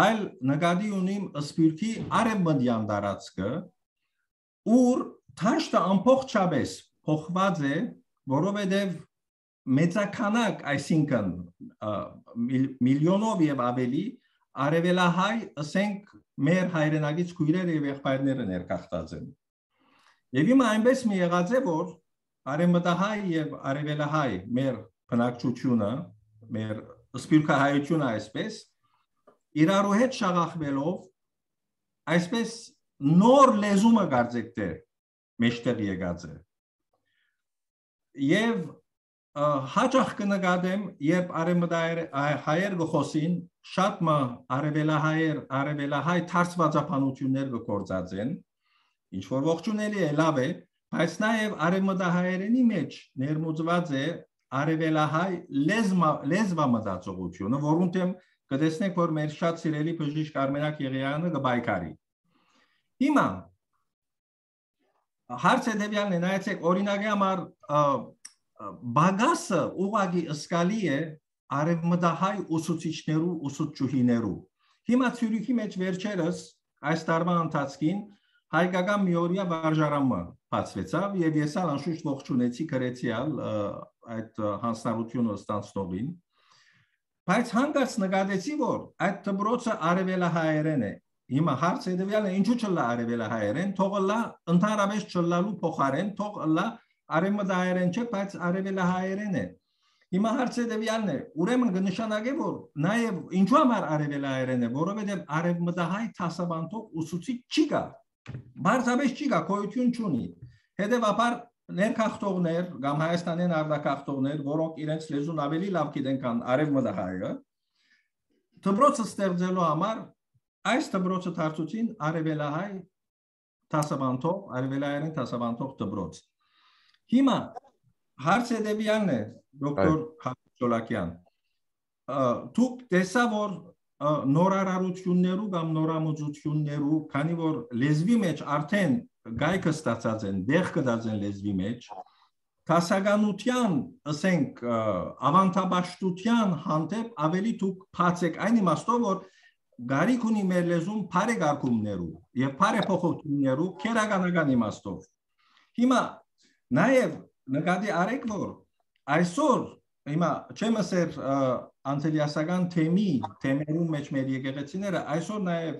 այլ նկատի ունիմ սփյուռքի արևմտյան տարածքը, ուր թաշտը ամբողջապես փոխված է, որովհետեւ մեծականակ, այսինքն միլիոնով եւ ավելի արևելահայ, ասենք մեր հայրենագից քույրերը եւ եղբայրները ներկախտած են։ Եվ հիմա այնպես մի եղած է, որ արևմտահայ եւ արևելահայ մեր բնակչությունը, մեր սփյուռքահայությունը այսպես իրարու հետ շաղախվելով այսպես նոր լեզումը կարծեք թե մեջտեղ եկած է։ Եվ հաճախ կնկատեմ, երբ արևմտահայեր գխոսին, շատ արևելահայ թարցվածապանություններ կգործած են, ինչ որ ողջունելի է, լավ է, բայց նաև արևմտահայերենի մեջ ներմուծված է արևելահայ լեզվամտածողությունը, որոնց դեմ կտեսնեք, որ մեր շատ սիրելի բժիշկ Արմենակ Եղիայանը կբայքարի։ Հիմա հարցը հետևյալն է, նայեցեք, օրինակի համար բագասը ուղղակի ըսկալի է արևմտահայ ուսուցիչներու, ուսուցչուհիներու։ Հիմա Ցյուրիխի մեջ վերջերս այս տարվա ընթացքին հայկական միօրյա վարժարանը բացվեցավ եւ ես անշուշտ ողջունեցի գրեցիալ այդ հանձնարարությունը ստանցնողին, բայց հանկարծ նկատեցի, որ այդ դպրոցը արևելահայերեն է։ Հիմա հարցը հետևյալն է, ինչու չլա արևելահայերեն, թող լա ընդհանրապես չլալու փոխարեն, թող լա արևմտահայերեն չէ, բայց արևելահայերեն է։ Հիմա հարցը հետևյալն է, ուրեմն կնշանակե, որ նաև ինչու համար արևելահայերեն է, որովհետև արևմտահայ դասավանդող ուսուցիչ չի կա, բարձրապես չի կա, գոյություն չունի։ Հետևաբար ներքախտողներ կամ Հայաստանյան արտաքախտողներ, որոնք իրենց լեզուն ավելի լավ գիտեն, քան արևմտահայը, դպրոցը ստեղծելու համար այս դպրոցը դարձուցին արևելահայ դասավանդող, արևելահայերեն դասավանդող դպրոց։ Հիմա հարցը հետևյալն է, դոկտոր Հակոբ Չոլակյան, դուք տեսա, որ նորարարություններու կամ նորամուծություններու, քանի որ լեզվի մեջ արդեն գայքը ստացած են, դեղ կդած են լեզվի մեջ, Տասականության, ասենք, ավանդաբաշխության հանդեպ ավելի դուք բաց եք այն իմաստով, որ գարիք ունի մեր լեզուն բարեկարգումներու եւ բարեփոխություններու քերականական իմաստով։ Հիմա նաեւ նկատի արեք, որ այսօր հիմա չեմ ասեր անտելիասական թեմերուն մեջ մեր եկեղեցիները այսօր նաեւ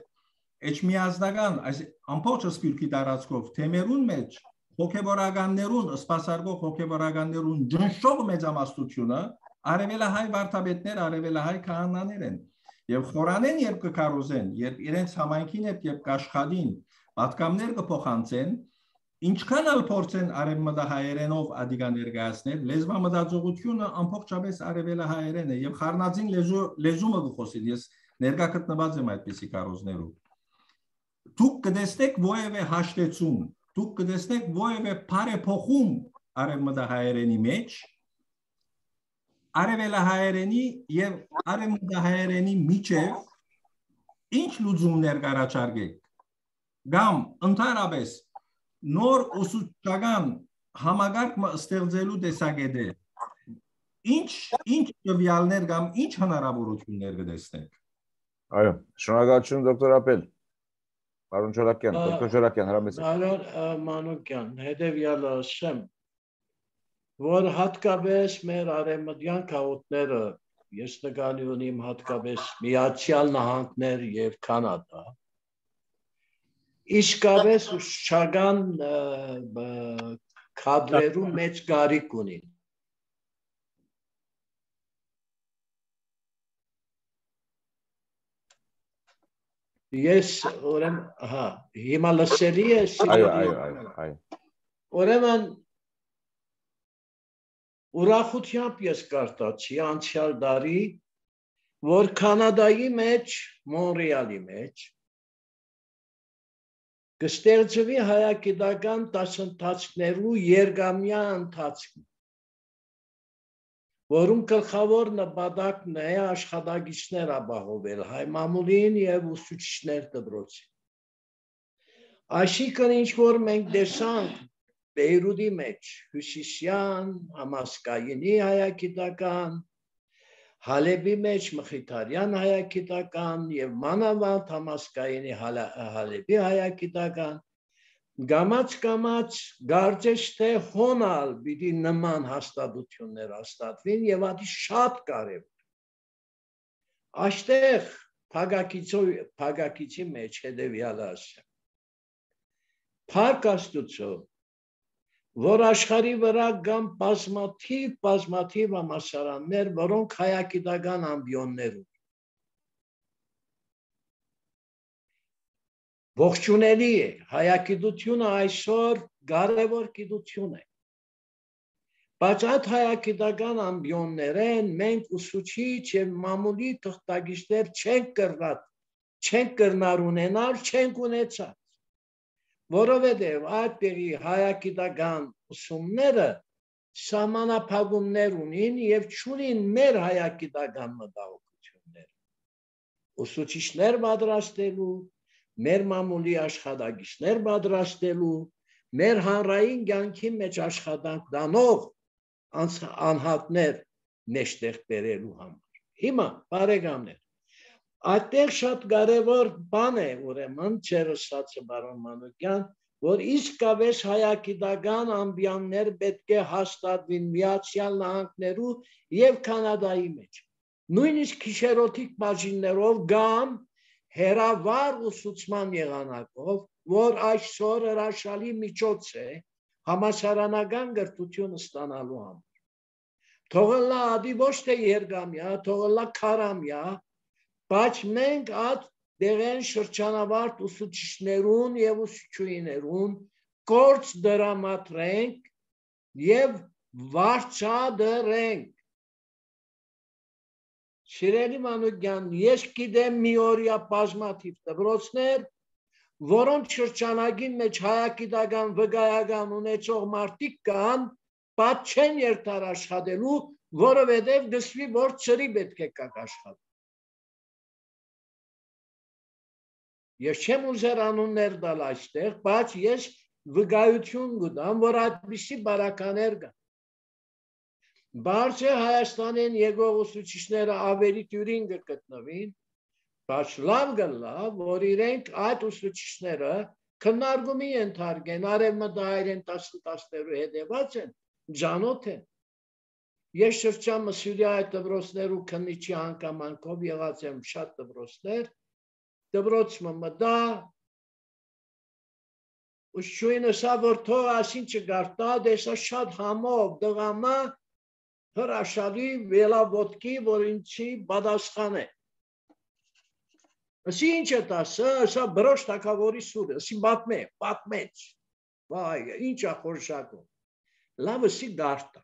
էջմիածնական այս ամբողջ սպիրկի տարածքով թեմերուն մեջ հոգեվորականներուն, սպասարկող հոգեվորականներուն ջնշող մեծամասնությունը արևելահայ վարդապետներ, արևելահայ քահանաներ են։ Եվ խորանեն երբ կկարոզեն, երբ իրենց համայնքին հետ երբ կաշխատին, պատկամներ կփոխանցեն, ինչքան ալ փորձեն արևմտահայերենով ադիգա ներկայացնել, լեզվամտածողությունը ամբողջապես արևելահայերեն է եւ խառնածին լեզումը կխոսին։ Ես ներկա գտնված եմ այդպիսի կարոզներով։ Դուք կտեսնեք ովևէ հաշտեցում, դուք կտեսնեք ովևէ բարեփոխում արևմտահայերենի մեջ, արևելահայերենի եւ արևմտահայերենի միջև ինչ լուծումներ կառաջարկեք կամ ընդհանրապես նոր ուսուցչական համագարկը ստեղծելու տեսակետը ինչ տվյալներ կամ ինչ հնարավորություններ կտեսնեք։ Այո, շնորհակալություն դոկտոր Ապել։ Պարոն Չոլակյան, դոկտոր Չոլակյան, հրամեցեք։ Պարոն Մանուկյան, հետևյալը ասեմ, որ հատկապես մեր արևմտյան քաղաքները, ես նկատի ունեմ հատկապես Միացյալ Նահանգներ եւ Կանադա, իսկապես ուսուցչական կադրերու մեծ կարիք ունին։ Ես հիմա լսելի է։ Այո։ Ուրեմն ուրախությամբ ես կարդացի անցյալ տարի, որ Կանադայի մեջ, Մոնրեալի մեջ կստեղծվի հայագիտական դասընթացներու երկամյա ընթացք, որում գլխավոր նպատակն է աշխատակիցներ ապահովել հայ մամուլին եւ ուսուցիչներ դպրոցին։ Այսինքն ինչ որ մենք տեսանք Բեյրութի մեջ հյուսիսյան համասկայինի հայագիտական, Հալեբի մեջ Մխիթարյան հայագիտական եւ մանավանդ համասկայինի Հալեբի հայագիտական Գամած գարձես թե հոնալ պիտի նման հաստատություններ հաստատվին եւ ադի շատ կարեւոր։ Այստեղ փագակիցի մեջ հետեւյալը ասեմ։ Փառք Աստուծո, որ աշխարհի վրա կան բազմաթիվ համալսարաններ, որոնք հայագիտական ամբիոններ ունեն։ Ողջունելի է, հայագիտությունը այսօր կարևոր գիտություն է։ Բայց այդ հայագիտական ամբիոններեն մենք ուսուցիչ եւ մամուլի թղթակիցներ չենք կրնար ունենալ, չենք ունեցած։ Որովհետեւ այդտեղի հայագիտական ուսումները սահմանափակումներ ունին եւ չունին մեր հայագիտական մտահոգությունները։ Ուսուցիչներ պատրաստելու մեր մամուլի աշխատակիցներ պատրաստելու, մեր հանրային կյանքի մեջ աշխատանք տանող անհատներ մեջտեղ բերելու համար։ Հիմա բարեկամներ, այդտեղ շատ կարևոր բան է, ուրեմն չերսացը պարոն Մանուկյան, որ իսկապես հայագիտական ամբիոններ պետք է հաստատվին Միացյալ Նահանգներու եւ Կանադայի մեջ։ Նույնիսկ գիշերօթիկ բաժիններով կամ հերավար ուսուցման եղանակով, որ այսօր հրաշալի միջոց է համասարանական կրթություն ստանալու համար։ Թողնա ադի ոչ թե երկամյա, թողնա քարամյա, բայց մենք այդ դեղեն շրջանավարտ ուսուցիչներուն եւ ուսուցչուհիներուն գործ դրամատրենք եւ վարձատրենք։ Սիրելի Մանուկյան, ես գիտեմ մի օրյա բազմաթիվ դպրոցներ, որոնց շրջանագին մեջ հայագիտական վկայական ունեցող մարդիկ կան, բայց չեն երթար աշխատելու, որովհետև գսվի, որ ծրի պետք է կակ աշխատել։ Ես չեմ ուզեր անուններ տալ այստեղ, բայց ես վկայություն կտամ, որ այդպիսի բարականեր կան։ Բարձր Հայաստանին եկող ուսուցիչները ավելի դյուրին կգտնվին, բայց լավ գլա, որ իրենք այդ ուսուցիչները քննարկումի ենթարկեն, արևմտահայերեն 10-10-ներու հետևած են, ջանոթ են։ Ես շրջանը Սյուրիայի դպրոցներու քննիչի հանգամանքով եղած եմ շատ դպրոցներ, դպրոցը մտա, ուսուցչուհինը սա որ թող ասին չգարտա, դեսա շատ համով դղամա հրաշալի վելավոտքի, որ ինչի բադասխան է։ Ասի ինչ է տասը, սա բրոշ թակավորի սուրը, ասի պատմեց, վայ, ինչ է խորշակում, լավ ասի գարտա։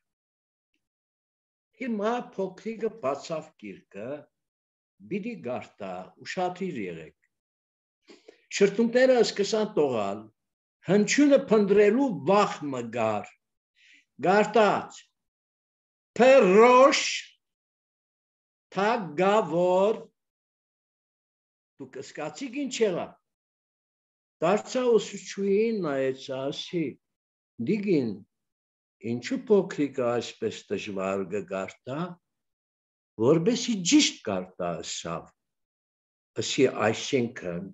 Հիմա փոքրիկը բացավ գիրկը, բիդի գարտա, ուշադիր եղեք։ Շրթունքները սկսան տողալ, հնչյունը փնդրելու վախ մգար, գարտած, փրոշ, թագավոր, դու կսկացիք ինչ եղա, դարձա ուսուցչուհին նայեց ասի, դիգին, ինչու փոքրիկը այսպես դժվար գարտա, որբեսի ճիշտ գարտա ասավ, ասի այսինքն,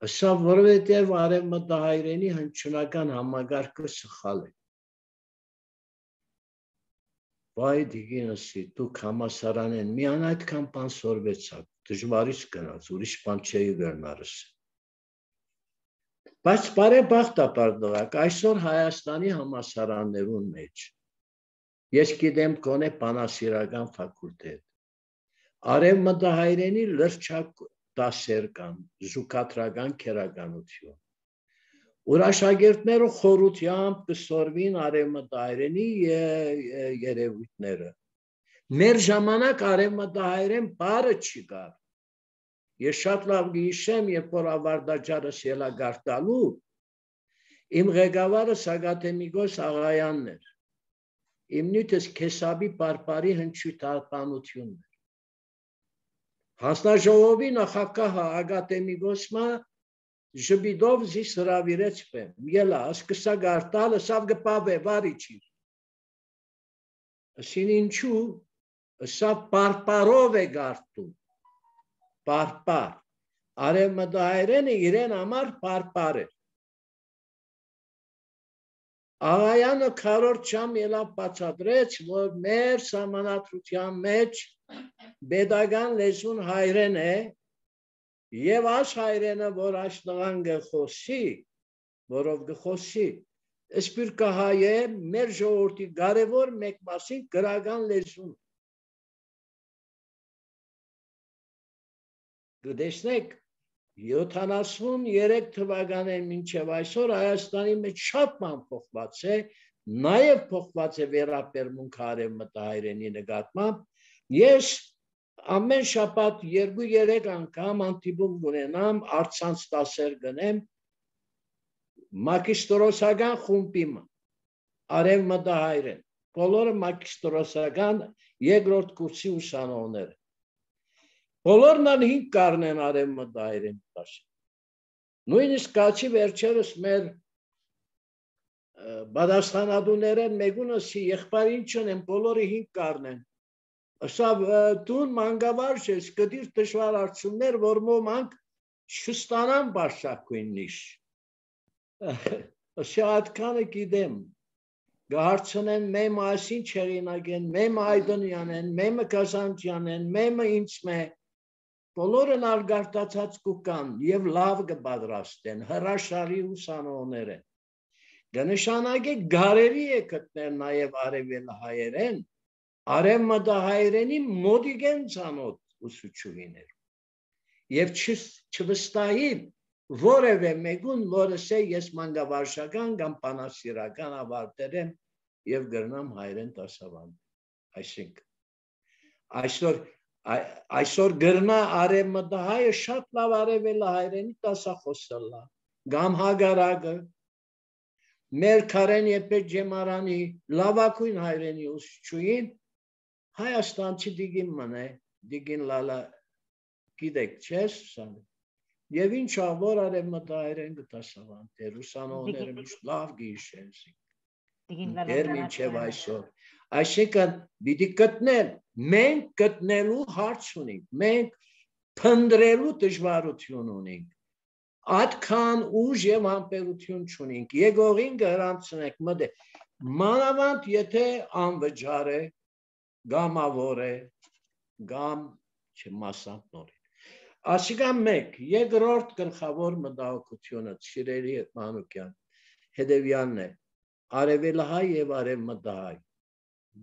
ասավ որովհետև արևմտահայերենի հնչյունական համագարկը սխալ է։ Վայ դիգին ասի, դուք համասարանեն միան այդքան բան սորվեցաք, դժվարից գնաց, ուրիշ բան չէի գերնարս։ Բայց բարեբախտաբար դղակ, այսօր Հայաստանի համասարաններուն մեջ, ես գիտեմ կոնե բանասիրական ֆակուլտետ, արևմտահայերենի լրջակ դասեր կան, զուգակատրական քերականություն, որ աշակերտները խորությամբ կսորվին արևմտահայերենի երևույթները։ Մեր ժամանակ արևմտահայերեն բառը չի կար։ Ես շատ լավ գիշեմ, երբ որ ավարտաճարս ելա գարտալու, իմ ղեկավարը Սագաթեմիկոս Աղայանն էր, իմ նյութս քեսաբի պարպարի հնչյութապանությունն էր։ Հանձնաժողովի նախագահը Ագատեմիկոսմա ժբիդով զիս հրավիրեց պեմ, ելա, սկսա գարտալը, սավ գպավ է, վարիչիր։ Ասին ինչու, սա պարպարով է գարտում, պարպար, արևմտահայերենը իրեն համար պարպար էր։ Աղայանը քառորդ ժամ ելավ բացատրեց, որ մեր սահմանադրության մեջ պետական լեզուն հայերեն է, եւ այս հայերենը, որ այս տղան գխոսի, որով գխոսի, սպիրկահայ է մեր ժողովրդի կարևոր մեկ մասին գրական լեզուն։ Կտեսնեք 73 թվականին մինչև այսօր Հայաստանի մեջ շատ բան փոխված է, նաև փոխված է վերաբերմունքը արևմտահայերենի նկատմամբ։ Ես ամեն շաբաթ 2-3 անգամ հանդիպում ունենամ, առցանց դասեր գնեմ մագիստրոսական խումբի արևմտահայերեն, բոլորը մագիստրոսական երկրորդ կուրսի ուսանողներ։ Բոլորն են 5 կարնեն արևմտահայերեն դասը։ Նույնիսկ կացի վերջերս մեր բադաստանադուները մեկունսի եղբայր ինչ ունեն, բոլորը 5 կարնեն։ Ասա դուն մանկավարժ ես, կդիր դժվար արդյունքներ, որ ոմանք չստանան բարձրակույնից։ Ասա այդքանը գիտեմ։ Գարցնեն մեմ այսին չերինակեն, մեմ այդոնյանեն, մեմը կազանջյանեն, մեմը ինձ բոլորն արգարտացած կուկան և լավ կպադրաստեն, հրաշալի ուսանողներ են։ Կնշանակե գարերի է գտնել նաև արևելահայերեն, արևմտահայերենի մոտիկ են ծանոթ ուսուցչուհիներ։ Եվ չվստահին որևէ մեկուն, որը սե ես մանկավարժական կամ բանասիրական ավարտել եմ և գրնամ հայերեն դասավանդել։ Այսօր գրնա արևմտահայը շատ լավ արևելահայերենի դասախոսելա, կամ հագարակը, մեր Քարեն Եփետ Ջեմարանի լավագույն հայերենի ուսուցչուհին Հայաստանցի դիգին մնե, դիգին լալա գիտեք չես սանը, և ինչա որ արևմտահայերեն կդասավանդել, ուսանողները միշտ լավ գիշեն։ դեր մինչև այսօր։ Այսինքն պիտի գտնել, մենք գտնելու հարց ունենք, մենք փնտրելու դժվարություն ունենք, այդքան ուժ եւ ամպերություն չունենք, եկողին գրանցնենք մտե, մանավանդ եթե անվճար է, գամավոր է, գամ չմասանքնոր է։ Ասիկան մեկ, երկրորդ գլխավոր մտահոգությունը, սիրելի Մանուկյան, հետևյալն է, արևելահայ եւ արևմտահայ։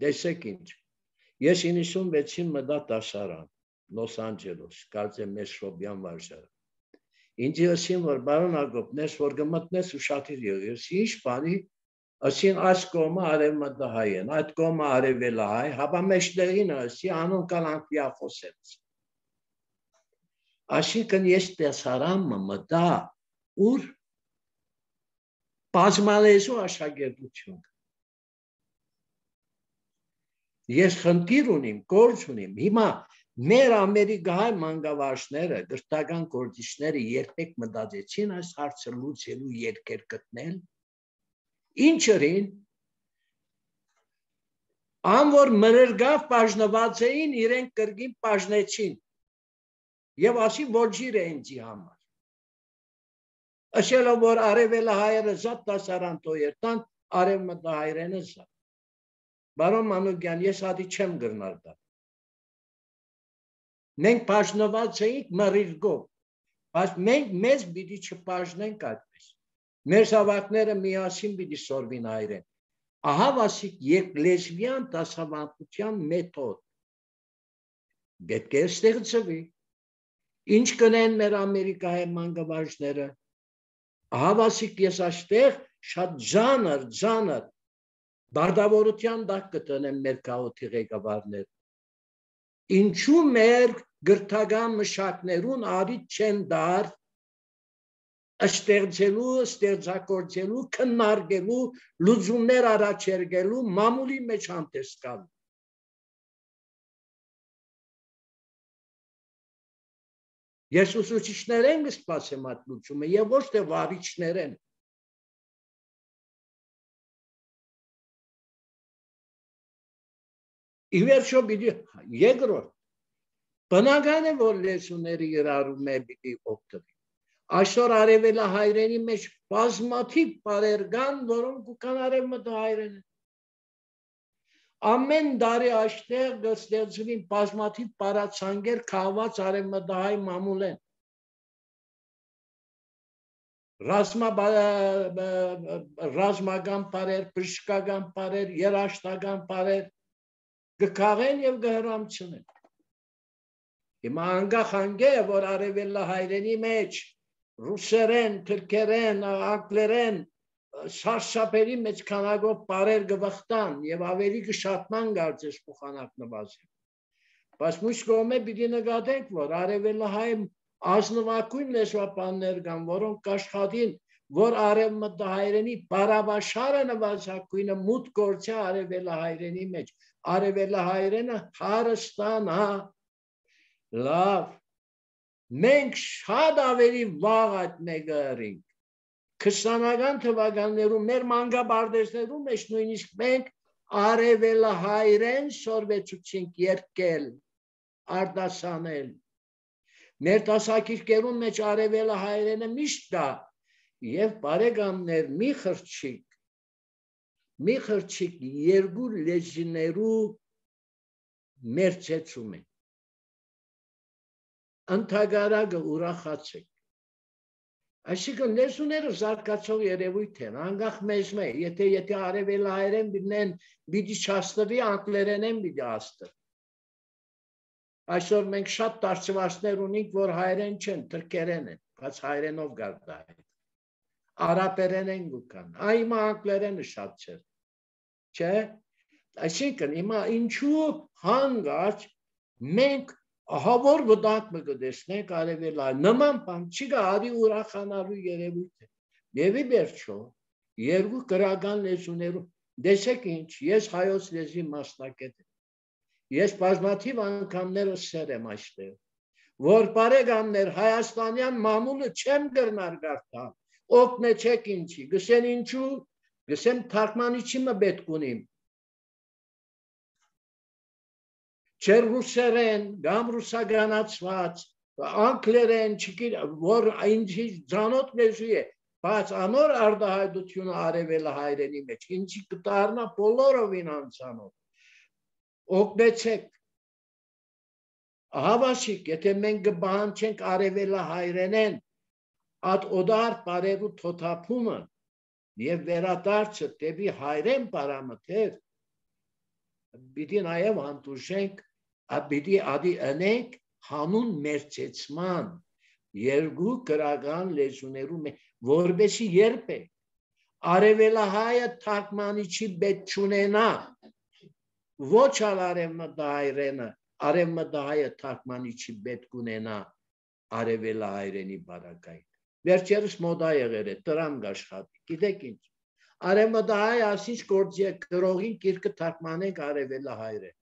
Տեսեք ինչ, ես 96-ին մտա դասարան, Լոս Անջելոս, կարծեմ Մեսրոբյան վարժարան։ Ինձ ասին, որ բարոն Ագոպ, նես որ գմտնես ու շատիր եղես, ինչ բանի, ասին այս կողմը արևմտահայ են, այդ կողմը արևելահայ, հապա մեջտեղին ասի, անուն կան անգլիա խոսեց։ Այսինքն ես դասարանը մտա, ուր բազմալեզու աշակերտություն։ Ես խնդիր ունիմ, գործ ունիմ, հիմա մեր ամերիկահայ մանկավարժները, գրթական գործիչները երբեք մտածեցին այս հարցը լուծելու երկեր գտնել, ինչերին, որ մրրգավ բաժնված էին, իրենք կրկին բաժնեցին եւ ասի ոչիր է ինձի համար։ Ասելով որ արևելահայերը զատ դասարան տոյերտան, արևմտահայերենը զատ։ Բարոն Մանուկյան, ես հատի չեմ գրնար դա։ Մենք բաժնված էինք մրրգով, բայց մենք մեզ պիտի չբաժնենք այդպես։ Մեր զավակները միասին պիտի սորվին հայերեն։ Ահա վասիկ լեզվյան դասավանդության մեթոդ։ Պետք է ստեղծվի։ Ինչ կնեն մեր ամերիկայի մանկավարժները։ Ահա վասիկ ես այստեղ շատ ձանր բardավորության դակ կտնեմ մեր քաղաքի ղեկավարներ։ Ինչու մեր գրթական մշակներուն արիթ չեն դար ստեղծելու, ստեղծագործելու, քննարկելու, լուծումներ առաջարկելու, մամուլի մեջ հանդես գալու։ Ես ուսուցիչներ եմ սպասեմ այդ լուծումը եւ ոչ թե վարիչներ են։ Իվերջո պիտի երկրորդ, բնական է, որ լեզուները իրարում է պիտի օգտվի։ Այսօր արևելահայերենի մեջ բազմաթիվ բառեր կան, որոնք կան արևմտահայերեն։ Ամեն տարի այստեղ կստեղծվին բազմաթիվ բառացանկեր քաղված արևմտահայ մամուլ են։ Ռազմական բառեր, բժշկական բառեր, երաժշտական բառեր կքաղեն եւ կհրամցնեն։ Հիմա անգախ անգե, որ արևելահայերենի մեջ ռուսերեն, թուրքերեն, անգլերեն, սարսափերի մեջ քանակով բառեր կվխտան եւ ավելի կշատման կարծես փոխանակնված։ Բայց մյուս կողմը պիտի նկատենք, որ արևելահայ ազնվակույն լեզվաբաններ կան, որոնք կաշխատին, որ արևմտահայերենի բառաբաշարը նվազագույնը մուտք գործի արևելահայերենի մեջ, արևելահայերենը հարստանա, լավ, մենք շատ ավելի վաղ այդ մեկը ըրինք, 20-ական թվականներում մեր մանկաբարձներում մեջ նույնիսկ մենք արևելահայերեն սորվեցուցինք երկել, արտասանել, մեր դասակիրքերում մեջ արևելահայերենը միշտ կա եւ բարեկամներ մի խրճիկ երկու լեզիներու մերձեցում են։ Ընթագարակը ուրախացեք։ Այսինքն լեզուները զարգացող երևույթ են, անգախ մեզ մե, եթե արևելահայերեն բինեն պիտի չաստվի, անգլերենեն պիտի աստվի։ Այսօր մենք շատ դարձվածներ ունենք, որ հայերեն չեն, թրքերեն են, բայց հայերենով գարդա է։ Արաբերեն են գուկան, հիմա անգլերենը շատ չէ, չէ։ Այսինքն հիմա ինչու հանգած մենք ահավոր վտանգ մը կտեսնենք արևելահայ, նման բան չի գա արի ուրախանալու երևույթ է։ Եվ ի վերջո, երկու գրական լեզուներում, տեսեք ինչ, ես հայոց լեզվի մասնակետ եմ, ես բազմաթիվ անգամները սեր եմ այստեղ, որ բարեկամներ հայաստանյան մամուլը չեմ գրնար գարտալ, օգնեցեք ինչի, գսեն ինչու, Գսեմ թարգմանիչի մը պետք ունիմ։ Չեր ռուսերեն, գամ ռուսագանացված, անգլերեն, որ այնչի ձանոտ լեզու է, բայց անոր արդահայտությունը արևելը հայրենի մեջ, ինչի կտարնա բոլորովին անցանոտ։ Օգնեցեք։ Հավասիկ, եթե մենք կբանչենք արևելը հայրենեն, այդ օդար բարերու թոթափումը և վերադարձը դեպի հայրեն պարամտեր, պիտի նաև հանդուրժենք, պիտի ադի ընենք հանուն մերձեցման երկու գրական լեզուներու մեջ, որպեսզի երբեք արևելահայը թարգմանիչի պետք չունենա, ոչ ալ արևմտահայերենը, արևմտահայը թարգմանիչի պետք ունենա արևելահայերենի բարակային։ Վերջերս մոդա եղել է, տրամ գաշխատի, գիտեք ինչ, արևմտահայ ասինչ գործի է գրողին կիրկը թարգմանենք արևելահայերեն։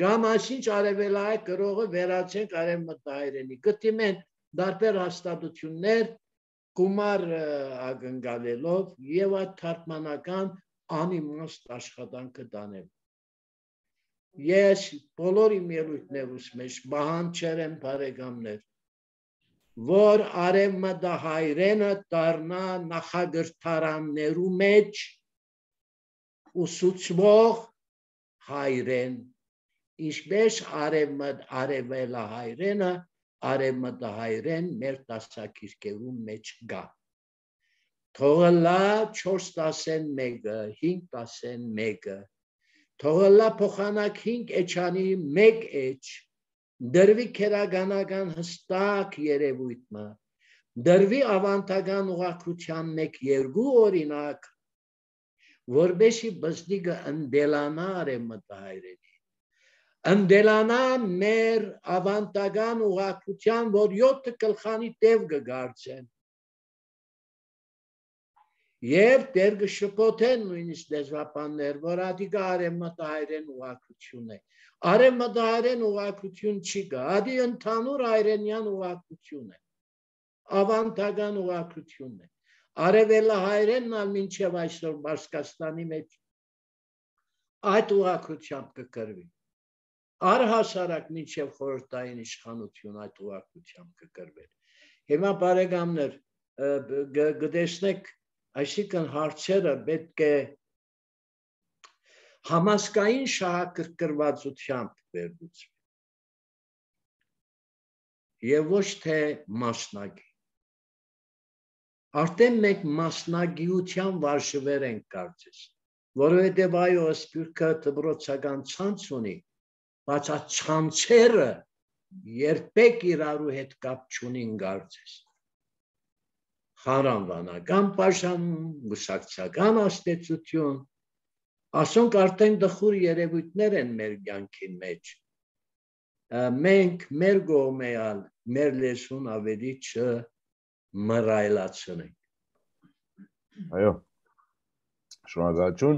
Գամ ասինչ արևելահայ գրողը վերացենք արևմտահայերենի, գտիմեն դարբեր հաստատություններ գումար ակնկալելով և այդ թարգմանական անիմաստ աշխատանքը տանել։ Ես բոլոր իմ ելույթներուս մեջ պահանջել եմ բարեկամներ, որ արևմտահայերենը դառնա նախագրթարաններու մեջ ուսուցվող հայրեն, ինչպես արևելահայերենը արևմտահայերեն մեր դասակիրքերու մեջ գա։ Թողլա 4-11-ը, 5-11-ը, թողլա փոխանակ 5 էջանի 1 էջ, դրվի քերականական հստակ երևույթը, դրվի ավանդական ուղղակության 1-2 օրինակ, որպեսզի բզդիգը ընդելանա արևմտահայերենի, ընդելանա մեր ավանդական ուղղակության, որ 7 գլխանի տև կգարձեն, և դեր կշփոթեն նույնիսկ լեզվաբաններ, որ ադիգա արևմտահայերեն ուղղակություն է։ Արևմտահայերեն ուղղակություն չի գա, ադի ընդհանուր հայրենյան ուղղակություն է, ավանդական ուղղակություն է։ Արևելահայերենն ալ մինչև այսօր Պարսկաստանի մեջ այդ ուղղակությամբ կկրվի։ Առհասարակ մինչև խորհրդային իշխանություն այդ ուղղակությամբ կկրվի։ Հիմա բարեկամներ, կտեսնեք, այսինքն հարցերը պետք է համազգային շահագրգռվածությամբ վերլուծվի և ոչ թե մասնագի։ Արդեն մենք մասնագիության վարժվեր ենք կարծես, որովհետև այո սպյուրքը դպրոցական ցանց ունի, բայց այդ ցանցերը երբեք իրարու հետ կապ չունին կարծես։ Խարանվանական բաժանում, գուսակցական աստեցություն, ասոնք արդեն դխուր երևույթներ են մեր կյանքի մեջ։ Մենք մեր կողմեալ մեր լեզուն ավելի չմռայլացնենք։ Այո, շնորհակալություն։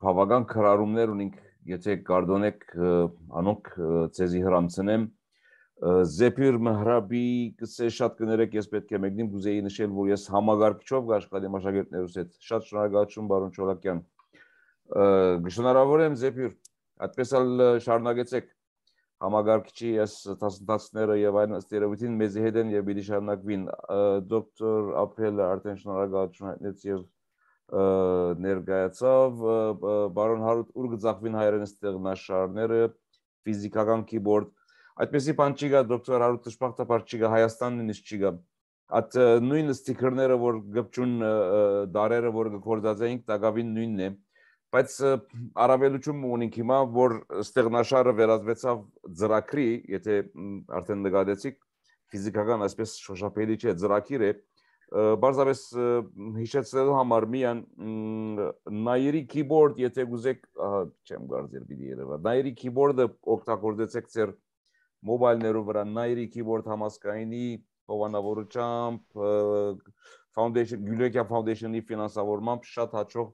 Բավական քրարումներ ունենք, եթե կարդոնեք անոնք ցեզի հրամցնեմ։ Զեփիր Մհրաբի կսե շատ կներեք, ես պետք է մեկնիմ գուզեի նշել, որ ես համագարկչով կաշխատեմ աշակերտներուս հետ։ Շատ շնորհակալություն բարոն Չոլակյան։ Շնորհավոր եմ Զեփիր, այդպես էլ շարունակեցեք համագարկչի ես դասընթացները եւ այն ըստ երևույթին մեզի հետ են եւ պիտի շարունակվին։ Դոկտոր Ապրելը արդեն շնորհակալություն հայտնեց եւ ներկայացավ, բարոն Հարութ ուր գծախվին հայերեն ստեղնաշարները, ֆիզիկական keyboard, այդպեսի բան չի գա, դոկտոր Հարութ դժբախտաբար չի գա, Հայաստանն նույնիսկ չի գա։ Այդ նույն ստիկերները, որ գպչուն դարերը, որ գործածեինք, տակավին նույնն է, բայց առավելություն ունենք հիմա, որ ստեղնաշարը վերածվեցավ ծրագրի, եթե արդեն նկատեցիք, ֆիզիկական այսպես շոշափելի չէ, ծրագիր է, բարձրապես հիշեցնելու համար միան նայերի keyboard, եթե գուզեք, չեմ կարծել պիտի երևա, նայերի keyboard-ը օգտագործեցեք ձեր մոբայլներով վրա, նայերի keyboard համազգայինի հովանավորությամբ, Գյուլիակյան Foundation-ի ֆինանսավորմամբ շատ հաջող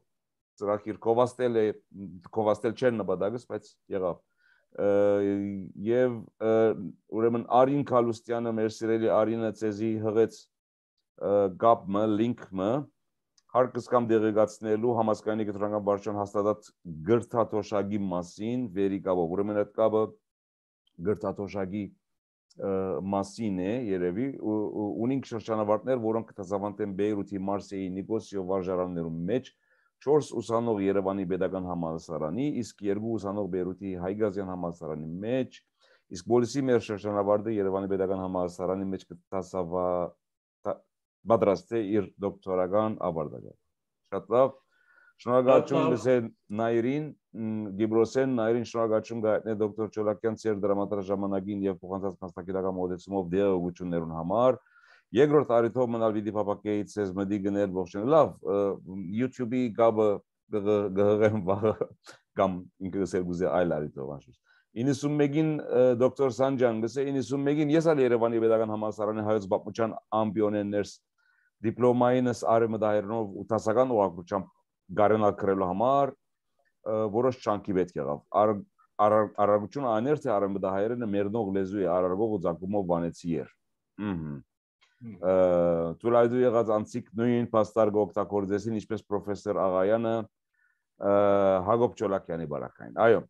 ծրագիր կովաստել չէր նպատակս, բայց եղավ։ Եվ ուրեմն Արին Քալուստյանը, մեր սիրելի Արինը ցեզի հղեց գապը, լինքը հարկս կամ դեղեկացնելու համասկայնի կտրոնական վարչության հաստատած գրթաթոշակի մասին վերիկաբով, ուրեմն այդ կապը գրթաթոշակի մասին է երևի ունենք շրջանավարտներ, որոնք կտեսավանդ են Բեյրութի, Մարսեի, Նիկոսիո վարժարաններում մեջ 4 ուսանող Երևանի Պետական համալսարանի, իսկ 2 ուսանող Բեյրութի Հայգազյան համալսարանի մեջ, իսկ բոլորի մեր շրջանավարտը Երևանի Պետական համալսարանի մեջ պատրաստ է իր դոկտորական ավարտել։ Շատ լավ։ Շնորհակալություն Լսեն Նայրին, Գիբրոսեն Նայրին շնորհակալություն գայտնե դոկտոր Չոլակյան ծեր դրամատրաժ ժամանակին եւ փոխանցած մասնակցական մոդեցումով դեղեցություններուն համար։ Երկրորդ արիթով մնալ վիդի փապակեից ցեզ մդի գնել ողջույն։ Լավ, YouTube-ի գաբը գհղեմ վաղը կամ ինքս էլ գուզե այլ արիթով անշուշտ։ 91-ին դոկտոր Սանջան գսե 91-ին ես ալ Երևանի Պետական համալսարանի հայոց պատմության ամբիոներներս դիպլոմայինս արևմտահայերենով ու տասական ուղղությամբ գարենալ կրելու համար որոշ չանքի պետք եղավ։ Արարողությունը աներ թե արևմտահայերենը մերնող լեզու է արարողով ու ցանկումով բանեցի էր։ Տուրայդու եղած անցիկ նույն պաստարգ օգտագործեցին ինչպես պրոֆեսոր Աղայանը Հակոբ Չոլակյանի բարակային։ Այո։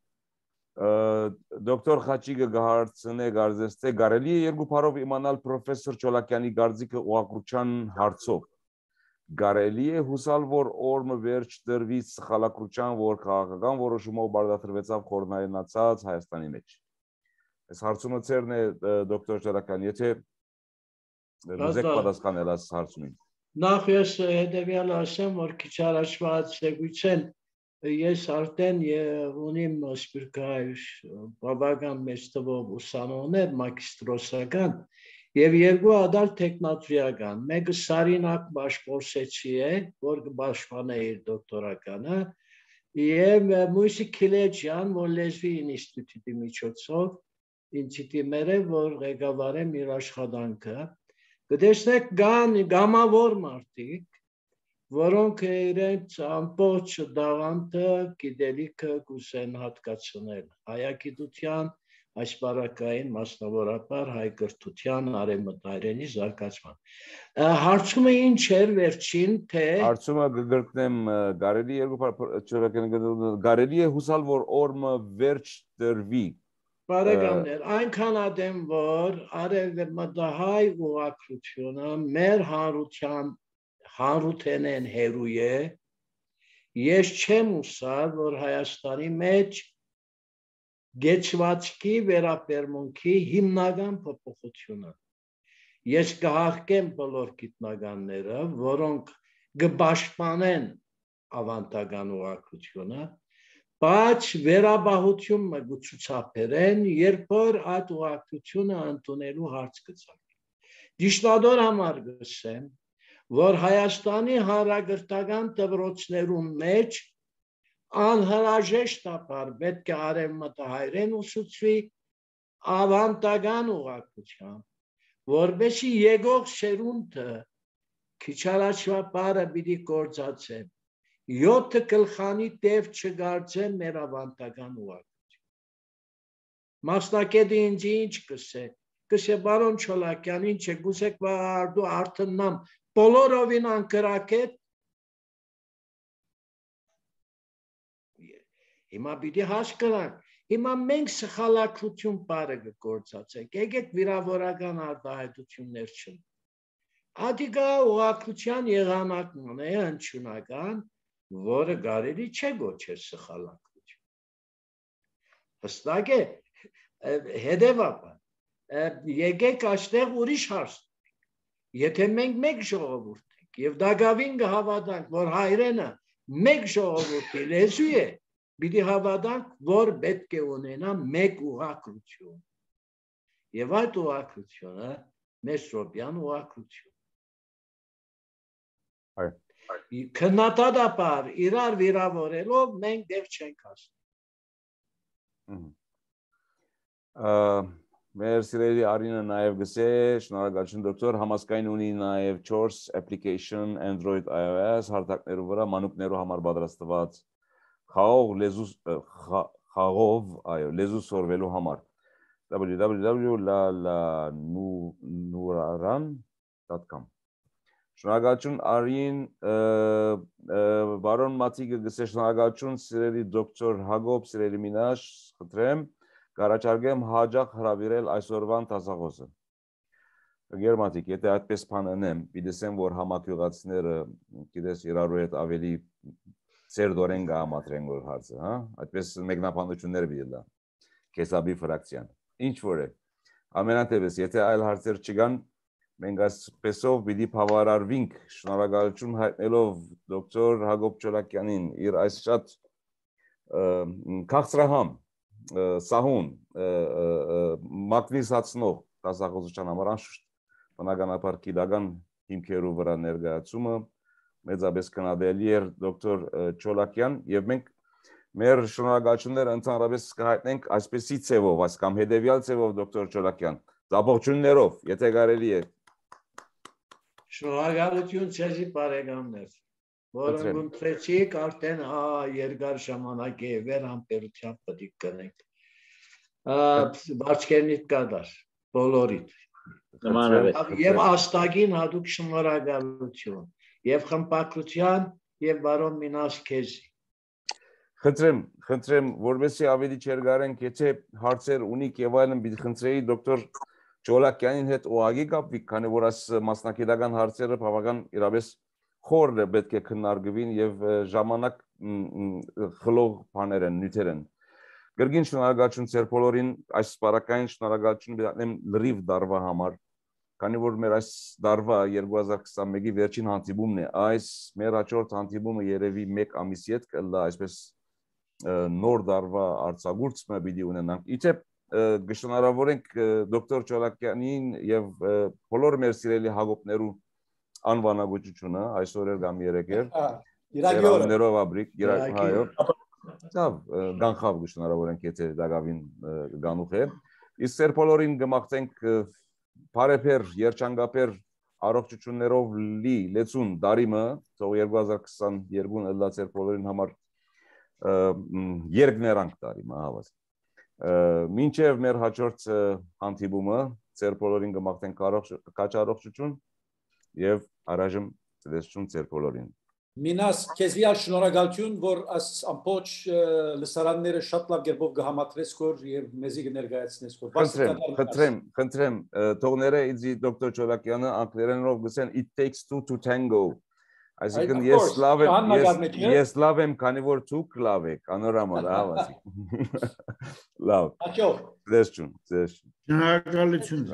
Դոկտոր Խաչիկը գահարցնե գարձեստե կարելի է երկու բառով իմանալ պրոֆեսոր Չոլակյանի գարձիկը ուղղակրության հարցով։ Կարելի է հուսալ, որ օրը վերջ դրվի սխալակրության, որ քաղաքական որոշումով բարդացրվեցավ խորհրդայնացած Հայաստանի մեջ։ Այս հարցումը ծերն է դոկտոր Չոլակյան, եթե ուզեք պատասխանել այս հարցումին։ Նախ ես հետևյալը ասեմ, որ քիչ առաջվա ցեգույցեն ես արդեն ունիմ սպիրկայ բավական մեծ թվով ուսանողներ մագիստրոսական եւ երկու ադալ տեխնատրիական, մեկը Սարինակ Բաշկորսեցի է, որ կբաշխանե իր դոկտորականը, եւ Մույսի Քիլեջյան, որ լեզվի ինստիտուտի միջոցով ինստիտուտներ է, որ ղեկավարեմ իր աշխատանքը։ Կտեսնեք գամավոր մարդիկ, որոնք իրենց ամբողջ դաղանթը գիտելիքը կուզեն հատկացնել հայագիտության, այս բարակային մասնավորապես հայ կրթության արևմտահայերենի զարգացման։ Հարցումը ինչ էր վերջին, թե հարցումը կգրկնեմ կարելի է հուսալ, որ օրը վերջ դրվի։ Բարեկամներ, այնքան ադեմ, որ արևմտահայ ուղղակրությունը մեր հանրութենեն հերու է, ես չեմ ուսալ, որ Հայաստանի մեջ գեցվածքի վերապերմունքի հիմնական փոփոխությունը։ Ես կհարգեմ բոլոր գիտնականները, որոնք կպաշտպանեն ավանդական ուղղակրությունը, բայց վերաբահությունը կցուցաբերեն, երբ որ այդ ուղղակրությունը ընդունելու հարց կծագի։ Դիշտադոր համար գսեմ, որ Հայաստանի հանրագրթական դպրոցներում մեջ անհրաժեշտաբար պետք է արևմտահայերեն ուսուցվի ավանդական ուղղակրությամբ, որպեսզի եկող սերունդը քիչ առաջվա բառը պիտի գործածեն 7 գլխանի տև չգարձե մեր ավանդական ուղղակրություն։ Մասնակետը ինձ ինչ կսե, բարոն Չոլակյան, ինչ է, գուցեք վաղարդու արդննամ բոլորովին անկրակետ, հիմա պիտի հասկանանք, հիմա մենք սխալակրություն բառը կգործածենք, եկեք վիրավորական արտահայտություններ չենք։ Ադիգա ուղղակրության եղանակն է հնչյունական, որը կարելի չէ գոչել սխալակրություն։ Հստակ է, հետևաբար, եկեք այստեղ ուրիշ հարց տանենք, եթե մենք մեկ ժողովուրդ ենք եւ դակավին կհավատանք, որ հայրենը մեկ ժողովուրդի լեզու է, պիտի հավատանք, որ պետք է ունենա մեկ ուղղակրություն։ Եվ այդ ուղղակրությունը Մեսրոպյան ուղղակրություն։ Քննադատաբար իրար վիրավորելով մենք դեռ չենք հասնում։ Մեր սիրելի Արինը նաև գսե, շնորհակալություն դոկտոր, համասկային ունի նաև 4 application Android iOS հարթակներու վրա մանուկներու համար պատրաստված խաղով լեզու սորվելու համար www.lalanuraran.com Շնորհակալություն Արին բարոն Մաթիկը գսե շնորհակալություն սիրելի դոկտոր Հակոբ սիրելի Մինաշ խնդրեմ կարաչարգեմ հաջող հրավիրել այսօրվան տասախոսը Գերմատիկ եթե այդպես բան անեմ պիտեսեմ որ համակյուղացիները գիտես իրարու հետ ավելի ծերդորեն գամատրեն որ հարցը հա այդպես մեկնաբանություններ բիլա կեսաբի ֆրակցիան ինչ որ է ամենատևս եթե այլ հարցեր չկան մենք այսպեսով պիտի բավարարվենք շնորհակալություն հայտնելով դոկտոր Հակոբ Չոլակյանին իր այս շատ քաղցրահամ սահուն մագնիսացնող տասախոսության համար անշուշտ բնականաբար գիտական հիմքերու վրա ներկայացումը մեծապես կնադելի էր դոկտոր Չոլակյան եւ մենք մեր շնորհակալությունները ընդհանրապես կհայտնենք այսպեսի ցևով կամ հետեւյալ ցևով դոկտոր Չոլակյան ողջույններով եթե կարելի է Շնորհակալություն ցեզի բարեկամներ որոնք ընտրեցիք արդեն երկար ժամանակ է վեր համբերությամբ պետք է կնենք բարձկերնիտ կադար բոլորիդ եւ աստագին հատուկ շնորհակալություն եւ խմբակրության եւ բարոն Մինաս քեզի Խնդրեմ, որովհետեւ ավելի չերգարենք, եթե հարցեր ունիք եւ այլն, պիտի խնդրեի դոկտոր Չոլակյանին հետ ուղղակի կապվի, քանի որ այս մասնակիտական հարցերը բավական իրապես խորն է պետք է քննարկվին եւ ժամանակ խլող բաներ են, նյութեր են։ Գրգին շնորհակալություն ձեր բոլորին, այս սպառակային շնորհակալություն բերեմ լրիվ դարվա համար, քանի որ մեր այս դարվա 2021-ի վերջին հանդիպումն է, այս մեր հաջորդ հանդիպումը երևի 1 ամիսի հետ կլա, այսպես նոր դարվա արձակուրդը պիտի ունենանք։ Իցեպ գշնարավորենք դոկտոր Չոլակյանին եւ բոլոր մեր սիրելի հագոպներու անվանագոչությունը այսօր կամ երեքեր իրականներով աբրիկ հայո ցավ գանխավ գշնարավորենք եթե դակավին գանուխ է իսկ սեր բոլորին գմախտենք բարեփեր երջանկապեր առողջություններով լի լեցուն դարիմը թող 2022 ըլլա սեր բոլորին համար երկներանք տարիմ հավաս մինչև մեր հաջորդ հանդիպումը ձեր բոլորին կմաղթենք առողջություն եւ առայժմ ցտեսություն ձեր բոլորին Մինաս քեզի շնորհակալություն որ աս ամբողջ լսարանները շատ լավ կերպով կհամատրես քոր եւ մեզի կներկայացնես քոր խնդրեմ թողները իզի դոկտոր Չոլակյանը անգլերենով գսեն it takes two to tango Այսինքն ես լավ եմ, քանի որ դուք լավ եք, անորամալ, հավասիկ։ Լավ։ Դեսչուն։ Շնորհակալություն։